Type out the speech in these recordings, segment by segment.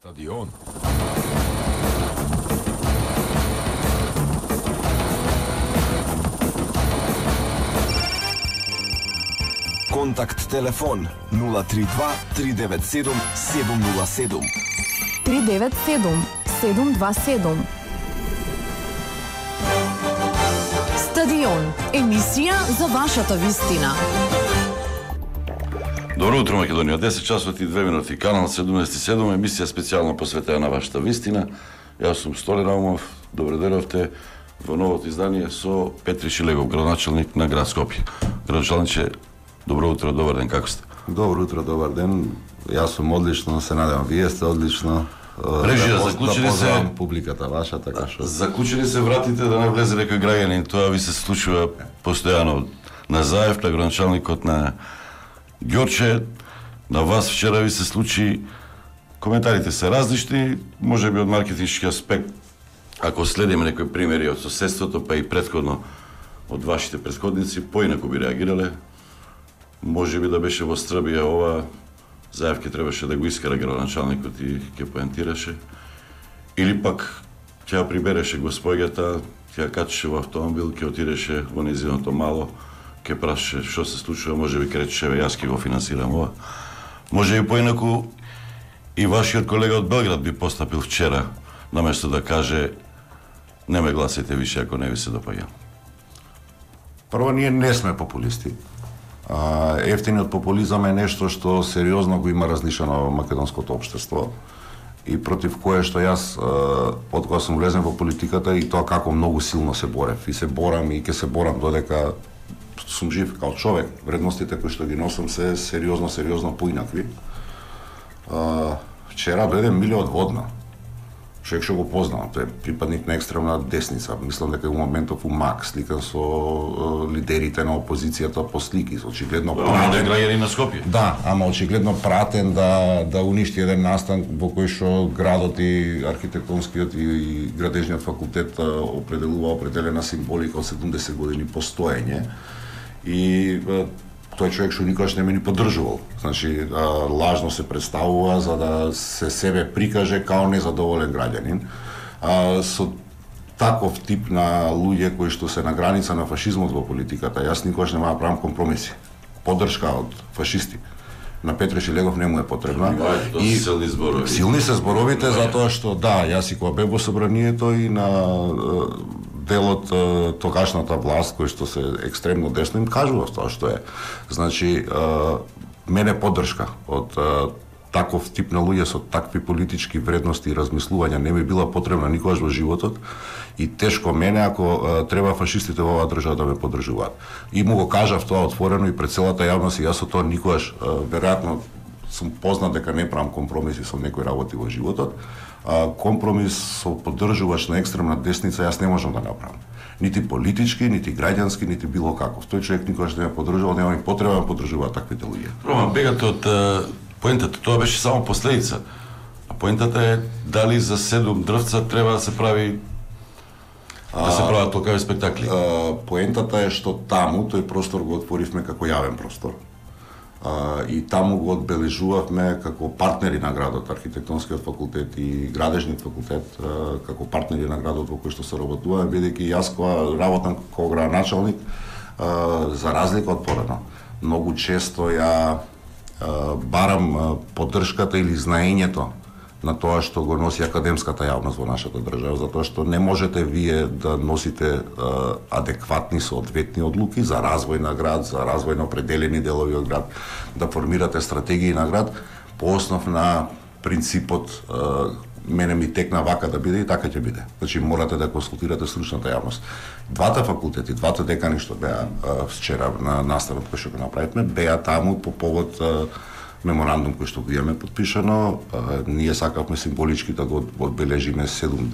Стадион. Контакт телефон 032 397 707. 397 727. Стадион, емисија за вашата вистина. Добро утро, Македонија. 10 часот и 2 минути. Канал 77, емисија специјално посветена на вашата вистина. Јас сум Столе Наумов. Добро дојдовте во новото издание со Петри Шилегов, градоначалник на град Скопје. Градоначалниче, добро утро, добар ден, како сте? Добро утро, добар ден. Јас сум одлично, се надевам вие сте одлично. Режија, заклучени се публиката ваша, така што. Заклучени се вратите да не влезе некој граѓанин, тоа ви се случува постојано. На Заев, на градоначалникот на Ѓорче, на вас вчера ви се случи, коментарите се различни, може би од маркетиншки аспект, ако следиме некои примери од соседството, па и претходно од вашите претходници, поинаку би реагирале. Може би да беше во Стрбија ова, Заев ке требаше да го искара градоначалникот и ке поентираше. Или пак ќе ја прибереше господјата, ќе ја качеше во автомобил, ќе отидеше во незиното мало, ке прашаше што се случува, може би кречеше, јас ке го финансирам ова. Може би поинаку и вашиот колега од Белград би постапил вчера, наместо да каже не ме гласите више ако не ви се допаѓа. Прво, ние не сме популисти. Ефтиниот популизам е нешто што сериозно го има различено во македонското општество и против кое што јас од кога сум влезен во политиката и тоа како многу силно се борев и се борам и ќе се борам додека сум жив као човек. Вредностите кои што ги носам се сериозно поинакви. Вчера дојде Миле од Водна. Човек што го познавам, тој е припадник на екстремна десница. Мислам дека во моментов у МАК, сликан со лидерите на опозицијата по слики, очигледно пратен граѓани на Скопје. Да, ама очигледно пратен да уништи еден настан во кој што градот и архитектонскиот и градежниот факултет определена символика од 70 години постоење. И тој човек што никогаш не ме ни поддржувал. Значи, лажно се представува за да се себе прикаже као незадоволен граѓанин. Со таков тип на луѓе кои што се на граница на фашизмот во политиката, јас никогаш нема да правам компромиси. Поддршка од фашисти на Петри Шилегов не му е потребна. И силни зборови. Силни се зборовите затоа што да, јас и кога бев во собранието и на дел од тогашната власт, кој што се екстремно десно, им кажував тоа што е. Значи, мене поддршка од таков тип на луѓе со такви политички вредности и размислувања не би била потребна никогаш во животот и тешко мене ако треба фашистите во оваа држава да ме поддржуваат. И му го кажав тоа отворено и пред целата јавност и јас со тоа никогаш, веројатно сум познат дека не правам компромиси со некои работи во животот. Компромис со поддржуваш на екстремна десница јас не можам да направам. Нити политички, нити граѓански, нити било каков. Тој човек никогаш не ме поддржувал, нема и потреба да поддржува таквите луѓе. Роман, бегате од поентата, тоа беше само последица. А поентата е дали за 7 дрвца треба да се прави да се прават толкави спектакли. Поентата е што таму тој простор го отворивме како јавен простор. И таму го одбележувавме како партнери на градот, архитектонскиот факултет и градежниот факултет, како партнери на градот во кој што се работуваме, бидејќи јас кога работам како градоначалник, за разлика од порано, многу често ја барам поддршката или знаењето на тоа што го носи академската јавност во нашата држава, затоа што не можете вие да носите адекватни соодветни одлуки за развој на град, за развој на определени делови од град, да формирате стратегии на град по основ на принципот мене ми текна вака да биде и така ќе биде. Значи морате да консултирате стручната јавност. Двата факултети, двата декани што беа вчера на наставот кој што го направивме, беа таму по повод меморандум кој што го имаме подпишано. Ние сакавме символички да го одбележиме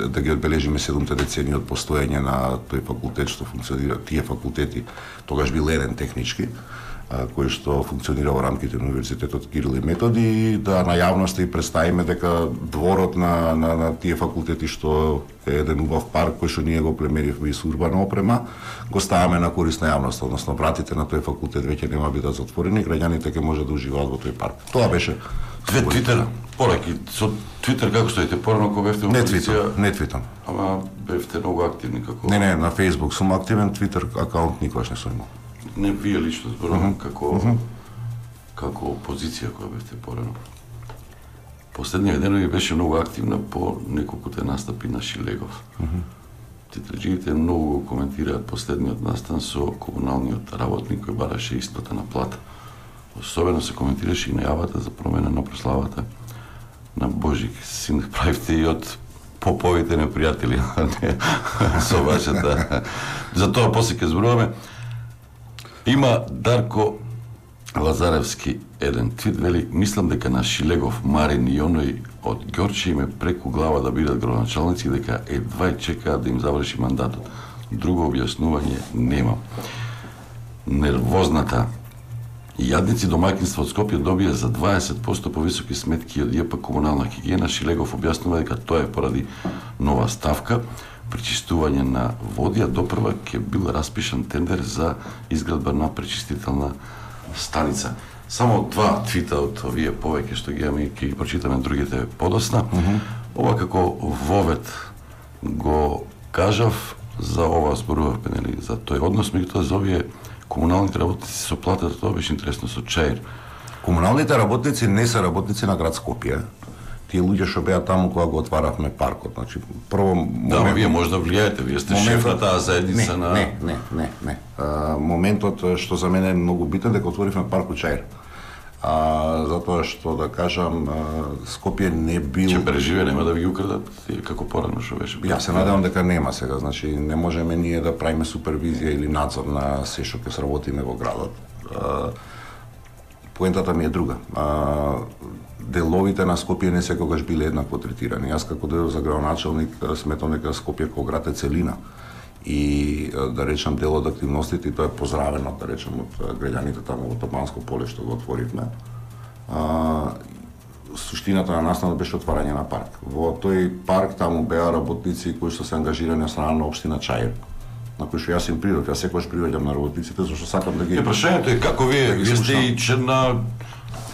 да ги одбележиме 7 децении од постоење на тој факултет што функционира, тие факултети тогаш бил еден технички кој што функционира во рамките на Универзитетот Кирил и Методи и да на јавноста и представиме дека дворот на тие факултети што е еден убав парк кој што ние го племеривме и со урбана опрема, го ставаме на корист на јавноста, односно вратите на тој факултет веќе нема бидат затворени, граѓаните ќе може да уживаат во тој парк. Тоа беше Твитер, пораки со Твитер како стоите порано кога бевте во опозиција? Не твитам. Ама бевте многу активни како. Не, на Facebook сум активен, Твитер акаунт никогаш не сум имал. Не вие лично зборувам како опозиција која бевте порано. Последниот ден беше многу активна по неколкуте настапи на Шилегов. Твитерџиите многу коментираат последниот настан со комуналниот работник кој бараше исплата на плата. Особено се коментираше и најавата за промена на прославата на Божик. Син правите и од поповите непријатели, со вашата. За тоа после ќе зборуваме. Има Дарко Лазаревски еден твит, вели, мислам дека на Шилегов, Марин и оној од Ѓорче име преку глава да бидат градоначалници, дека едва чекаат да им заврши мандатот. Друго објаснување нема. Нервозната јадници домаќинства од Скопје добија за 20% повисоки сметки од ЈП комунална хигиена. Шилегов објаснува дека тоа е поради нова ставка, пречистување на води, а допрва ќе бил распишан тендер за изградба на пречистителна станица. Само два твита од овие повеќе што ги имаме, ќе ги прочитаме другите подосна. Ова како вовет го кажав, за ова зборувавме, нели, за тој однос, меѓутоа за овие комуналните работници со платата, тоа беше интересно со Чаир. Комуналните работници не се работници на град Скопје. Тие луѓе што беа таму кога го отваравме паркот. Значи, прво Да, вие може да влијаете, вие сте шеф на таа заедница на... Не. Моментот што за мене е многу битен дека отворивме паркот Чаир. Затоа што, да кажам, Скопје не бил... Че преживе, нема да ви ги украдат, како порано што беше. Јас се надевам дека нема сега, значи не можеме ние да правиме супервизија или надзор на се што ќе сработиме во градот. Поентата ми е друга. Деловите на Скопје не секогаш биле еднакво третирани. Јас како дел за градоначалник сметам дека Скопје како град е целина. И да речам дел од активностите, и тоа е поздравено, да речам, од граѓаните таму во Топанско поле што го отворивме. Суштината на настанот беше отварање на парк. Во тој парк таму беа работници кои што се ангажирани од страна на општина Чаир, на кои што јас им придов, јас секогаш приваѓам на работниците, зашто сакам да ги... Прашањето е како вие сте и член на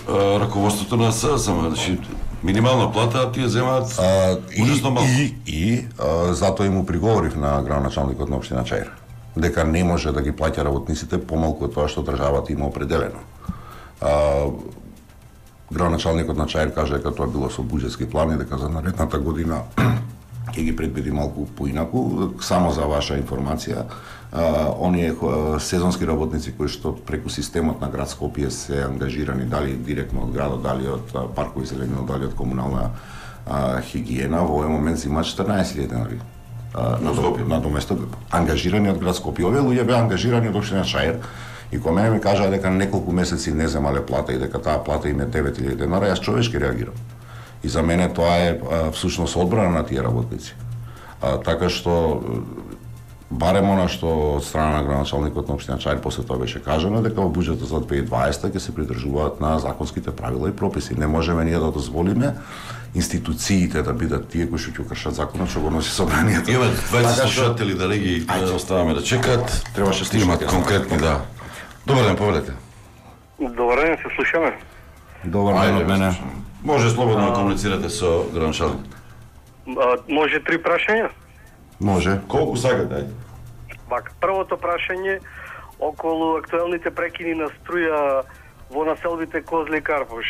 раководството на ССМ, значи минимална плата, а тие земаат ужасно малку. Затоа и му приговорив на градоначалникот на општина Чаир, дека не може да ги плаќа работниците помалку од тоа што државата има определено. Градоначалникот на Чаир кажа дека тоа било со буџетски план и дека за наредната година ќе ги предвиди малку поинаку. Само за ваша информација, оние сезонски работници кои што преку системот на град Скопје се ангажирани, дали директно од градот, дали од паркови зеленина, дали од комунална хигиена, во овој момент имаат 14.000 денари. На доместо ангажирани од град Скопје. Овие луѓе беа ангажирани од општина Чаир. И кога мене ми кажаа дека неколку месеци не земале плата и дека таа плата им е 9.000 денара, јас човечки реагирам. И за мене тоа е всушност одбрана на тие работници. Така што барем она што од страна на градоначалникот на општина Чаир после тоа беше кажано дека во буџетот за 2020 ќе се придржуваат на законските правила и прописи. Не можеме ние да дозволиме институциите да бидат тие кои што ќе кршат законот, што го носи собранието. Има 20 слушатели да ги оставаме да чекаат. Требаше имат конкретни, да. Добар ден, повелете. Добар ден, се слушаме. Добар ден од мене. Може слободно да комуницирате со градоначалник. Може 3 прашања? Може. Колку сакате, ајде? Вака, првото прашање околу актуелните прекини на струја во населбите Козле и Карпуш.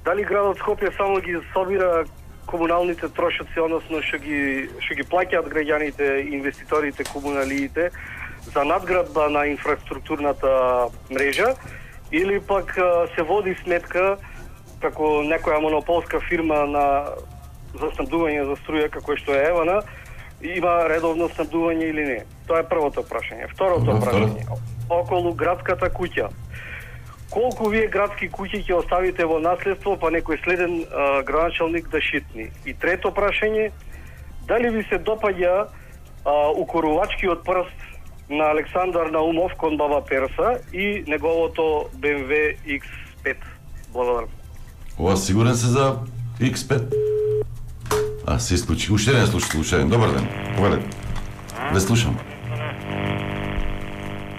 Дали градот Скопје само ги собира комуналните трошоци, односно што ги плаќаат граѓаните, инвеститорите, комуналиите за надградба на инфраструктурната мрежа, или пак се води сметка како некоја монополска фирма за снабдување за струја како што е Евана, има редовно снабдување или не? Тоа е првото прашање. Второто прашање околу градската куќа. Колку вие градски куќи ќе оставите во наследство, па некој следен градоначалник да шитни? И трето прашање, дали ви се допаѓа укорувачкиот прст на Александар Наумов кон баба Перса и неговото BMW X5? Благодарам. Ова сигурен се за X5? Се исклучи. Уште не слушаем. Добар ден. Повелете. Ве слушам.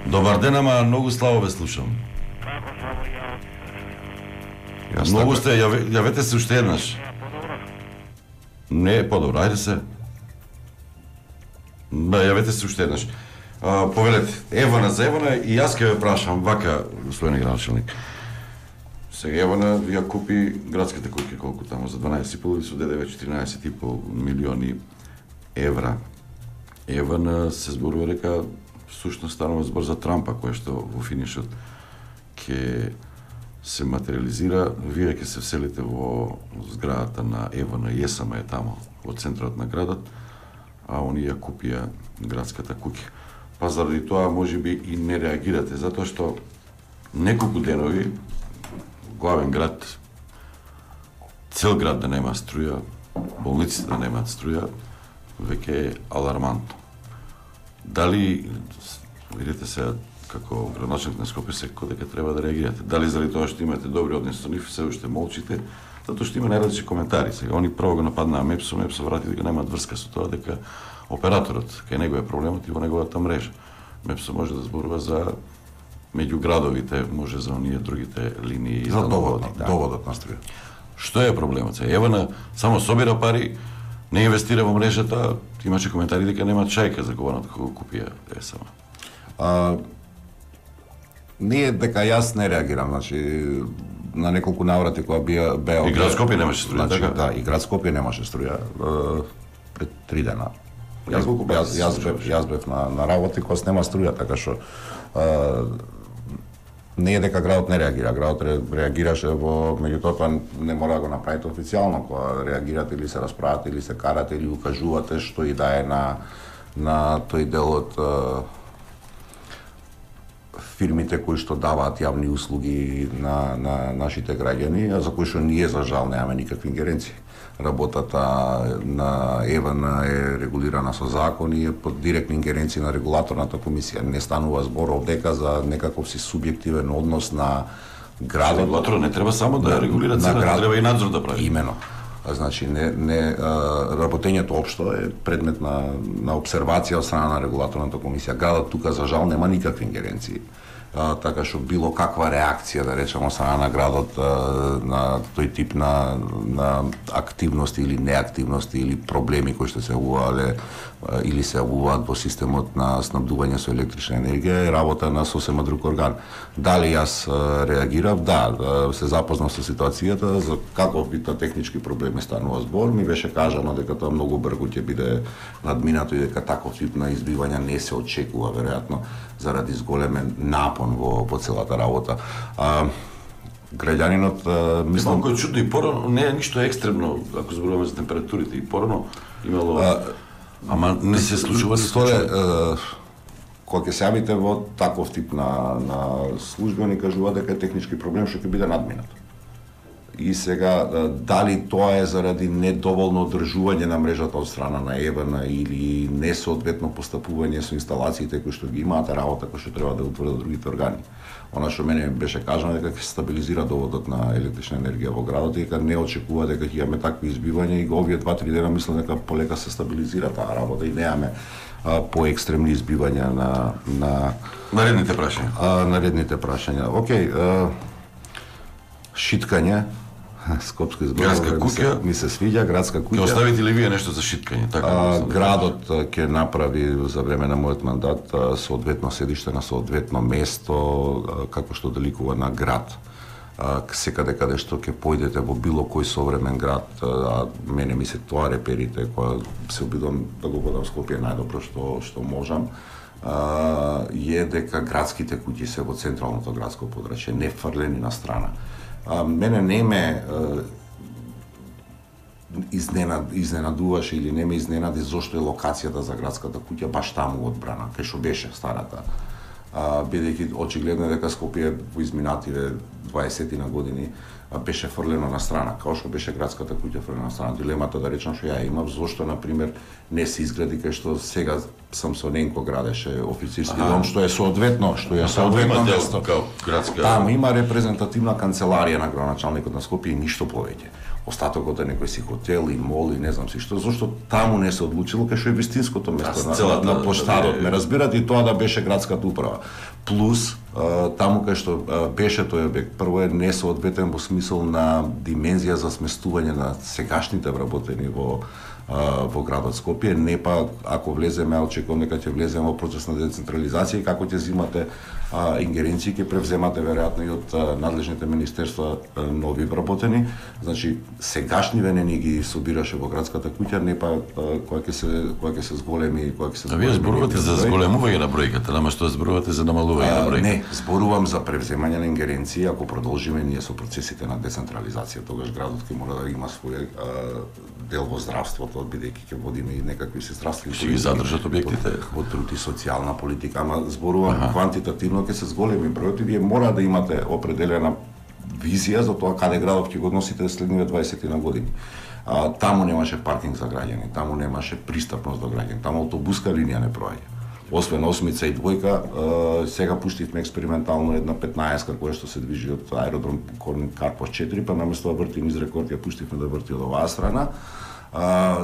Добар ден, ама многу слабо ве слушам. Многу сте, јавете се уште еднаш. Не, подобро, ајде се. Да, јавете се уште еднаш. Повелете, Евана за Евана и јас ќе ве прашам вака, господин градоначалник. Сега Евана ја купи градските куќи, колку таму, за 12,5 со ДДВ 14,5 милиони евра. Евана се зборува дека всушност станува збор за Трампа, кој што во финишот ќе се материализира. Вие ќе се вселите во зградата на Евана и ЕСМ е таму, во центарот на градот, а они ја купија градската куќа. Па заради тоа можеби и не реагирате, затоа што неколку денови главен град, цел град да нема струја, болниците да немаат струја, веќе е алармантно. Дали, видите се, како градоначалник на Скопје секој дека треба да реагирате? Дали заради тоа што имате добри односи со нив, се уште молчите? Затоа што има најразлични коментари. Сега, они прво го нападнаа Мепсо врати дека немаат врска со тоа, дека операторот, кај него е проблемот и во неговата мрежа. Мепсо може да зборува за меѓу градовите, може за оние другите линии и за доводот на струја. Што е проблемот? Евана само собира пари, не инвестира во мрежата, имаше коментари дека нема чајка за кованата кога купија ЕСМ. Не е дека јас не реагирам, значи на неколку наврати кога беа и град Скопје немаше струја, значи, така? Да, и град Скопје немаше струја пред 3 дена. Јас бев на работа и кога нема струја, така што не е дека градот не реагира, градот реагираше меѓутоа тоа не мора да го направите официјално, кога реагирате или се расправате или се карате или укажувате што и да е на тој дел од фирмите кои што даваат јавни услуги на нашите граѓани, а за кои што ние за жал немаме никакви ингеренции. Работата на Евана е регулирана со закон и е под директни ингеренции на регулаторната комисија. Не станува збор овдека за некаков си субјективен однос на градот. Регулаторот не треба само да регулира цената, треба и надзор да прави. Имено. Значи, работењето општо е предмет на обсервација од страна на регулаторната комисија. Градот тука за жал нема никакви ингеренции. Така што било каква реакција, да речеме, од страна на градот на тој тип на активности или неактивности или проблеми кои што се јавувале или се јавуваат во системот на снабдување со електрична енергија е работа на сосема друг орган. Дали јас реагирав? Да, се запознав со ситуацијата, за каков вид технички проблеми станува збор, ми беше кажано дека тоа многу брзо ќе биде надминато и дека таков тип на избивања не се очекува веројатно заради зголемен напон во целата работа. Граѓанинот мислам малку чудно и порано, не е ништо екстремно ако зборуваме за температурите и порано имало ама не се случува кога ќе се јавите во таков тип на служба ни кажува дека е технички проблем што ќе биде надминат. И сега, дали тоа е заради недоволно одржување на мрежата од страна на Евана или несоодветно постапување со инсталациите кои што ги имаат работа кои што треба да утврдат другите органи. Она што мене беше кажано дека ќе се стабилизира доводот на електрична енергија во градот и дека не очекува дека ќе имаме такви избивања и овие 2-3 дена мислам дека полека се стабилизира таа работа и немаме поекстремни избивања на наредните прашања. Наредните прашања. Океј, шиткање, скопски градска куќа ми се свиѓа, градска куќа. Ќе оставите ли вие нешто за шиткање? Така, градот ќе направи за време на мојот мандат соодветно седиште на соодветно место како што деликува на град. Секаде каде што ќе појдете во било кој современ град, мене ми се тоа реперите која се обидувам да го водам Скопје најдобро што можам. Е дека градските куќи се во централното градско подрачје, не фрлени на страна. Мене не ме изненадуваше или не ме изненади зошто е локацијата за градската куќа баш таму одбрана, кај што беше старата. Бидејќи очигледно дека Скопје во изминативе 20 на години беше фрлено на страна, како што беше градската куќа фрлена на страна. Дилемата да речам што ја имав, зошто на пример не се изгради кај што сега Самсоненко градеше официрски дом, што е соодветно место. Таму има репрезентативна канцеларија на градоначалникот на Скопје и ништо повеќе. Остатокот е некој си хотел и мол и не знам си што, зашто таму не се одлучило кај што е вистинското место на площадот. Ме разбирате и тоа да беше градската управа. Плюс таму кај што беше тој објект, прво е несоодветен во смисол на димензија за сместување на сегашните вработени во градот Скопје, не па ако влеземе, очекувам дека ќе влеземе во процес на децентрализација и како ќе зимате ингеренции, ќе превземате веројатно и од надлежните министерства нови вработени. Значи сегашниве не ни ги собираше во градската куќа, не па кога ќе се зголеми, кога ќе се зголеми. Вие зборувате за зголемување на бројката, нама што зборувате за намалување на бројката? Не, зборувам за превземање на ингеренции, ако продолжиме ние со процесите на децентрализација, тогаш градот ќе мора да има свој дел во здравството, бидејќи ќе водиме и некакви се здравствени ќе ги задржат објектите во труд и социјална политика, ама зборувам квантитативно ќе се зголеми бројот и вие мора да имате определена визија за тоа каде градот ќе го носите следниве 20 на години. Таму немаше паркинг за граѓани, таму немаше пристапност до граѓани, таму автобуска линија не проаѓа. Освен осмица и двојка, сега пуштивме експериментално една 15-ка која што се движи од аеродром Корнин Карпош 4, па наместо да врти низ рекорд ја пуштивме да врти од оваа страна.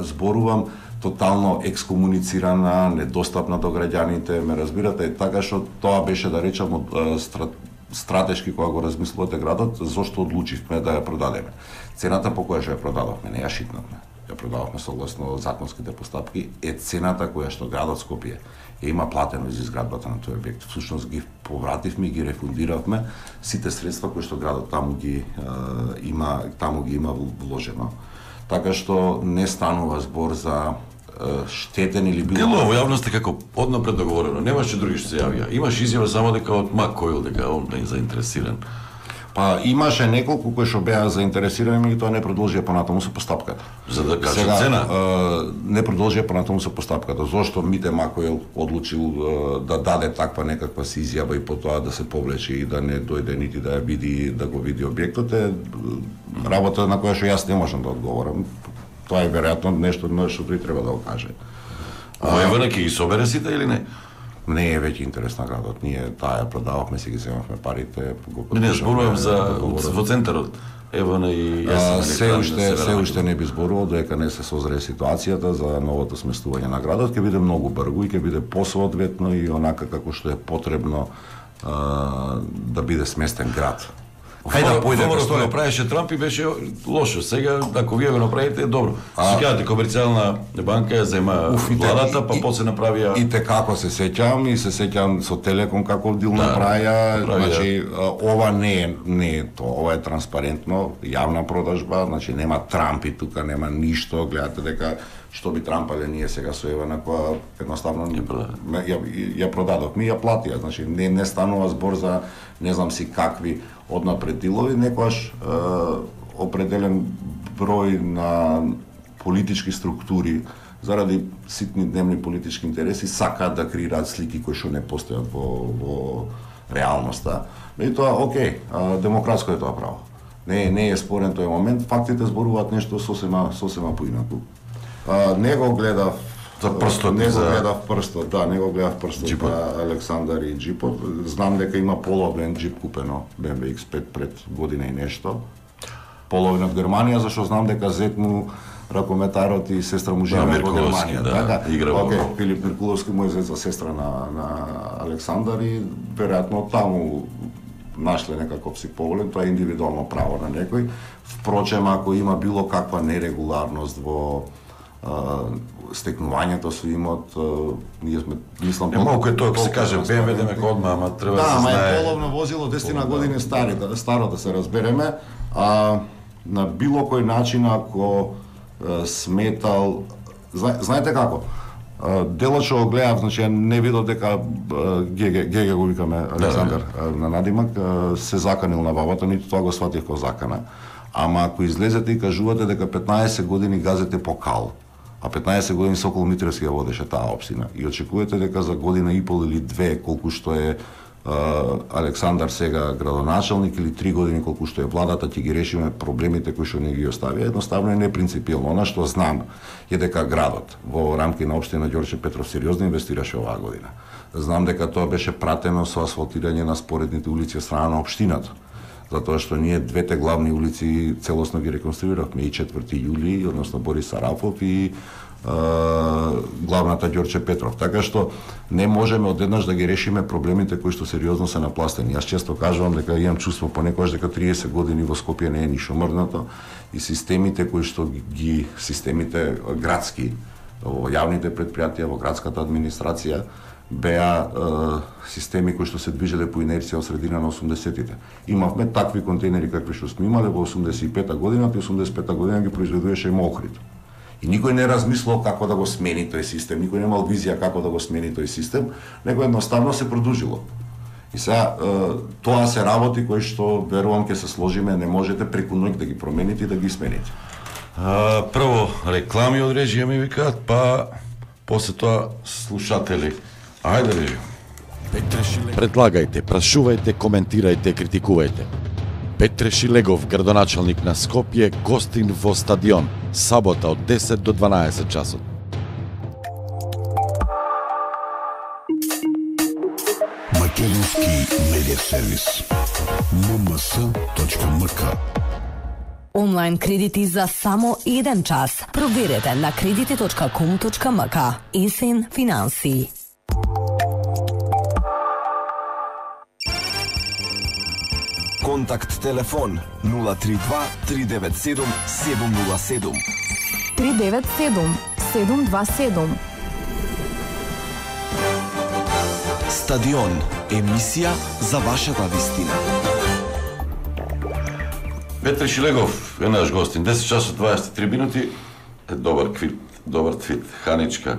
Зборувам тотално екскомуницирана, недостапна до граѓаните, ме разбирате, така што тоа беше да речам од стратешки кога го размислувате градот, зошто одлучивме да ја продадеме. Цената по која што ја продадовме, не ја шитнавме, ја продававме согласно законските постапки, е цената која што градот Скопје ја има платено за изградбата на тој објект. Всушност ги повративме, ги рефундиравме сите средства кои што градот таму ги има вложено. Така што не станува збор за штетен или било. Дело во јавноста како однапред договорено, немаше други што се јавија. Имаш изјава само дека од Макоил дека он не е заинтересиран. Па имаше неколку кои што беа заинтересирани, меѓутоа не продолжија понатаму со постапката. За да кажа цена? Не продолжија понатаму со постапката. Зошто Мите Макоил одлучил да даде таква некаква си изјава и потоа да се повлече и да не дојде нити да ја види, да го види објектот, е работа на која што јас не можам да одговорам. Тоа е веројатно нешто што тој треба да го каже. Воевана ќе ги собере сите или не? Не е веќе интерес на градот. Ние таа ја продававме, си ги земавме парите. Не зборувам за во центарот. Евана и се уште не би зборувал додека не се созре ситуацијата за новото сместување на градот, ќе биде многу брзо и ќе биде посоодветно и онака како што е потребно да биде сместен град. Кај да појде што го правеше Трамп и беше лошо. Сега ако вие го направите е добро. Сеќавате комерцијална банка ја зема владата, па после направија и како се сеќавам со Телеком како дил направија, значи ова не е тоа, ова е транспарентно, јавна продажба, значи нема Трамп и тука нема ништо, гледате дека што би трампале ние сега со Евана која едноставно ја продадовме и ја платија, значи не станува збор за не знам си какви однапред дилови, некојаш определен број на политички структури заради ситни дневни политички интереси сакаат да креираат слики кои што не постојат во реалноста. Меѓутоа, окей, демократско е тоа право. Не е спорен тој момент, фактите зборуваат нешто сосема поинаку. Не го гледав прстот на Александар и джипот. Знам дека има половен джип купено BMW X5 пред година и нешто. Половен од Германија, зашто знам дека зет му ракометарот и сестра му живеат во Германија. Така, Филип Миркуловски му е зет за сестра на Александар и веројатно таму нашле некаков си поволен, тоа е индивидуално право на некој. Впрочем, ако има било каква нерегуларност во стекнувањето со имот, ние сме, мислам... Малку е тоа, ако се каже BMW, демек одма, ама треба да се знае... Да, ама е половно возило, 10 години старо да се разбереме, на било кој начин, ако сметал... Знаете како? Делот што го гледав, значи не видов дека Геге го викаме Александар на надимак, се заканил на бабата, ниту тоа го сватив како закана. Ама ако излезете и кажувате дека 15 години газете по кал, а 15 години Сокол Митревски ја водеше таа општина и очекувате дека за година и пол или две, колку што е Александар сега градоначалник, или 3 години колку што е владата, ќе ги решиме проблемите кои што не ги оставија, едноставно е непринципилно. Она што знам е дека градот во рамки на општина Ѓорче Петров сериозно инвестираше оваа година. Знам дека тоа беше пратено со асфалтирање на споредните улици од страна на општината. затоа што ние двете главни улици целосно ги реконструиравме, и 4 јули, односно Борис Арафов, и главната Ѓорче Петров. Така што не можеме одеднаш да ги решиме проблемите кои што сериозно се напластени. Јас често кажувам дека имам чувство понекогаш дека 30 години во Скопје не е ништо мрднато и системите кои што системите градски, во јавните предпријатија, во градската администрација беа системи кои што се движеле по инерција од средина на 80-тите. Имавме такви контейнери какви што сме имале во 85-та година, и 85-та година ги произведуваше Охрид. И никој не размислил како да го смени тој систем, никој немал визија како да го смени тој систем, него едноставно се продолжило. И сега тоа се работи кои што верувам ќе се сложиме, не можете преку ноќ да ги промените и да ги смените. Прво реклами од режија ми викаат, па после тоа слушатели. Ајде режија. Предлагајте, прашувајте, коментирајте, критикувајте. Петре Шилегов, градоначалник на Скопје, гостин во стадион, сабота од 10 до 12 часот. Македонски медиа сервис. mms.mk. Онлайн кредити за само 1 час. Проверете на кредити.com.mk. Есен финанси. Контакт телефон 032 397 707. 397 727. Стадион, емисија за вашата вистина. Петре Шилегов е наш гостин. 10 часот 23 минути. Добар квит, добар твит. Ханичка,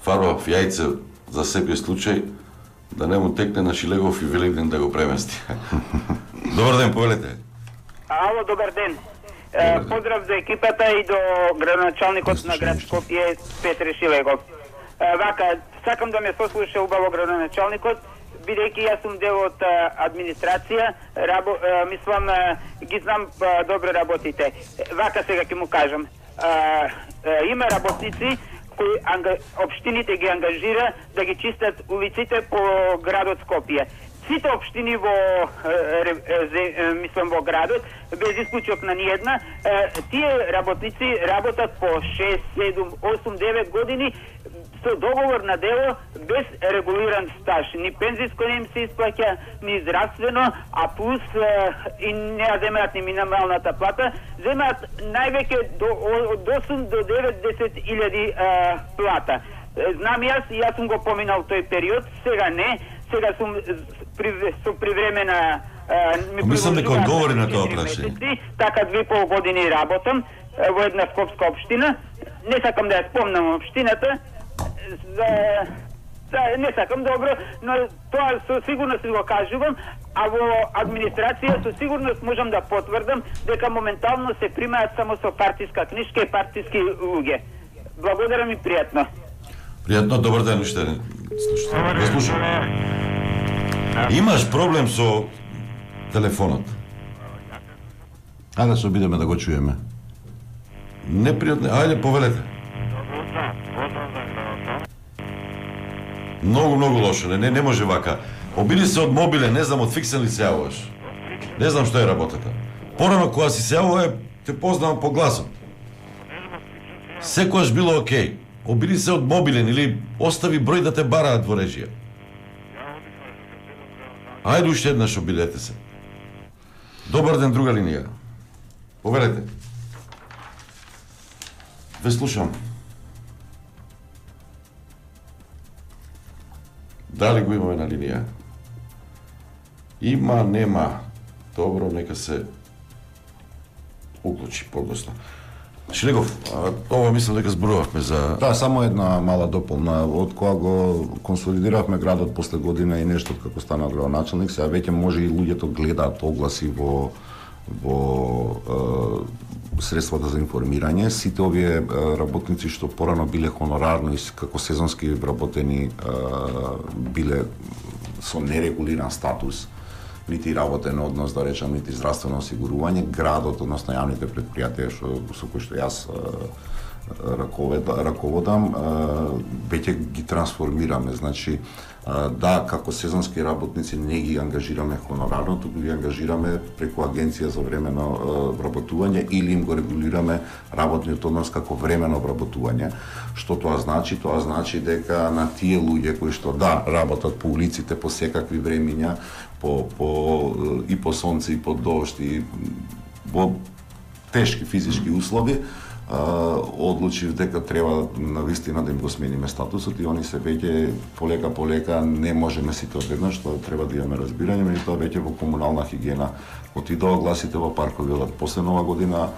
фарбав јајце за секој случај да не му текне на Шилегов и Великден да го премести. Добар ден, повелете. Ало, добар ден. Поздрав за екипата и до градоначалникот на град Скопје Петре Шилегов. Вака, сакам да ме сослуша убаво градоначалникот, бидејќи јас сум дел од администрација, мислам, ги знам добро работите. Вака сега ќе му кажам. Има работници кои општините ги ангажира да ги чистат улиците по градот Скопје. Сите општини во градот, без исклучок на ниедна, тие работници работат по 6, 7, 8, 9 години со договор на дело без регулиран стаж. Ни пензиско не им се исплаќа, ни здравствено, а плюс и не ја земаат ни минималната плата, земаат највеќе од 8 до 9-10 илјади плата. Знам јас сум го поминал тој период, сега не, сега сум со привремена мислам дека одговори на тоа прашање. Така 2,5 години работам во една скопска општина. Не сакам да ја спомнам општината, не сакам добро, но тоа со сигурност го кажувам, а во администрација со сигурност можам да потврдам дека моментално се примаат само со партиска книжка и партиски луѓе. Благодарам и пријатно. Пријатно, добар ден уште. Го слушам. Имаш проблем со телефонот? Ајде се обидеме да го чуеме. Непријатно, ајде повелете. Многу лошо, не може вака. Обиди се од мобиле, не знам од фиксен ли се јавуваш. Не знам што е работата. Порано кога си се јавува, те познавам по гласот. Секојаш било окей. Обиди се од мобилен или остави број да те бараат во режија. Ајде уште еднаш обидете се. Добар ден, друга линија. Поверете. Ве слушам. Дали го имаме на линија? Има, нема. Добро, нека се уклучи подосно. Шилегов, ова мислам дека зборувавме за... Да, само една мала дополна. Од кога го консолидиравме градот после година и нешто како стана градоначалник, сега веќе може и луѓето гледаат огласи во средствата за информирање. Сите овие работници што порано биле хонорарно и како сезонски вработени биле со нерегулиран статус, нити работен однос, да речам, нити здравствено осигурување, градот, односно јавните предпријатија со кои што јас раководам, веќе ги трансформираме, значи да, како сезонски работници не ги ангажираме хонорарно, туку ги ангажираме преку агенција за временно вработување или им го регулираме работниот однос како временно вработување. Што тоа значи? Тоа значи дека на тие луѓе кои што работат по улиците по секакви времиња, и по сонце и по дожд и во тешки физички услови, одлучив дека треба навистина да им го смениме статусот и они се веќе полека не можеме сите одеднаш, тоа треба да имаме разбирање, меѓутоа веќе во комунална хигиена отиде огласите во парковите после Нова година,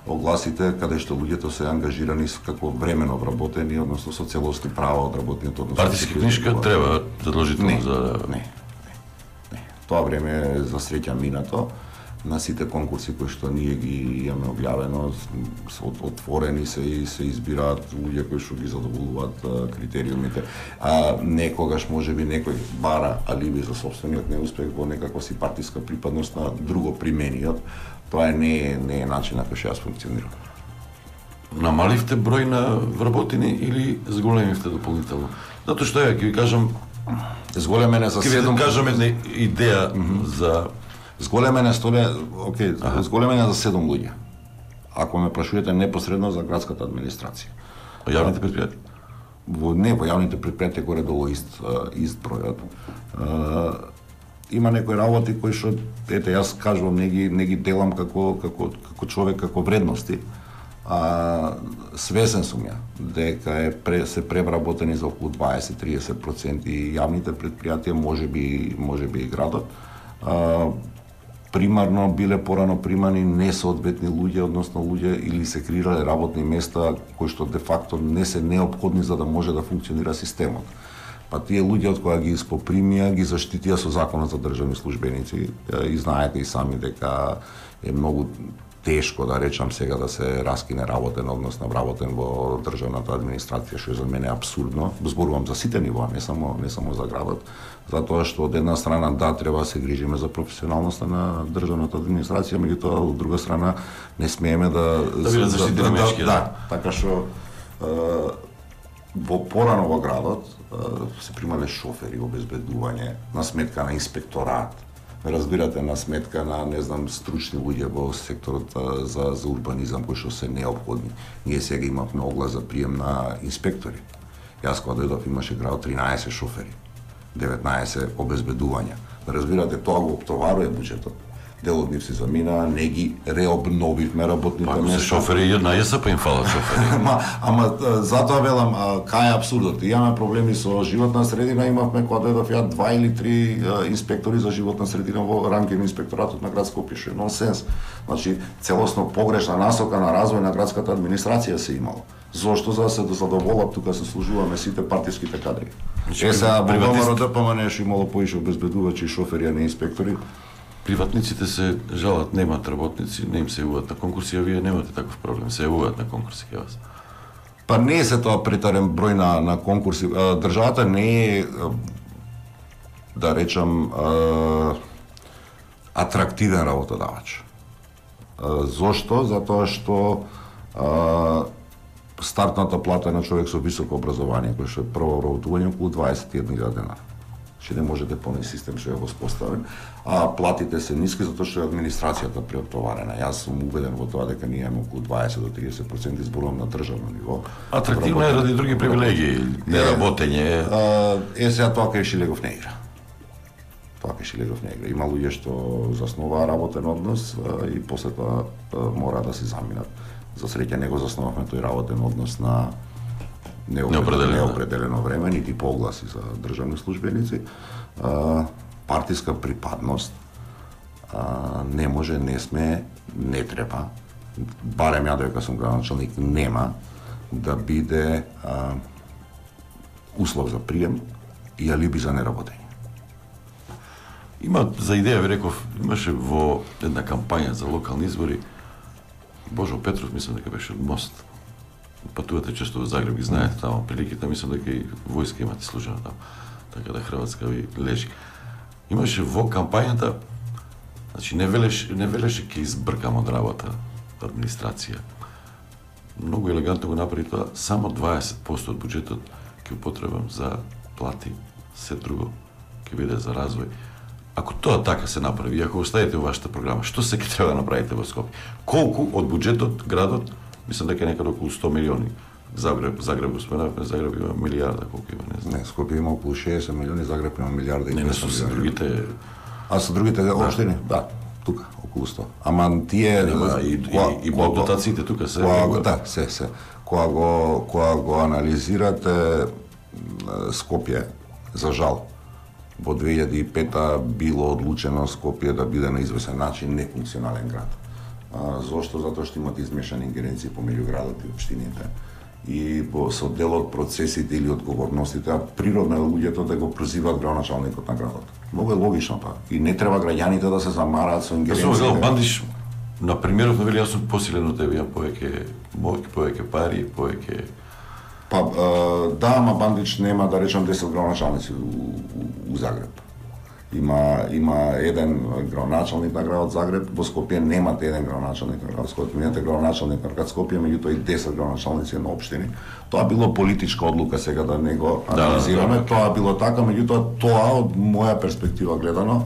огласите каде што луѓето се ангажирани како времено вработени, односно со целосни права од работниот однос. Партиска книжка треба задолжително за Не. Тоа време е за среќа минато. На сите конкурси кои што ние ги имаме објавено, отворени се и се избираат луѓе кои што ги задоволуваат критериумите. Некогаш можеби некој бара алиби за сопствениот неуспех во некаква си партиска припадност на друго примениот. Тоа не е начин на кој што јас функционирам. Намаливте број на вработени или зголемивте дополнително? Затоа што ја ќе ви кажам, Зголемене за 7 кажам една идеја за Зголемене зголемене за 7 луѓе. Ако ме прашувате непосредно за градската администрација. Јавните предпријатија? Во јавните предпријатија горе-долу ист бројот. Има некои работи кои што јас кажувам не ги делам како човек, како вредности. Свесен сум ја дека се превработени за околу 20-30% и јавните предпријатија, можеби и градот. Примарно биле порано примани несоодветни луѓе, односно луѓе или се креирале работни места кои што де факто не се неопходни за да може да функционира системот. Па тие луѓе од кои ги испопримија, ги заштитија со законот за државни службеници и знаете и сами дека е многу тешко да речам сега да се раскине работен однос на вработен во државната администрација, што за мене е апсурдно. Зборувам за сите нивоа, не само за градот, затоа што од една страна треба да се грижиме за професионалноста на државната администрација, меѓутоа од друга страна не смееме да бидат заштитени мешки. Така што порано во градот се примале шофери, обезбедување на сметка на инспекторат. Разбирате, на сметка на, стручни луѓе во секторот за урбанизам кои што се неопходни. Ние сега имавме оглас за прием на инспектори. Јас кога дојдов имаше градот 13 шофери, 19 обезбедувања. Разбирате, тоа го оптоварува буџетот. Дел од нив се замина, не ги реобновивме работните места. Па шофери една ЕСП им фалат шофери. Ама затоа велам, кај е апсурдот? Имаме проблеми со животна средина, имавме кога дојдов ја 2 или 3 инспектори за животна средина во рамки на инспекторатот на град Скопје, што е нонсенс. Значи, целосно погрешна насока на развој на градската администрација се имало. Зошто? За да се задоволат тука се служуваме сите партиските кадри. Сега во ВМРО-ДПМН не имало поише обезбедувачи, шофери, а не инспектори. Приватниците се жалат, немаат работници, не им се јавуваат на конкурси, а вие немате таков проблем, се јавуваат на конкурси кај вас. Па не е се тоа претарен број на конкурси. Државата не е, да речам, атрактивен работодавач. Зошто? Затоа што стартната плата на човек со високо образование, кој што е прво работување, околу 21.000 денара. Че не може да поне систем што е воспоставен, а платите се ниски затоа што е администрацијата преоптоварена. Јас сум убеден во тоа дека ние имаме околу 20 до 30%, изборувам на државно ниво. Атрактивно е ради други привилегии, неработење. Сега тоа кај Шилегов не игра. Има луѓе што засноваа работен однос и после тоа мора да се заминат. За среќа не го засновавме тој работен однос на неопределено време, нити по огласи за државни службеници. Партиска припадност не може, не сме, не треба, барем ја дека сум градоначалник, нема да биде услов за прием и алиби за неработење. Има за идеја, ви реков, имаше во една кампања за локални избори, Божо Петров, мислам дека беше од Мост. Патувате често во Загреб, ги знаете таму приликите, мислам дека и војска имате служена таму, така да Хрватска ви лежи. Имаше во кампањата, значи не велеше ќе избркам од работа администрација. многу елегантно го направи тоа, само 20% од буџетот ќе употребам за плати, се друго ќе биде за развој. Ако тоа така се направи, ако оставите во вашата програма, што се ќе треба да направите во Скопје? Колку од буџетот градот, мислам дека е некаде околу 100 милиони. Загреб го споменавме, Загреб има милиарда, колку има, не знам. Не, Скопје има околу 60 милиони, Загреб има милиарда и 200 милиони. Не со другите. А со другите општини? Да, тука околу 100. Ама тие и дотациите тука се. Да, се. Кога го анализирате Скопје, за жал, во 2005 било одлучено Скопје да биде на извесен начин нефункционален град. Зошто? Затоа што имат измешани ингеренции помеѓу градот и општините. И со дел од процесите или одговорностите, природно е луѓето да го прозиваат градоначалникот на градот. Многу е логично тоа. И не треба граѓаните да се замараат со ингеренциите. Јас Бандиш, на примерот на вели, јас сум посилен од тебе, имам повеќе пари, повеќе... Па, да, ама Бандич нема, да речам, 10 градоначалници у Загреб. Има еден градоначалник на градот Загреб, во Скопје немате еден градоначалник на градот Скопје, имате градоначалник на градот Скопје, меѓутоа и 10 градоначалници на општини. Тоа било политичка одлука, сега да не го анализираме, тоа било така, меѓутоа тоа од моја перспектива гледано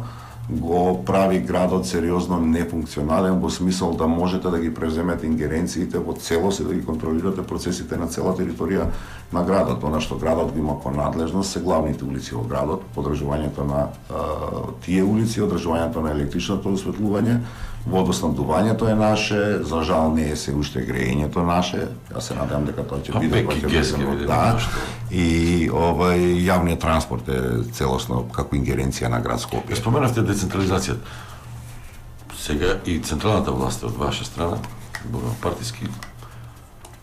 го прави градот сериозно нефункционален во смисол да можете да ги преземете ингеренциите во целост и да ги контролирате процесите на цела територија на градот. Она што градот го има ко надлежност се главните улици во градот, одржувањето на тие улици, одржувањето на електричното осветлување, водоснабдувањето е наше, за жал не е се уште греењето наше. Јас се надевам дека тоа ќе биде да. И јавниот транспорт е целосно како ингеренција на град Скопје. Споменавте децентрализацијата. Сега и централната власт од ваша страна, партиски,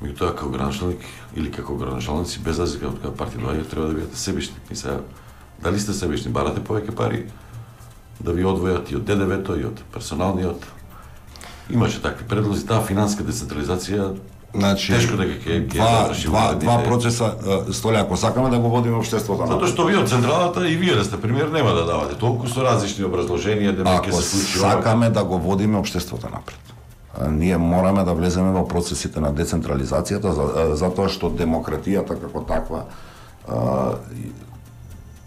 меѓутоа како градоначалник или како градоначалници, без разлика од која партија доаѓа, треба да бидете себични. И сега, дали сте себични, барате повеќе пари да ви одвојат и од ДДВ-то, и од персоналниот. Имаше такви предлози, таа финанска децентрализација, значи, тешко дека ќе два процеса, Столе, ако сакаме да го водиме општеството напред. Затоа што вие од централата и вие да сте премиер нема да давате толку со различни образложенија дека ќе се случи. Ако сакаме да го водиме општеството напред, ние мораме да влеземе во процесите на децентрализацијата, затоа што демократијата како таква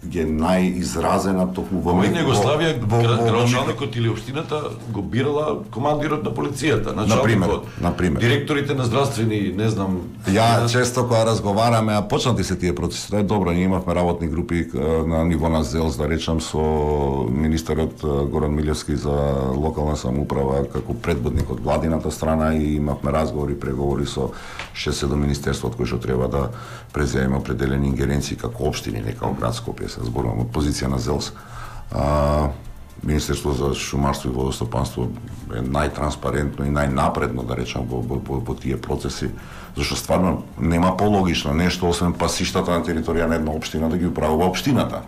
е најизразена токму во Југославија, градоначалникот или општината го бирала командирот на полицијата, началникот, директорите на здравствени, не знам. Ја често кога разговараме, а почнати се тие процеси, тоа е добро, ние имавме работни групи на ниво на ЗЕЛС, да речам, со министерот Горан Милевски за локална самоуправа како предводник од владината страна и имавме разговори, преговори со 6-7 министерствот кои што треба да преземе определени ингеренции како општини, не како град Скопје. Зборувам од позиција на ЗЕЛС. Министерство за шумарство и водостопанство е најтранспарентно и најнапредно, да речам, во тие процеси, зашто стварно нема пологично нешто освен пасиштата на територија на една општина да ги управува општината.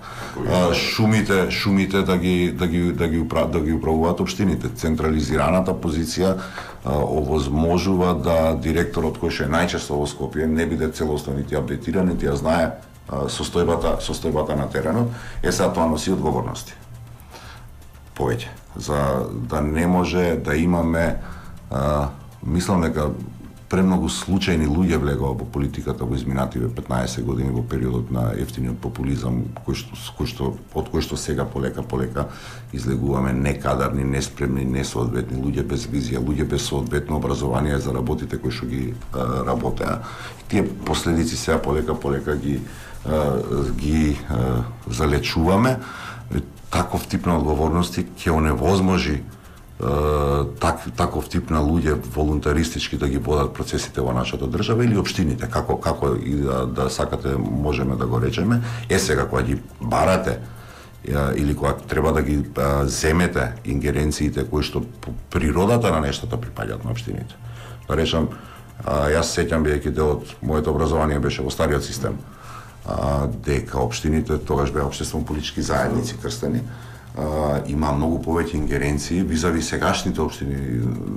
Шумите да ги управуваат општините. Централизираната позиција овозможува да директорот кој што е најчесто во Скопје не биде целосно нити апдейтиран, нити ја знае состојбата на теренот. Сега тоа носи одговорности. Повеќе. За да не може да имаме, мислам дека премногу случајни луѓе влегува во политиката во изминативе 15 години во периодот на ефтиниот популизам, од кој што сега полека излегуваме некадарни, неспремни, несоодветни луѓе без визија, луѓе без соодветно образование за работите кои што ги работеа. Тие последици сега полека ги залечуваме. Таков тип на одговорности ќе оневозможи таков тип на луѓе волунтаристички да ги водат процесите во нашата држава или општините, како и да сакате можеме да го речеме. Сега кога ги барате или кога треба да ги земете ингеренциите кои што по природата на нештата припаѓаат на општините. Да речам, јас сеќам бидејќи дел од моето образование беше во стариот систем, дека општините тогаш беа општествено-политички заедници крстени, има многу повеќе ингеренции визави сегашните општини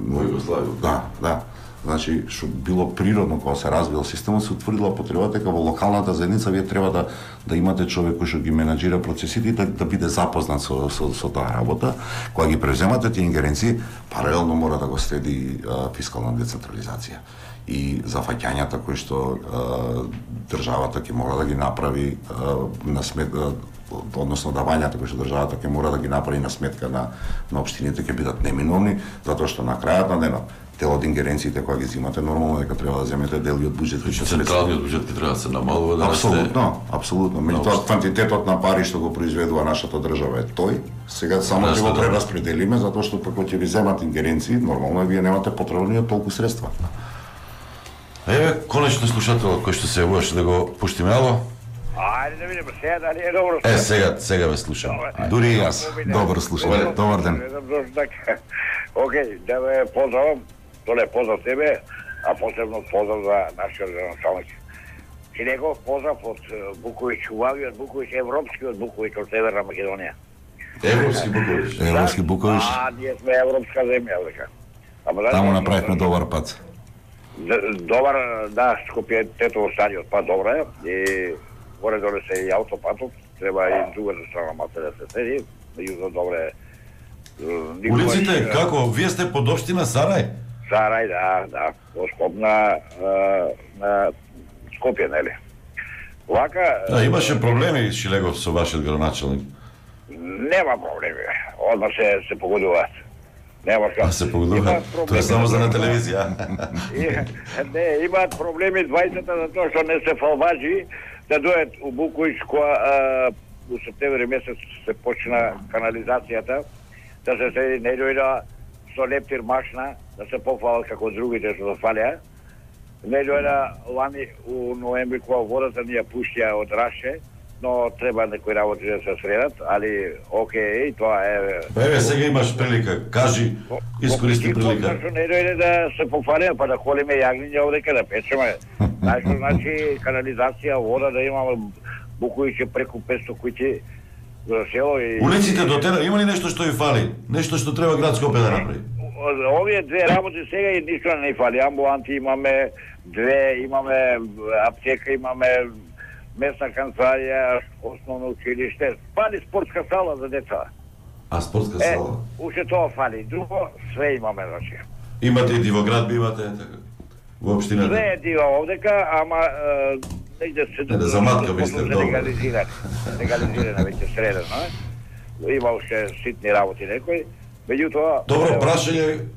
во Југославија. Да. Значи, што било природно кога се развил системот, се утврдила потребата дека во локалната заедница вие треба да имате човек кој што ги менаџира процесите и да биде запознат со таа работа. Кога ги превземате тие ингеренции, паралелно мора да го следи фискална децентрализација и зафаќањата кои што државата ќе мора да ги направи на сметка, односно давањата кои што државата ќе мора да ги направи на сметка на општините ќе бидат неминовни, затоа што на крајот на денот дел од ингеренциите кои ги земате нормално дека треба да земете дел и од буџетот. Централниот буџет ќе треба да се намалува да Апсолутно. Меѓутоа квантитетот на пари што го произведува нашата држава е тој. Сега само ќе го прераспределиме затоа што како ќе ви земат ингеренции, нормално вие немате потребни толку средства. Еве, конечно слушателот кој што се јавуваше да го пуштиме, ало? Ајде да видиме сега дали е добро. Сега ве слушам. Дури и јас. Добро слушам. Добар ден. Океј, да ве поздравам. Толе поздрав тебе, а посебно поздрав за нашиот градоначалник. Шилегов, поздрав од Буковиќ, убавиот Буковиќ, европскиот Буковиќ од Северна Македонија. Европски Буковиќ. Европски Буковиќ. Ние сме европска земја, дека. Таму направивме добар пат. Добар, да, Скопје Тетово стадиот, па добро е. И горе доле се и аутопатот, треба и другата страна маса да се седи, меѓутоа добре. Улиците, како? Вие сте под општина Сарај? Сарај, да, во Скоп на Скопје, нели? Вака... Да, имаше проблеми, Шилегов, со вашиот градоначалник? Нема проблеми, одма се погодуваат. Нема што. Се погодуваат? Тоа е само за на телевизија. Не, имаат проблеми двајцата за тоа што не се фалбажи, да дојат у Буковиќ која у септември месец се почна канализацијата, да се седи не дојда со лептир машна, да се пофалат како другите што зафалеа. Не дојда лани у ноември кога водата ни ја пуштија од Раше, но треба некои работи да се средат, али окей, тоа е... Еве, сега имаш прилика, кажи, искористи прилика. Не дојде да се пофалиме, па да холиме јагниња овдека, да печеме. Значи, канализација, вода да имаме Буковиќ преку 500 куќи за село и... Улиците до тера, има ли нешто што ви фали? Нешто што треба град Скопје да направи? Овие две работи сега и ништо не фали. Амбуланти имаме две, имаме аптека, имаме местна канцеларија, основно училиште. Фали спортска сала за деца. А спортска сала? Уште тоа фали. Друго, све имаме, значи. Имате и Дивоград, имате, така? Во општината? Све е дива овдека, ама негде се... Не, да заматка ви сте, добро. Легализирана веќе средено, има уште ситни работи некои. Меѓутоа... Добро, прашање...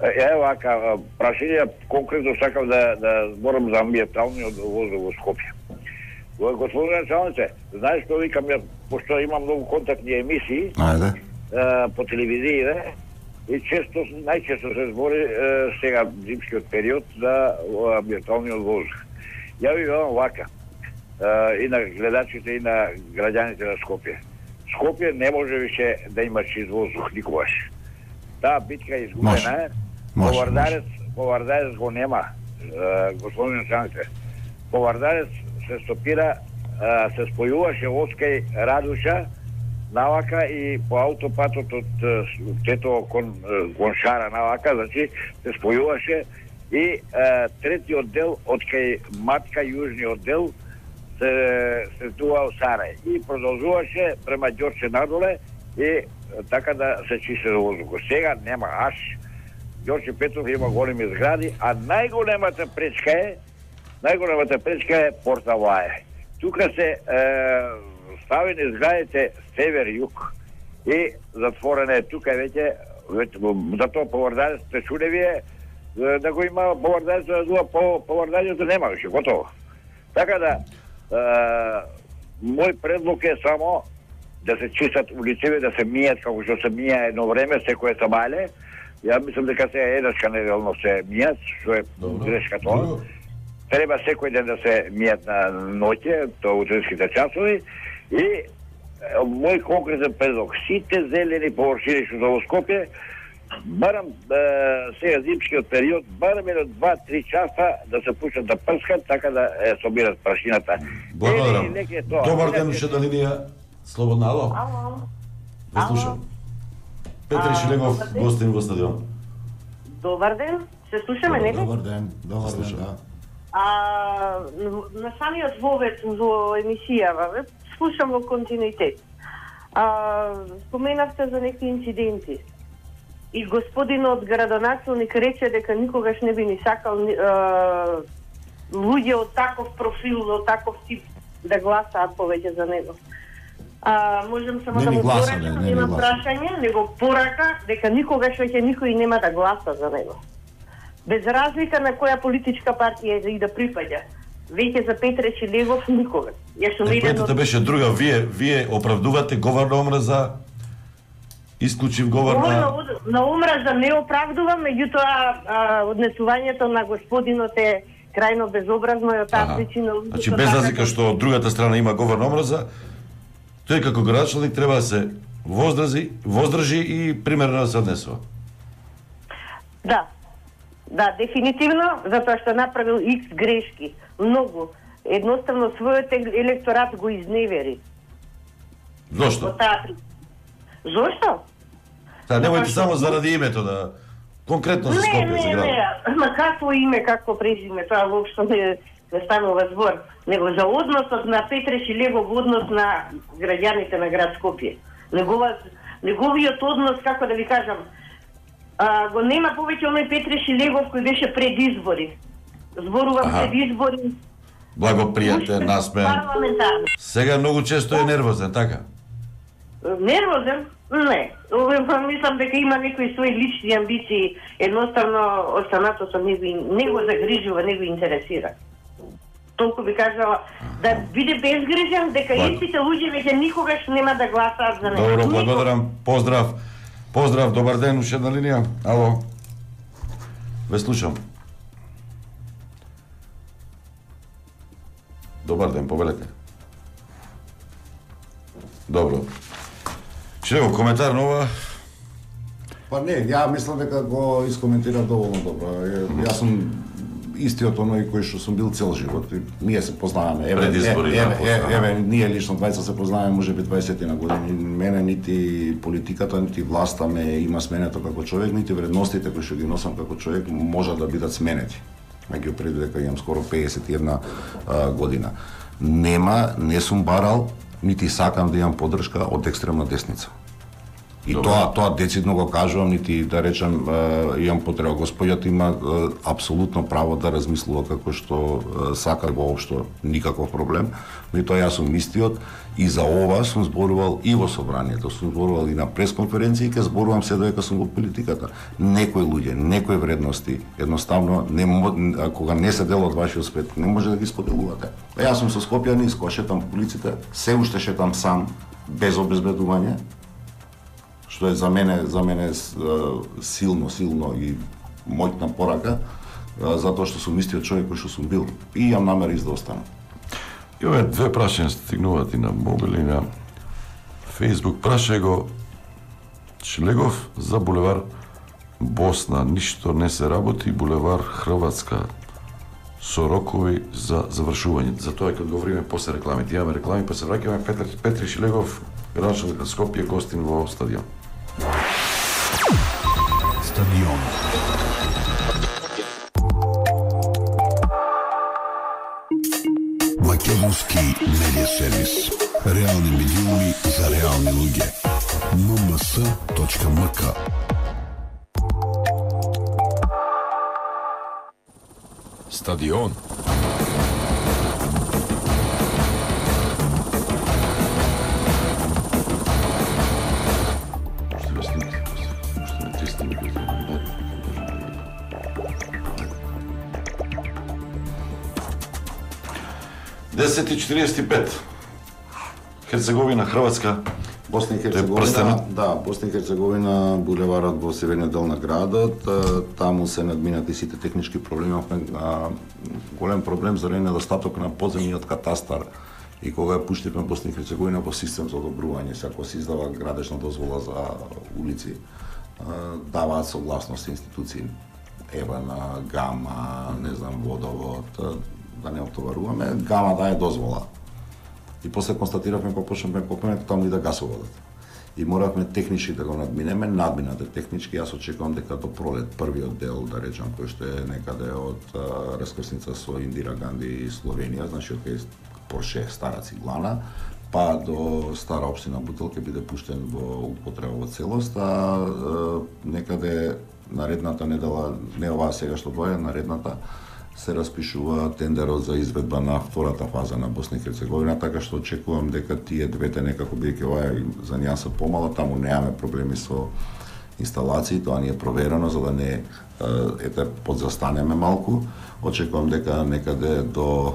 Ево вака, прашање конкретно сакам да зборам за амбиенталниот воздух во Скопје. Господин началнице, знаеш што викам, пошто имам многу контактни емисии по телевизија и најчесто се збори сега зимскиот период за амбиенталниот воздух. Ја ви велам вака, и на гледачите и на граѓаните на Скопје. Скопје не може више да има чист воздух никогаш. Таа битка е изгубена. Повардарец го нема, господин началнице. Повардарец се стопира, се спојуваше Оскај Радуша навака и по аутопатот од Тетово кон Гоншара навака, значи се спојуваше и третиот дел од кај Матка, јужниот дел, се туа Сарај и продолжуваше према Ѓорче надоле и така да се чисти воздухот. Сега нема аш. Ѓорче Петров има големи згради, а најголемата пречка е Порта Ваје. Тука се ставени зградите север-југ и затворене тука веќе затоа повардарец те чудевие да го има повардарец да дуа повардањето нема више, готово. Така да мој предлог е само да се чистат улиците, да се мијат како што се мија едно време секое сабале. Ја мислам дека се еднашка неделно се мијат, што е грешка тоа. Треба секој ден да се мијат на ноќе, тоа утринските часови и мој конкретен предлог, сите зелени површини што во Скопје, барам сега зимскиот период, барам едно 2-3 часа да се пуштат да прскат, така да собират прашината. Благодарам. Добар ден, уште на линија. Слободна, ало? Ало. Ве слушам. Петри Шилегов, гостин во стадион. Добар ден, Се слушаме, нели? Добар ден, да. На самиот вовед во емисијава, слушам во континуитет. Споменавте за некои инциденти. И господинот градоначалник рече дека никогаш не би ни сакал луѓе од таков профил, од таков тип да гласаат повеќе за него. Можем само да му поракам, нема прашање, него порака дека никогаш веќе никој нема да гласа за него. Без разлика на која политичка партија и да припаѓа. Веќе за Петре Шилегов никогаш. Поентата беше друга, вие оправдувате говор на омраза, исклучив говор на омраза не оправдувам, меѓутоа однесувањето на господинот е крајно безобразно и од таа причина. Значи без разлика што од другата страна има говор на омраза, тој како градоначалник треба да се воздржи и примерно да се однесува. Да, дефинитивно, затоа што направил X грешки, многу. Едноставно својот електорат го изневери. Зошто? Зошто? Немојте само заради името да конкретно за Скопје за град. Ма какво име, какво презиме, тоа воопшто не станува збор, него за односот на Петре Шилегов во однос на граѓаните на град Скопје. Неговиот однос, како да ви кажам, го нема повеќе оној Петре Шилегов кој беше пред избори. Зборувам пред избори. Благопријатен, насмеен. Сега многу често е нервозен, така? Нервозен? Не. Мислам дека има некои своји лични амбиции. Едноставно, останатото не го загрижува, не го интересира. Толку би кажала, да биде безгрижен, дека истите луѓе веќе никогаш нема да гласаат за него. Добро, благодарам. Поздрав, добар ден, уште една линија. Ало. Ве слушам. Добар ден, повелете. Добро. Шилегов, коментар на ова? Па не, ја мислам дека го искоментира доволно добро. Јас сум истиот оној кој што сум бил цел живот. Ние се познаваме. Еве, ние лично двајца се познаваме можеби 20 на години. Мене нити политиката, нити власта ме има сменето како човек, нити вредностите кои што ги носам како човек можат да бидат сменети. Меѓу пред дека имам скоро 51 година. Не сум барал, нити сакам да имам поддршка од екстремна десница. И тоа децидно го кажувам, нити да речам имам потреба. Господјата има апсолутно право да размислува како што сака, воопшто никаков проблем. Меѓутоа јас сум истиот и за ова сум зборувал и во собранието, сум зборувал и на пресконференции, ќе зборувам се додека сум во политиката. Некои луѓе, некои вредности, едноставно кога не се дел од вашиот свет, не може да ги споделувате. Јас сум со Скопјани, шетам по улиците, се уште шетам сам, без обезбедување, што е за мене силно и моќна порака, затоа што сум истиот човек кој што сум бил и имам намера да останам. И овие две прашања стигнуваат и на мобил и на Facebook. Прашај го Шилегов за булевар Босна. Ништо не се работи, булевар Хрватска со рокови за завршување. Затоа кога говориме после рекламите, имаме реклами, па се враќаме. Петри Шилегов, градоначалник на Скопје, гостин во стадион. Стадион. Македонски медиа сервис. Реални медиуми за реални луѓе. mms.mk. Стадион. Десет и 45. Херцеговина, Хрватска. Босна и Херцеговина, Босна и Херцеговина, булеварот во северниот дел на градот, таму се надминати сите технички проблеми, голем проблем заради недостаток на подземниот катастар. И кога ја пуштивме Босна и Херцеговина во систем за одобрување, ако се издава градежна дозвола за улици, даваат согласност институции, ЕВН, ГАМА, не знам, Водовод, да не отоваруваме, ГАМА дае дозвола. И после констатиравме, па почнавме копнеме, таму и да гасоводот. и моравме технички да го надминеме, надминате технички, јас очекувам дека до пролет првиот дел, да речам, кој што е некаде од раскрсница со Индира Ганди и Словенија, значи од Порше Стара Циглана, па до Стара општина Бутел ќе биде пуштен во употреба во целост, а некаде наредната недела, не оваа сега што доаѓа, наредната, се распишува тендерот за изведба на втората фаза на Босна и Херцеговина, така што очекувам дека тие двете некако бидејќи оваа за нијанса помала, таму немаме проблеми со инсталации, тоа ни е проверено за да не подзастанеме малку. Очекувам дека некаде до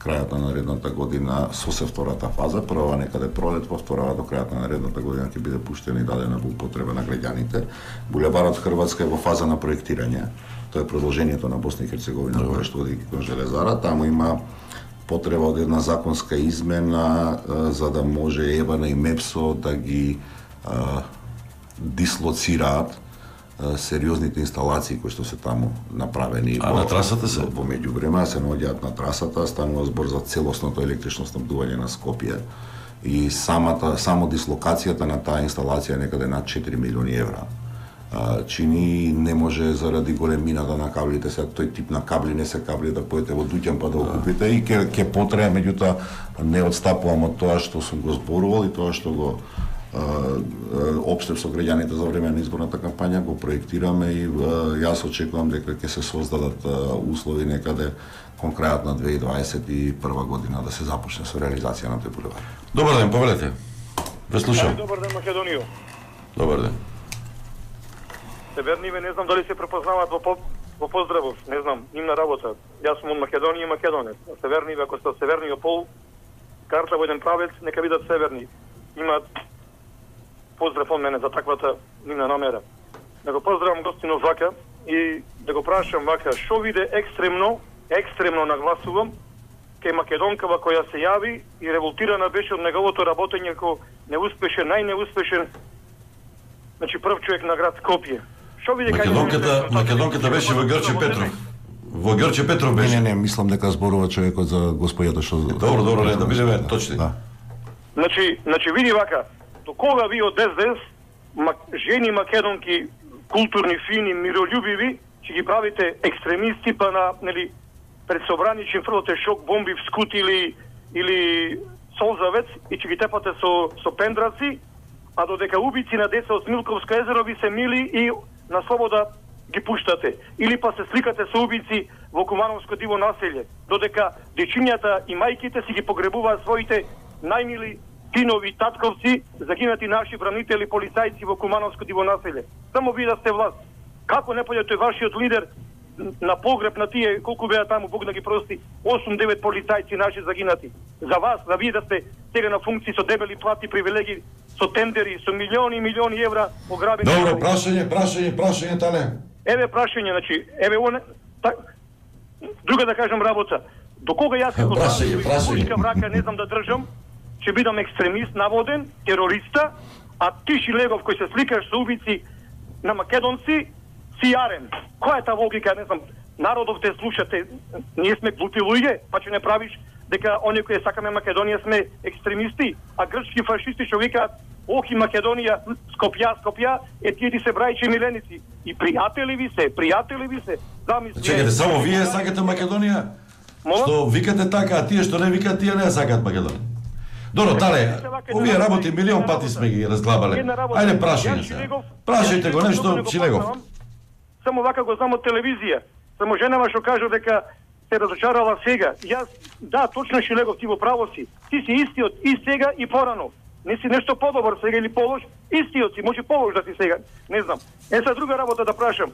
крајот на наредната година со се втората фаза, прва некаде пролет, во втората до крајот на наредната година ќе биде пуштена и дадена во употреба на граѓаните. Булеварот Хрватска е во фаза на проектирање. Тоа е продолжението на Босна и Херцеговина, која што оди кон железара. Таму има потреба од една законска измена за да може ЕБАН и МЕПСО да ги дислоцираат сериозните инсталации кои што се таму направени. На трасата се? Во меѓувреме се наоѓаат на трасата, станува збор за целосното електрично снабдување на Скопје и само дислокацијата на таа инсталација е некаде над 4 милиони евра. Чини не може заради големината на каблите, сега тој тип на кабли не се кабли да поете во Дуќан па да го купите и ќе потребе, меѓутоа не отстапувам од тоа што сум го зборувал и тоа што го општев со граѓаните за време на изборната кампања, го проектираме и јас очекувам дека ќе се создадат услови некаде кон крајот на 2021 година да се започне со реализација на тој булевар. Добар ден, повелете. Ве слушам. Добар ден, Македонија. Добар ден. Северниве, не знам дали се препознаваат во поздравов, не знам, нивна работа. Јас сум од Македонија и македонец. Северниве, ако сте од северниот пол, карта во еден правец, нека бидат северни. Имаат поздрав од мене за таквата нивна намера. Да го поздравам гостинов вака и да го прашам вака, што виде екстремно нагласувам, кај македонкава која се јави и револтирана беше од неговото работење како неуспешен, најнеуспешен, значи прв човек на град Скопје. Што виде Македонката беше во Ѓорче Петров. Во Ѓорче Петров беше. Не, мислам дека зборува човекот за господјата што... Добро, да бидеме точни. Значи види вака, до кога ви од СДС, жени македонки, културни, фини, миролюбиви, ќе ги правите екстремисти, па на, нели, пред собрани ќе фрлате шок бомби в Скут или Солзавец и ќе ги тепате со пендраци, а додека убици на деца од Смилковско езеро ви се мили и на слобода ги пуштате. Или па се сликате со убици во Кумановско диво населје, додека дечињата и мајките си ги погребуваат своите најмили синови, татковци, загинати наши бранители, полицајци во Кумановско диво населје. Само ви да сте власт. Како не појде тој вашиот лидер на погреб на тие, колку беа таму, Бог да ги прости, 8-9 полицајци наши загинати. За вас, да вие да сте сега на функции со дебели плати, привилегии, со тендери, со милиони и милиони евра ограбени. Добро, прашање, Тане. Еве прашање, значи, друга да кажам работа. До кога јас како прашање врака не знам да држам, ќе бидам екстремист, наводен, терориста, а ти Шилегов кој се сликаш со убици на македонци, си јарен. Која е таа логика, не знам, народов те слушате, ние сме глупи луѓе, па ќе не правиш дека оние кои сакаме Македонија сме екстремисти, а грчки фашисти што викаат ох и Македонија, Скопја, тие ти се брајчи миленици. И пријатели ви се, замисли. Чекайте, само вие сакате Македонија? Што викате така, а тие што не викаат, тие не сакаат Македонија. Добро, Тале, овие работи милион пати сме ги разглабале. Ајде прашање се. Прашајте го нешто, Шилегов. Само вака го знам од телевизија. Само женава што кажа дека се разочарала сега. Јас, да, точно Шилегов, ти во право си. Ти си истиот и сега и порано. Не си нешто подобар сега или полош, истиот си, може полош да си сега. Не знам. Са друга работа да прашам.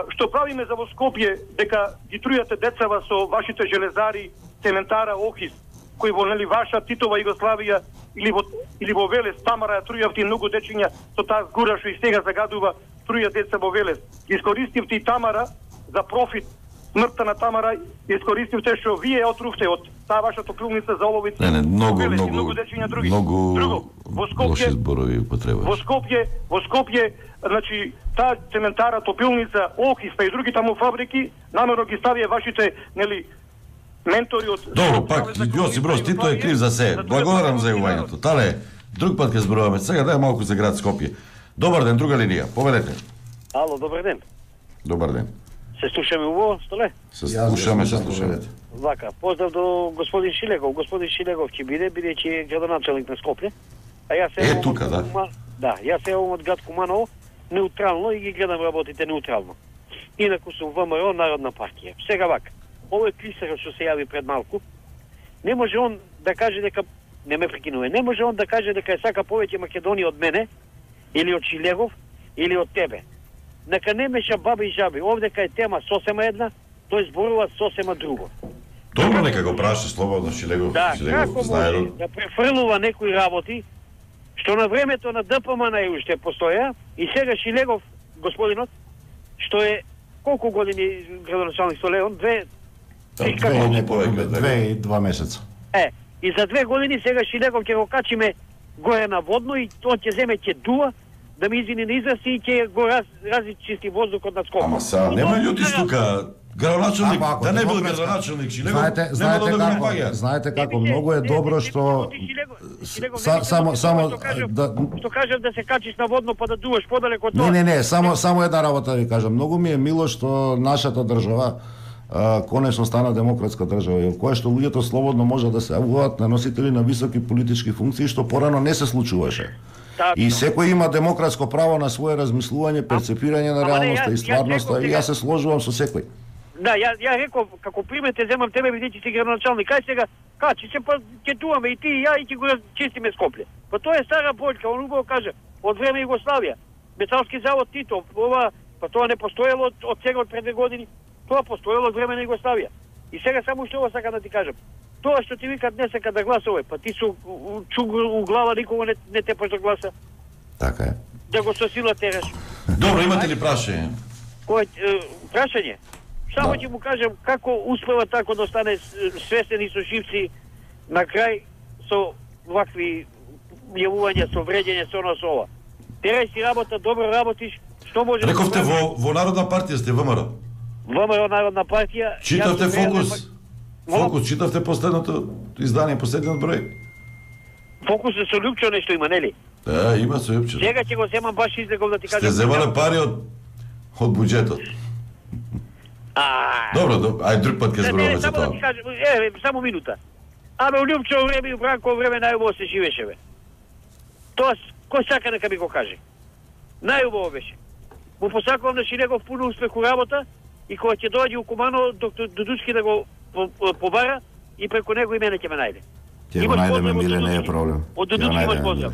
Што правиме за во Скопје дека ги трујате децава со вашите железари, цементара, Охис, кои во нели ваша Титова Југославија или во Велес, Тамара ја трујавте многу дечиња со таа згура што и сега загадува, труја деца во Велес. Искористивте и Тамара за профит, смртта на Тамара, искористивте што вие отрувте од таа ваша топлилница за оловица. Не, многу лоши зборови употребуваш. Во Скопје, значи, таа цементара, топилница, Охис, па и други таму фабрики, намерно ги ставија вашите, нели, ментори од... Добро, пак, Јосип Broz Тито е крив за се. Благодарам за јавувањето. Тале, Друг пат ќе зборуваме. Сега дај малку за град Скопје. Добар ден, друга линија. Повелете. Ало, добар ден. Добар ден. Се слушаме убаво, Столе? Се слушаме. Вака, поздрав до господин Шилегов. Господин Шилегов ќе биде, бидејќи е градоначалник на Скопје. А јас се тука, да. Да, јас се од град Куманово неутрално и ги гледам работите неутрално. Инаку сум ВМРО Народна партија. Сега вака, овој клисарот што се јави пред малку, не може он да каже дека не ме прекинува. Не може он да каже дека е сака повеќе Македонија од мене или од Шилегов или од тебе. Нека не меша баби и жаби. Овдека е тема сосема една, тој зборува сосема друго. Добро, нека го праша слободно Шилегов. Да, Шилегов како знае може да префрлува некои работи што на времето на ДПМН уште постоја и сега Шилегов, господинот, што е колку години градоначалник со Леон? 2 и 2 месеца. И за 2 години сега Шилегов ќе го качиме горе на водно и он ќе земе ќе дуа да ми извини на израз и ќе го разчисти воздухот над Скопје. Ама са, нема људи тука. Градоначалник, да не бил градоначалник Шилегов, нема да го напаѓа. Знаете како многу е добро што само што кажав да се качиш на водно па да дуаш подалеку од тоа. Не, само една работа ви кажам. Многу ми е мило што нашата држава конечно стана демократска држава, во која што луѓето слободно може да се јавуваат на носители на високи политички функции, што порано не се случуваше. И секој има демократско право на свое размислување, перцепирање на реалноста и стварноста, и јас се сложувам со секој. Да, ја реков, како пример те земам тебе, бидејќи си градоначалник, кај сега, качи се, па ќе дуаме и ти и ја и ќе го чистиме Скопје. Па тоа е стара бољка, он убаво каже, од време Југославија, металски завод Тито, ова, па тоа не постоело од сега од пред 2 години, тоа постоело од време на Југославија. И сега само што ова сака да ти кажам. Тоа што ти викат не сака да гласува, па ти со чугур у глава никога не тепаш да гласа. Така е. Да го со сила тераш. Добро, имате ли прашање? Прашање? Само ќе му кажам како успева тако да стане свестен и со живци на крај со вакви јавувања, со вреđење, со ова. Терај си работа, добро работиш, што може... Рековте во Народна партија сте, ВМРО? ВМРО Народна партија... Читавте Фокус? Фокус, читавте последното издание, последниот број? Фокус е со Лјупчо нешто има, нели? Да, има со Лјупчо. Сега ќе го земам баш излегов да ти кажам... Сте земале пари од буџетот. Добро, ај друг пат ќе зборуваме за тоа. Само минута. Абе, у Лјупчо време и у Бранко време најубаво се живеше, бе. Тоа, кој сака нека ми го каже. Најубаво беше. Му посакувам на Шилегов пуно успех у работа и кога ќе дојде у Куманово, доктор Дудуцки да го побара и преку него и мене ќе ме најде. Ќе го најдеме, миле, не е проблем. Од Дудуцки имаш поздрав.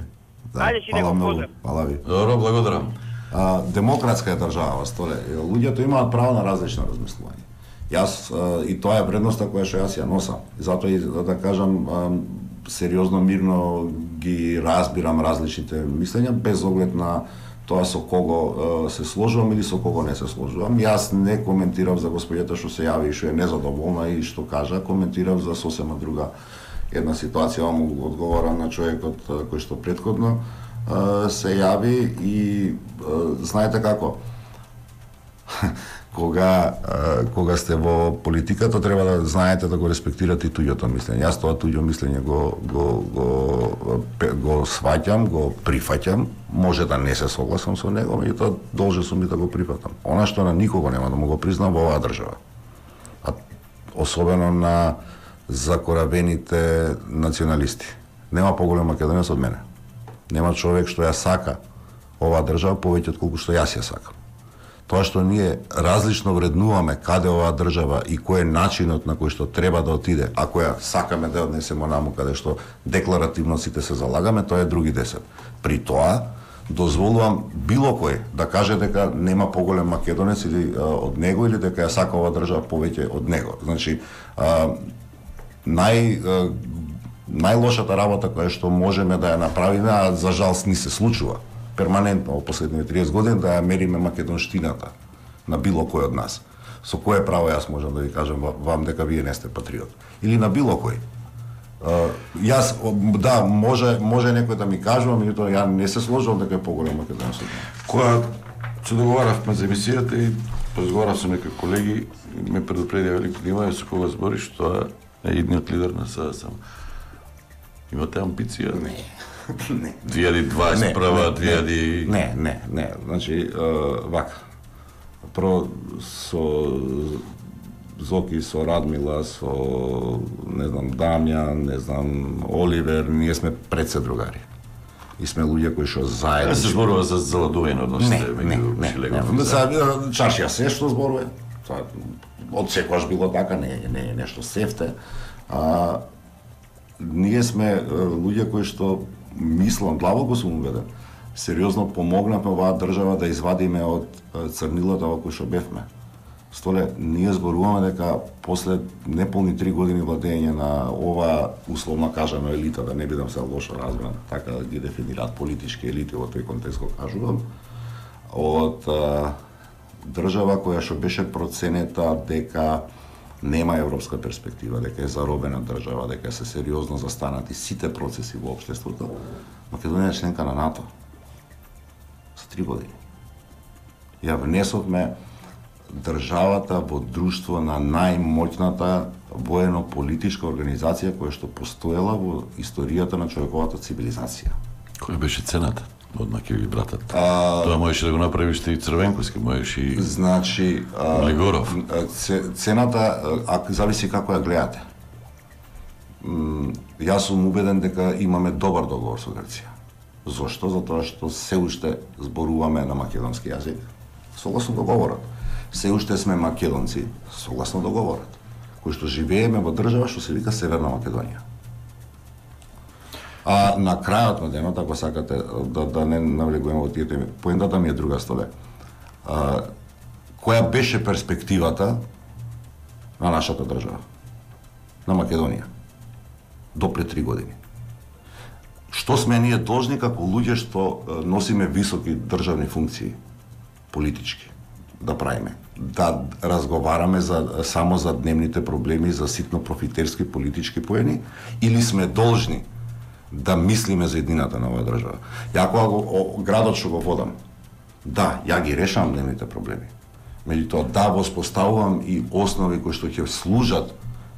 Ајде Шилегов, поздрав. Фала ви. Добро, благодарам. Демократска е држава, Столе. Луѓето имаат право на различно размислување. Јас и тоа е вредноста која што јас ја носам. Затоа и да кажам сериозно, мирно ги разбирам различните мислења без оглед на тоа со кого се сложувам или со кого не се сложувам. Јас не коментирав за господјата што се јави и што е незадоволна и што кажа, коментирав за сосема друга една ситуација, му одговорам на човекот кој што претходно се јави и знаете како кога сте во политиката треба да знаете да го респектирате и туѓото мислење. Јас тоа туѓо мислење го сваќам, го прифаќам, може да не се согласам со него, меѓутоа должен сум и да го прифатам. Она што на никого нема да му го признам во оваа држава. А особено на закоравените националисти. Нема поголем македонец од мене. Нема човек што ја сака оваа држава повеќе од колку што јас ја сакам. Тоа што ние различно вреднуваме каде оваа држава и кој е начинот на кој што треба да отиде, ако ја сакаме да однесеме наму каде што декларативно сите се залагаме, тоа е други 10. При тоа дозволувам било кој да каже дека нема поголем македонец или од него или дека ја сака оваа држава повеќе од него. Значи најлошата работа која што можеме да ја направиме, а за жалост ни се случува перманентно во последните 30 години, да ја мериме македонштината на било кој од нас. Со кое право јас можам да ви кажам вам дека вие не сте патриот? Или на било кој? Јас, да, може некој да ми кажува, меѓутоа ја не се сложувам дека е поголем македонец од мене. Кога се договаравме за емисијата и разговарав со некои колеги, ме предупредија Велико Димаје со кога збориш, тоа е идниот лидер на СДСМ. Имате амбиција? Не. Не. 2021, 2000... Не. Значи, вака. Прво со Зоки, со Радмила, со, не знам, Дамјан, не знам, Оливер, ние сме предсе другари. И сме луѓе кои што заедно... се зборува за заладување односите меѓу Шилегов. Чашија се што зборува. Од секогаш било така, не е нешто сефте. Ние сме луѓе кои што мислам, длабоко сум убеден, сериозно помогнавме оваа држава да извадиме од црнилото во кој што бевме. Столе, ние зборуваме дека после неполни 3 години владење на ова условно кажано елита, да не бидам се лошо разбран, така да ги дефинираат политички елити во тој контекст го кажувам, од држава која што беше проценета дека нема европска перспектива, дека е заробена држава, дека се сериозно застанати сите процеси во општеството, Македонија е членка на НАТО. За 3 години. Ја внесовме државата во друштво на најмоќната воено-политичка организација која што постоела во историјата на човековата цивилизација. Која беше цената? Одма ќе ви братат. Тоа можеше да го направиш и Црвенковски, можеше и значи Лигоров. Цената зависи како ја гледате. Јас сум убеден дека имаме добар договор со Грција. Зошто? Затоа што се уште зборуваме на македонски јазик, согласно договорот. Се уште сме македонци, согласно договорот, кои што живееме во држава што се вика Северна Македонија. А на крајот на денот, ако сакате да не навлегуваме во тие теми, поентата ми е друга, Столе. Која беше перспективата на нашата држава? На Македонија? До пред 3 години. Што сме ние должни како луѓе што носиме високи државни функции, политички, да правиме? Да разговараме само за дневните проблеми, за ситно профитерски политички поени, или сме должни да мислиме за едината на оваа држава? Ја кога градот што го водам, да, ја ги решавам дневните проблеми. Меѓутоа, да, воспоставувам и основи кои што ќе служат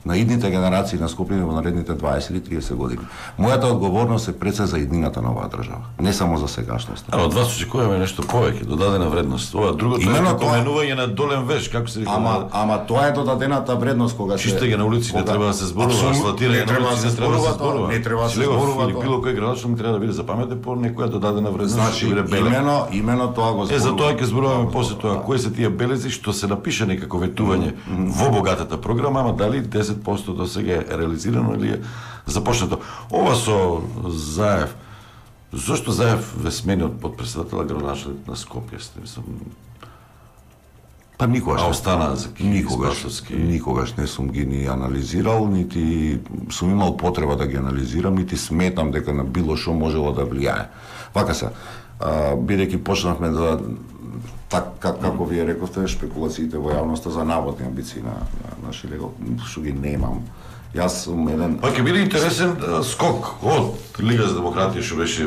на идните генерации на Скопје во наредните 20 или 30 години. Мојата одговорност е пред се за едината на оваа држава, не само за сегашноста. Од вас очекуваме нешто повеќе, додадена вредност. Ова другото е поменување на долен веш, како се вика. Ама тоа е додадената вредност кога се чистење на улици, не треба да се зборува, асфалтирање на улици, не треба да се зборува. Не треба да се зборува. Било кој градоначалник треба да биде запаметен по некоја додадена вредност. Значи, имено тоа го зборуваме. За тоа ќе зборуваме после тоа кои се тие белези што се напише некако ветување во богатата програма, ама дали 10% до сега е реализирано или е започнато. Ова со Заев, зошто Заев ве смени од подпредседател градоначалник на Скопје? Па никогаш остана за никогаш не сум ги ни анализирал, нити сум имал потреба да ги анализирам, нити сметам дека на било што можело да влијае. Вака се, бидејќи почнавме да како вие рековте, шпекулациите во јавноста за наводни амбиции на Шилегов, што ги немам. Јас сум еден... Па ќе биде интересен скок од Лига за демократија, што беше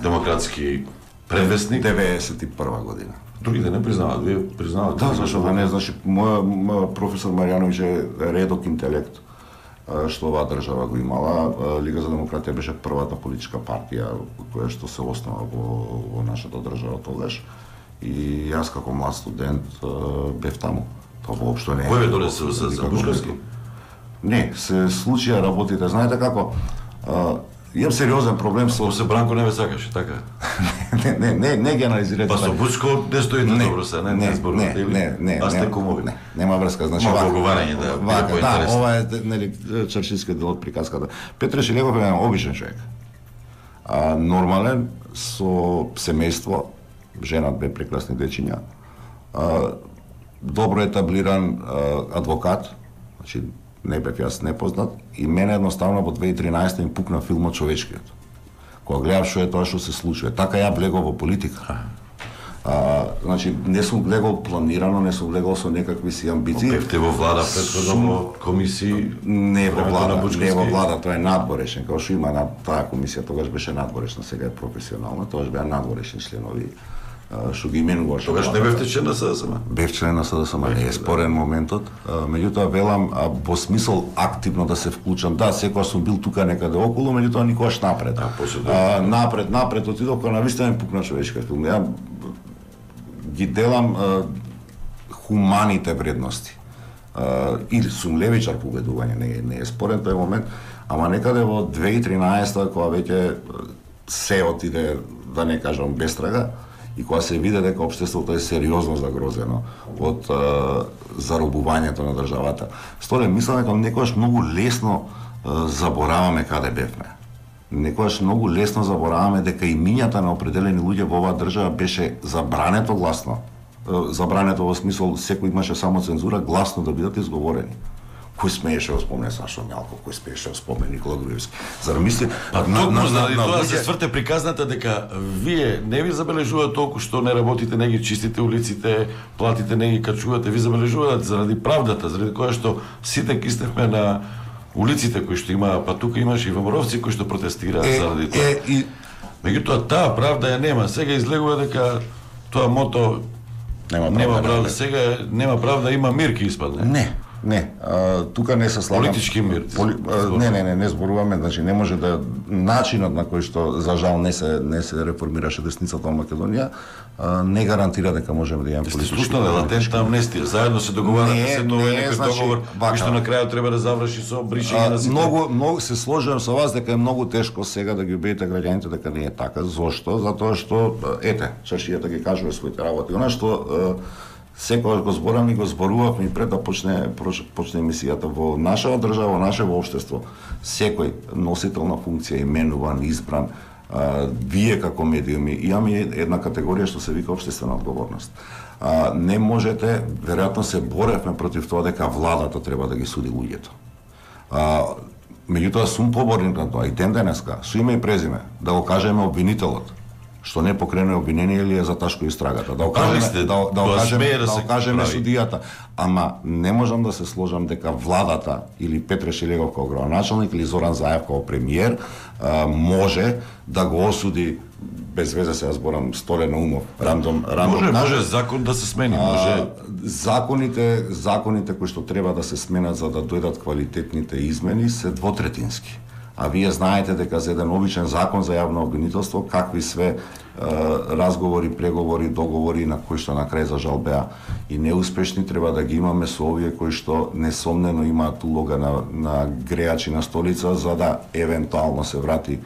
демократски предвестник. 91 година. Другите не признаваат, вие признавате? Да, зашто да не, значи, мој професор Маријановиќ е редок интелект, што оваа држава го имала. Лига за демократија беше првата политичка партија која што се основа во нашата држава тогаш. И јас како млад студент бев таму. Тоа воопшто не е. Кој ве донесе за Бушковски? Не, се случија работите. Знаете како, имам сериозен проблем со... Се Бранко не ве сакаше, така? Не ги анализирате. Па со Бучко не стоите добро се, не зборувате или? Не, а сте кумови. Нема врска, значи вака. Поговарање да биде поинтересно. Да, ова е нели чаршиски дел од приказката. Петре Шилегов е обичен човек. Нормален, со семејство, жена, две прекрасни дечиња, добро етаблиран адвокат, значи не бев јас непознат, и мене едноставно во 2013 им пукна филмот Човечкиот. Кога гледав што е тоа што се случува. Така ја влегов во политика. Значи, не сум влегол планирано, не сум влегол со некакви си амбиции. Бевте во влада претходно во комисии? Не во влада, тоа е надворешен, како што има таа комисија, тогаш беше надворешна, сега е професионална, тогаш беа надворешни членови. што ги именуваш. Тогаш не бевте член на СДСМ? Бев член на СДСМ, не е спорен моментот. Меѓутоа велам во смисол активно да се вклучам. Да, секогаш сум бил тука некаде околу, меѓутоа никогаш напред. Напред отидов кога навистина ми пукна човечка филм. Ја ги делам хуманите вредности. Или сум левичар по убедување, не е спорен тој момент, ама некаде во 2013 кога веќе се отиде, да не кажам бестрага, и кога се види дека општеството е сериозно загрозено од заробувањето на државата. Сторе, мислам дека некогаш многу лесно забораваме каде бевме. Некогаш многу лесно забораваме дека имињата на определени луѓе во оваа држава беше забрането гласно. Забрането во смисол секој имаше само цензура, гласно да бидат изговорени. Кој смееше да спомне Сашо Мјалков, кој смееше да спомне Никола Груевски. Зар мисли заради тоа се сврте приказната дека вие не ви забележуваат толку што не работите, не ги чистите улиците, платите не ги качувате, ви забележуваат заради правдата, заради која што сите кисневме на улиците кои што има, па тука имаше и ВМРО-вци кои што протестираат заради тоа. Меѓутоа таа правда ја нема. Сега излегува дека тоа мото нема правда. Сега нема правда, има мир ки испадне. Не, тука не се слагам. Политички мир. Не зборуваме, значи не може да начинот на кој што за жал не се реформираше десницата во Македонија не гарантира дека можеме да имаме политички. Слушнале латентна амнестија, заедно се договарате се тоа е некој договор, кој што на крајот треба да заврши со бришење на сите. Многу се сложувам со вас дека е многу тешко сега да ги убедите граѓаните дека не е така. Зошто? Затоа што чашијата ги кажува своите работи. Она што секогаш го зборам и го зборувавме и пред да почне емисијата во нашава држава, во нашето општество, секој носител на функција, именуван, избран, вие како медиуми, имаме една категорија што се вика општествена одговорност. Не можете, веројатно се боревме против тоа дека владата треба да ги суди луѓето. Меѓутоа сум поборник на тоа и ден денеска, со име и презиме, да го кажеме обвинителот, што не покрене обвинение или е заташко истрагата. Да окажеме судијата. Ама не можам да се сложам дека владата или Петре Шилегов како градоначалник или Зоран Заев како премиер може да го осуди без везе се зборам Столе Наумов, рандом може закон да се смени, може законите кои што треба да се сменат за да дојдат квалитетните измени се двотретински. А вие знаете дека за еден обичен закон за јавно обвинителство, какви све разговори, преговори, договори на кои што на крај за жал беа и неуспешни, треба да ги имаме со овие кои што несомнено имаат улога на греачи на столица за да евентуално се врати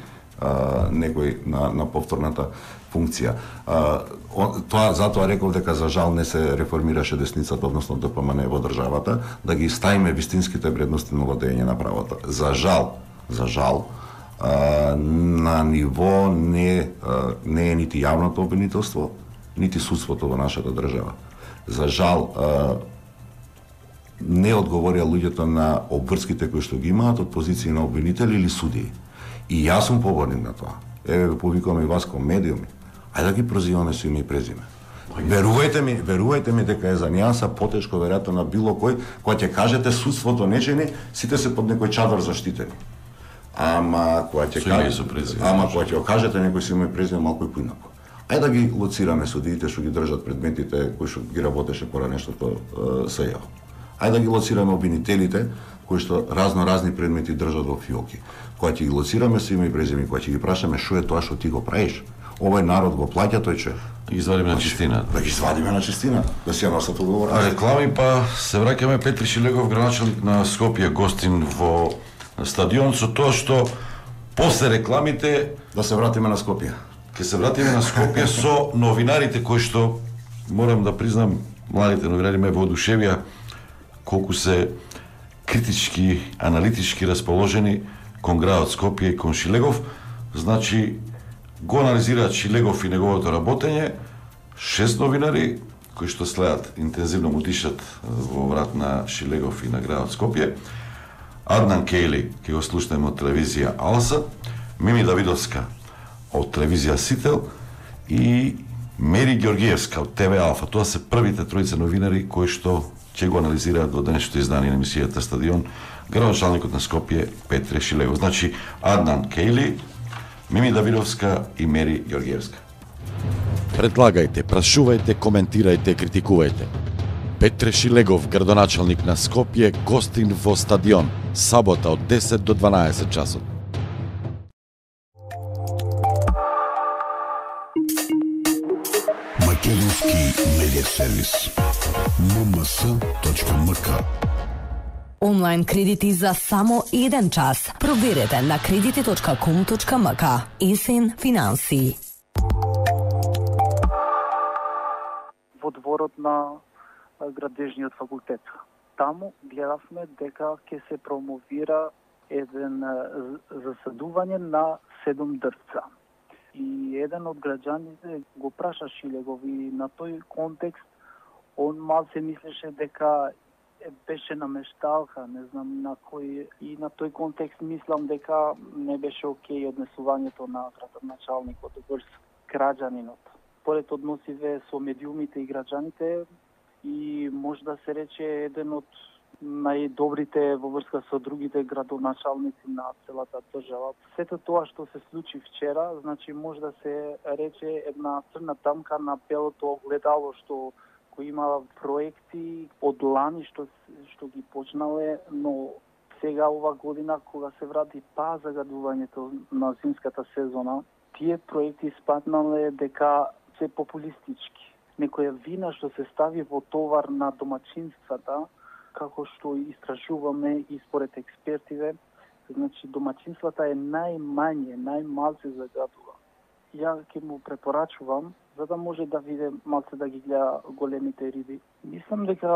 некој на повторната функција. Тоа затоа реков дека за жал не се реформираше десницата, односно ДПМН во државата, да ги ставиме вистинските вредности на владење на правото. За жал, на ниво не е нити јавното обвинителство, нити судството во нашата држава. За жал, не одговорија луѓето на обврските кои што ги имаат од позиции на обвинители или судии. И јас сум поборник на тоа. Еве повикувам и вас како медиуми. Ајде да ги прозиваме со име и презиме. Верувајте ми дека е за нијанса потешко веројатно на било кој, кога ќе кажете судството не чини, сите се под некој чадар заштитени. Ама кога ќе кажете некој со име и презиме малку и поинаку. Ајде да ги лоцираме судиите што ги држат предметите кои што ги работеше порано што СЈО. Ајде да ги лоцираме обвинителите кои што разни предмети држат во фиоки. Кога ќе ги лоцираме со име и презиме, кога ќе ги прашаме што е тоа што ти го правиш, овој народ го плаќа, тој че да ги извадиме на чистина. Да ги извадиме на чистина, да си ја носат одговорност. А реклами па се враќаме. Петри Шилегов, градоначалник на Скопје, гостин во стадион, со тоа што после рекламите да се вратиме на Скопје. Ќе се вратиме на Скопје со новинарите кои што морам да признам, младите новинари ме воодушевија колку се критички, аналитички расположени кон градот Скопје и кон Шилегов. Значи го анализираат Шилегов и неговото работење, 6 новинари кои што следат интензивно му дишат во врат на Шилегов и на градот Скопје. Аднан Кейли, ќе го слушнеме од телевизија Алса, Мими Давидовска од телевизија Сител и Мери Ѓоргиевска од ТВ Алфа. Тоа се првите тројца новинари кои што ќе го анализираат во денешното издание на емисијата Стадион градоначалникот на Скопје Петре Шилегов. Значи Аднан Кейли, Мими Давидовска и Мери Ѓоргиевска. Предлагајте, прашувајте, коментирајте, критикувајте. Петре Шилегов, градоначалник на Скопје, гостин во стадион, сабота од 10 до 12 часот. Македонски медиа сервис. mms.mk. Онлайн кредити за само 1 час. Проверете на кредити.com.mk. ИСИН финансии. Во дворот на градежниот факултет. Таму гледавме дека ќе се промовира еден засадување на 7 дрвца. И еден од граѓаните го праша Шилегов и на тој контекст он малце мислеше дека беше намешталка, не знам на кој, и на тој контекст мислам дека не беше окей однесувањето на градоначалникот врз граѓанинот. Поред односиве со медиумите и граѓаните и може да се рече еден од најдобрите во врска со другите градоначалници на целата држава. Сето тоа што се случи вчера, значи може да се рече една црна тамка на белото огледало што кој има проекти од лани што ги почнале, но сега ова година кога се врати загадувањето на зимската сезона, тие проекти спаднале дека се популистички. Некоја вина што се стави во товар на домаќинствата, како што истражуваме и според експертиве, значи домаќинствата е најмалце загадува. Ја ќе му препорачувам за да може да види малце да ги гледа големите риби. Мислам дека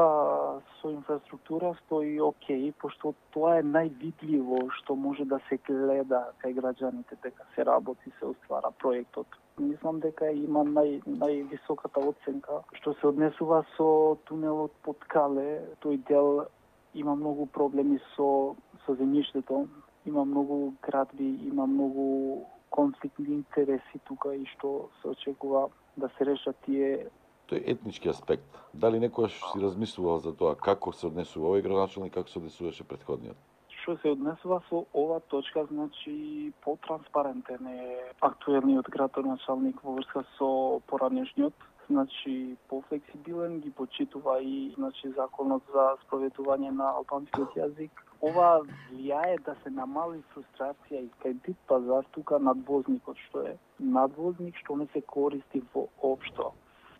со инфраструктура стои окей, пошто тоа е највидливо што може да се гледа кај граѓаните дека се работи, се оствара проектот. Мислам дека има највисоката оценка што се однесува со тунелот под Кале. Тој дел има многу проблеми со земјиштето, има многу градби, има многу конфликтни интереси тука и што се очекува да се решат тие. Тој етнички аспект. Дали некојаш си размислувал за тоа како се однесува овој градоначалник, како се однесуваше претходниот? Што се однесува со ова точка, значи потранспарентен е актуелниот градоначалник во врска со поранешниот, значи пофлексибилен, ги почитува и значи законот за спроведување на албанскиот јазик. Ова влијае да се намали фрустрација и кај бит пазар тука надвозникот што е надвозник што не се користи воопшто.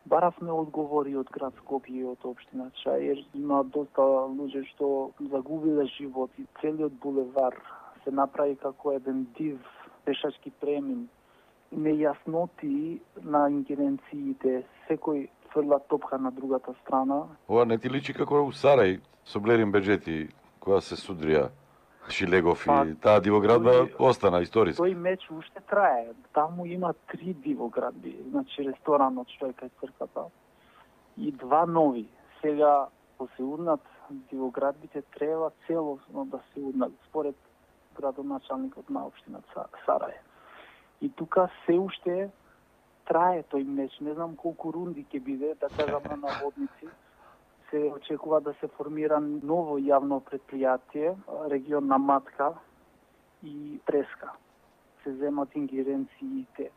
Баравме одговори од град Скопје и од општина Чаир. Има доста луѓе што загубиле живот и целиот булевар се направи како еден див пешачки премин. Нејасноти на ингеренциите, секој фрла топка на другата страна. Ова не ти личи како у Сарај со Блерин Беџети кога се судрија Шилегов и таа дивоградба остана историска. Тој меч уште трае. Таму има 3 дивоградби, значи ресторанот што е кај црквата и 2 нови. Сега ако се урнат дивоградбите треба целосно да се урнат според градоначалникот на општина Сарај. И тука се уште трае тој меч. Не знам колку рунди ќе биде, да кажам на наводници. Се очекува да се формира ново јавно предпријатие, регион на Матка и Преска. Се земат ингеренциите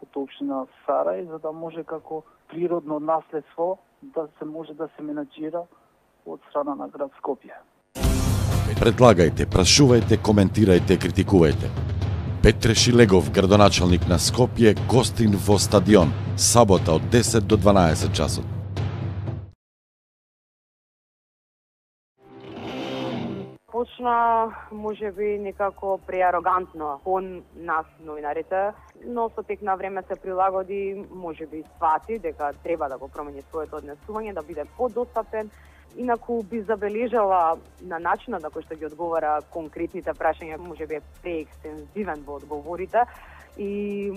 од општина Сарај, за да може како природно наследство да се може да се менаџира од страна на град Скопје. Предлагајте, прашувајте, коментирајте, критикувајте. Петре Шилегов, градоначалник на Скопје, гостин во стадион, сабота од 10 до 12 часот. Почна, може би, некако преарогантно кон нас, новинарите, но со тек на време се прилагоди, може би свати дека треба да го промени своето однесување, да биде подостапен. Инаку би забележала на начинот на кој што ги одговара конкретните прашања, може би е преекстензивен во одговорите и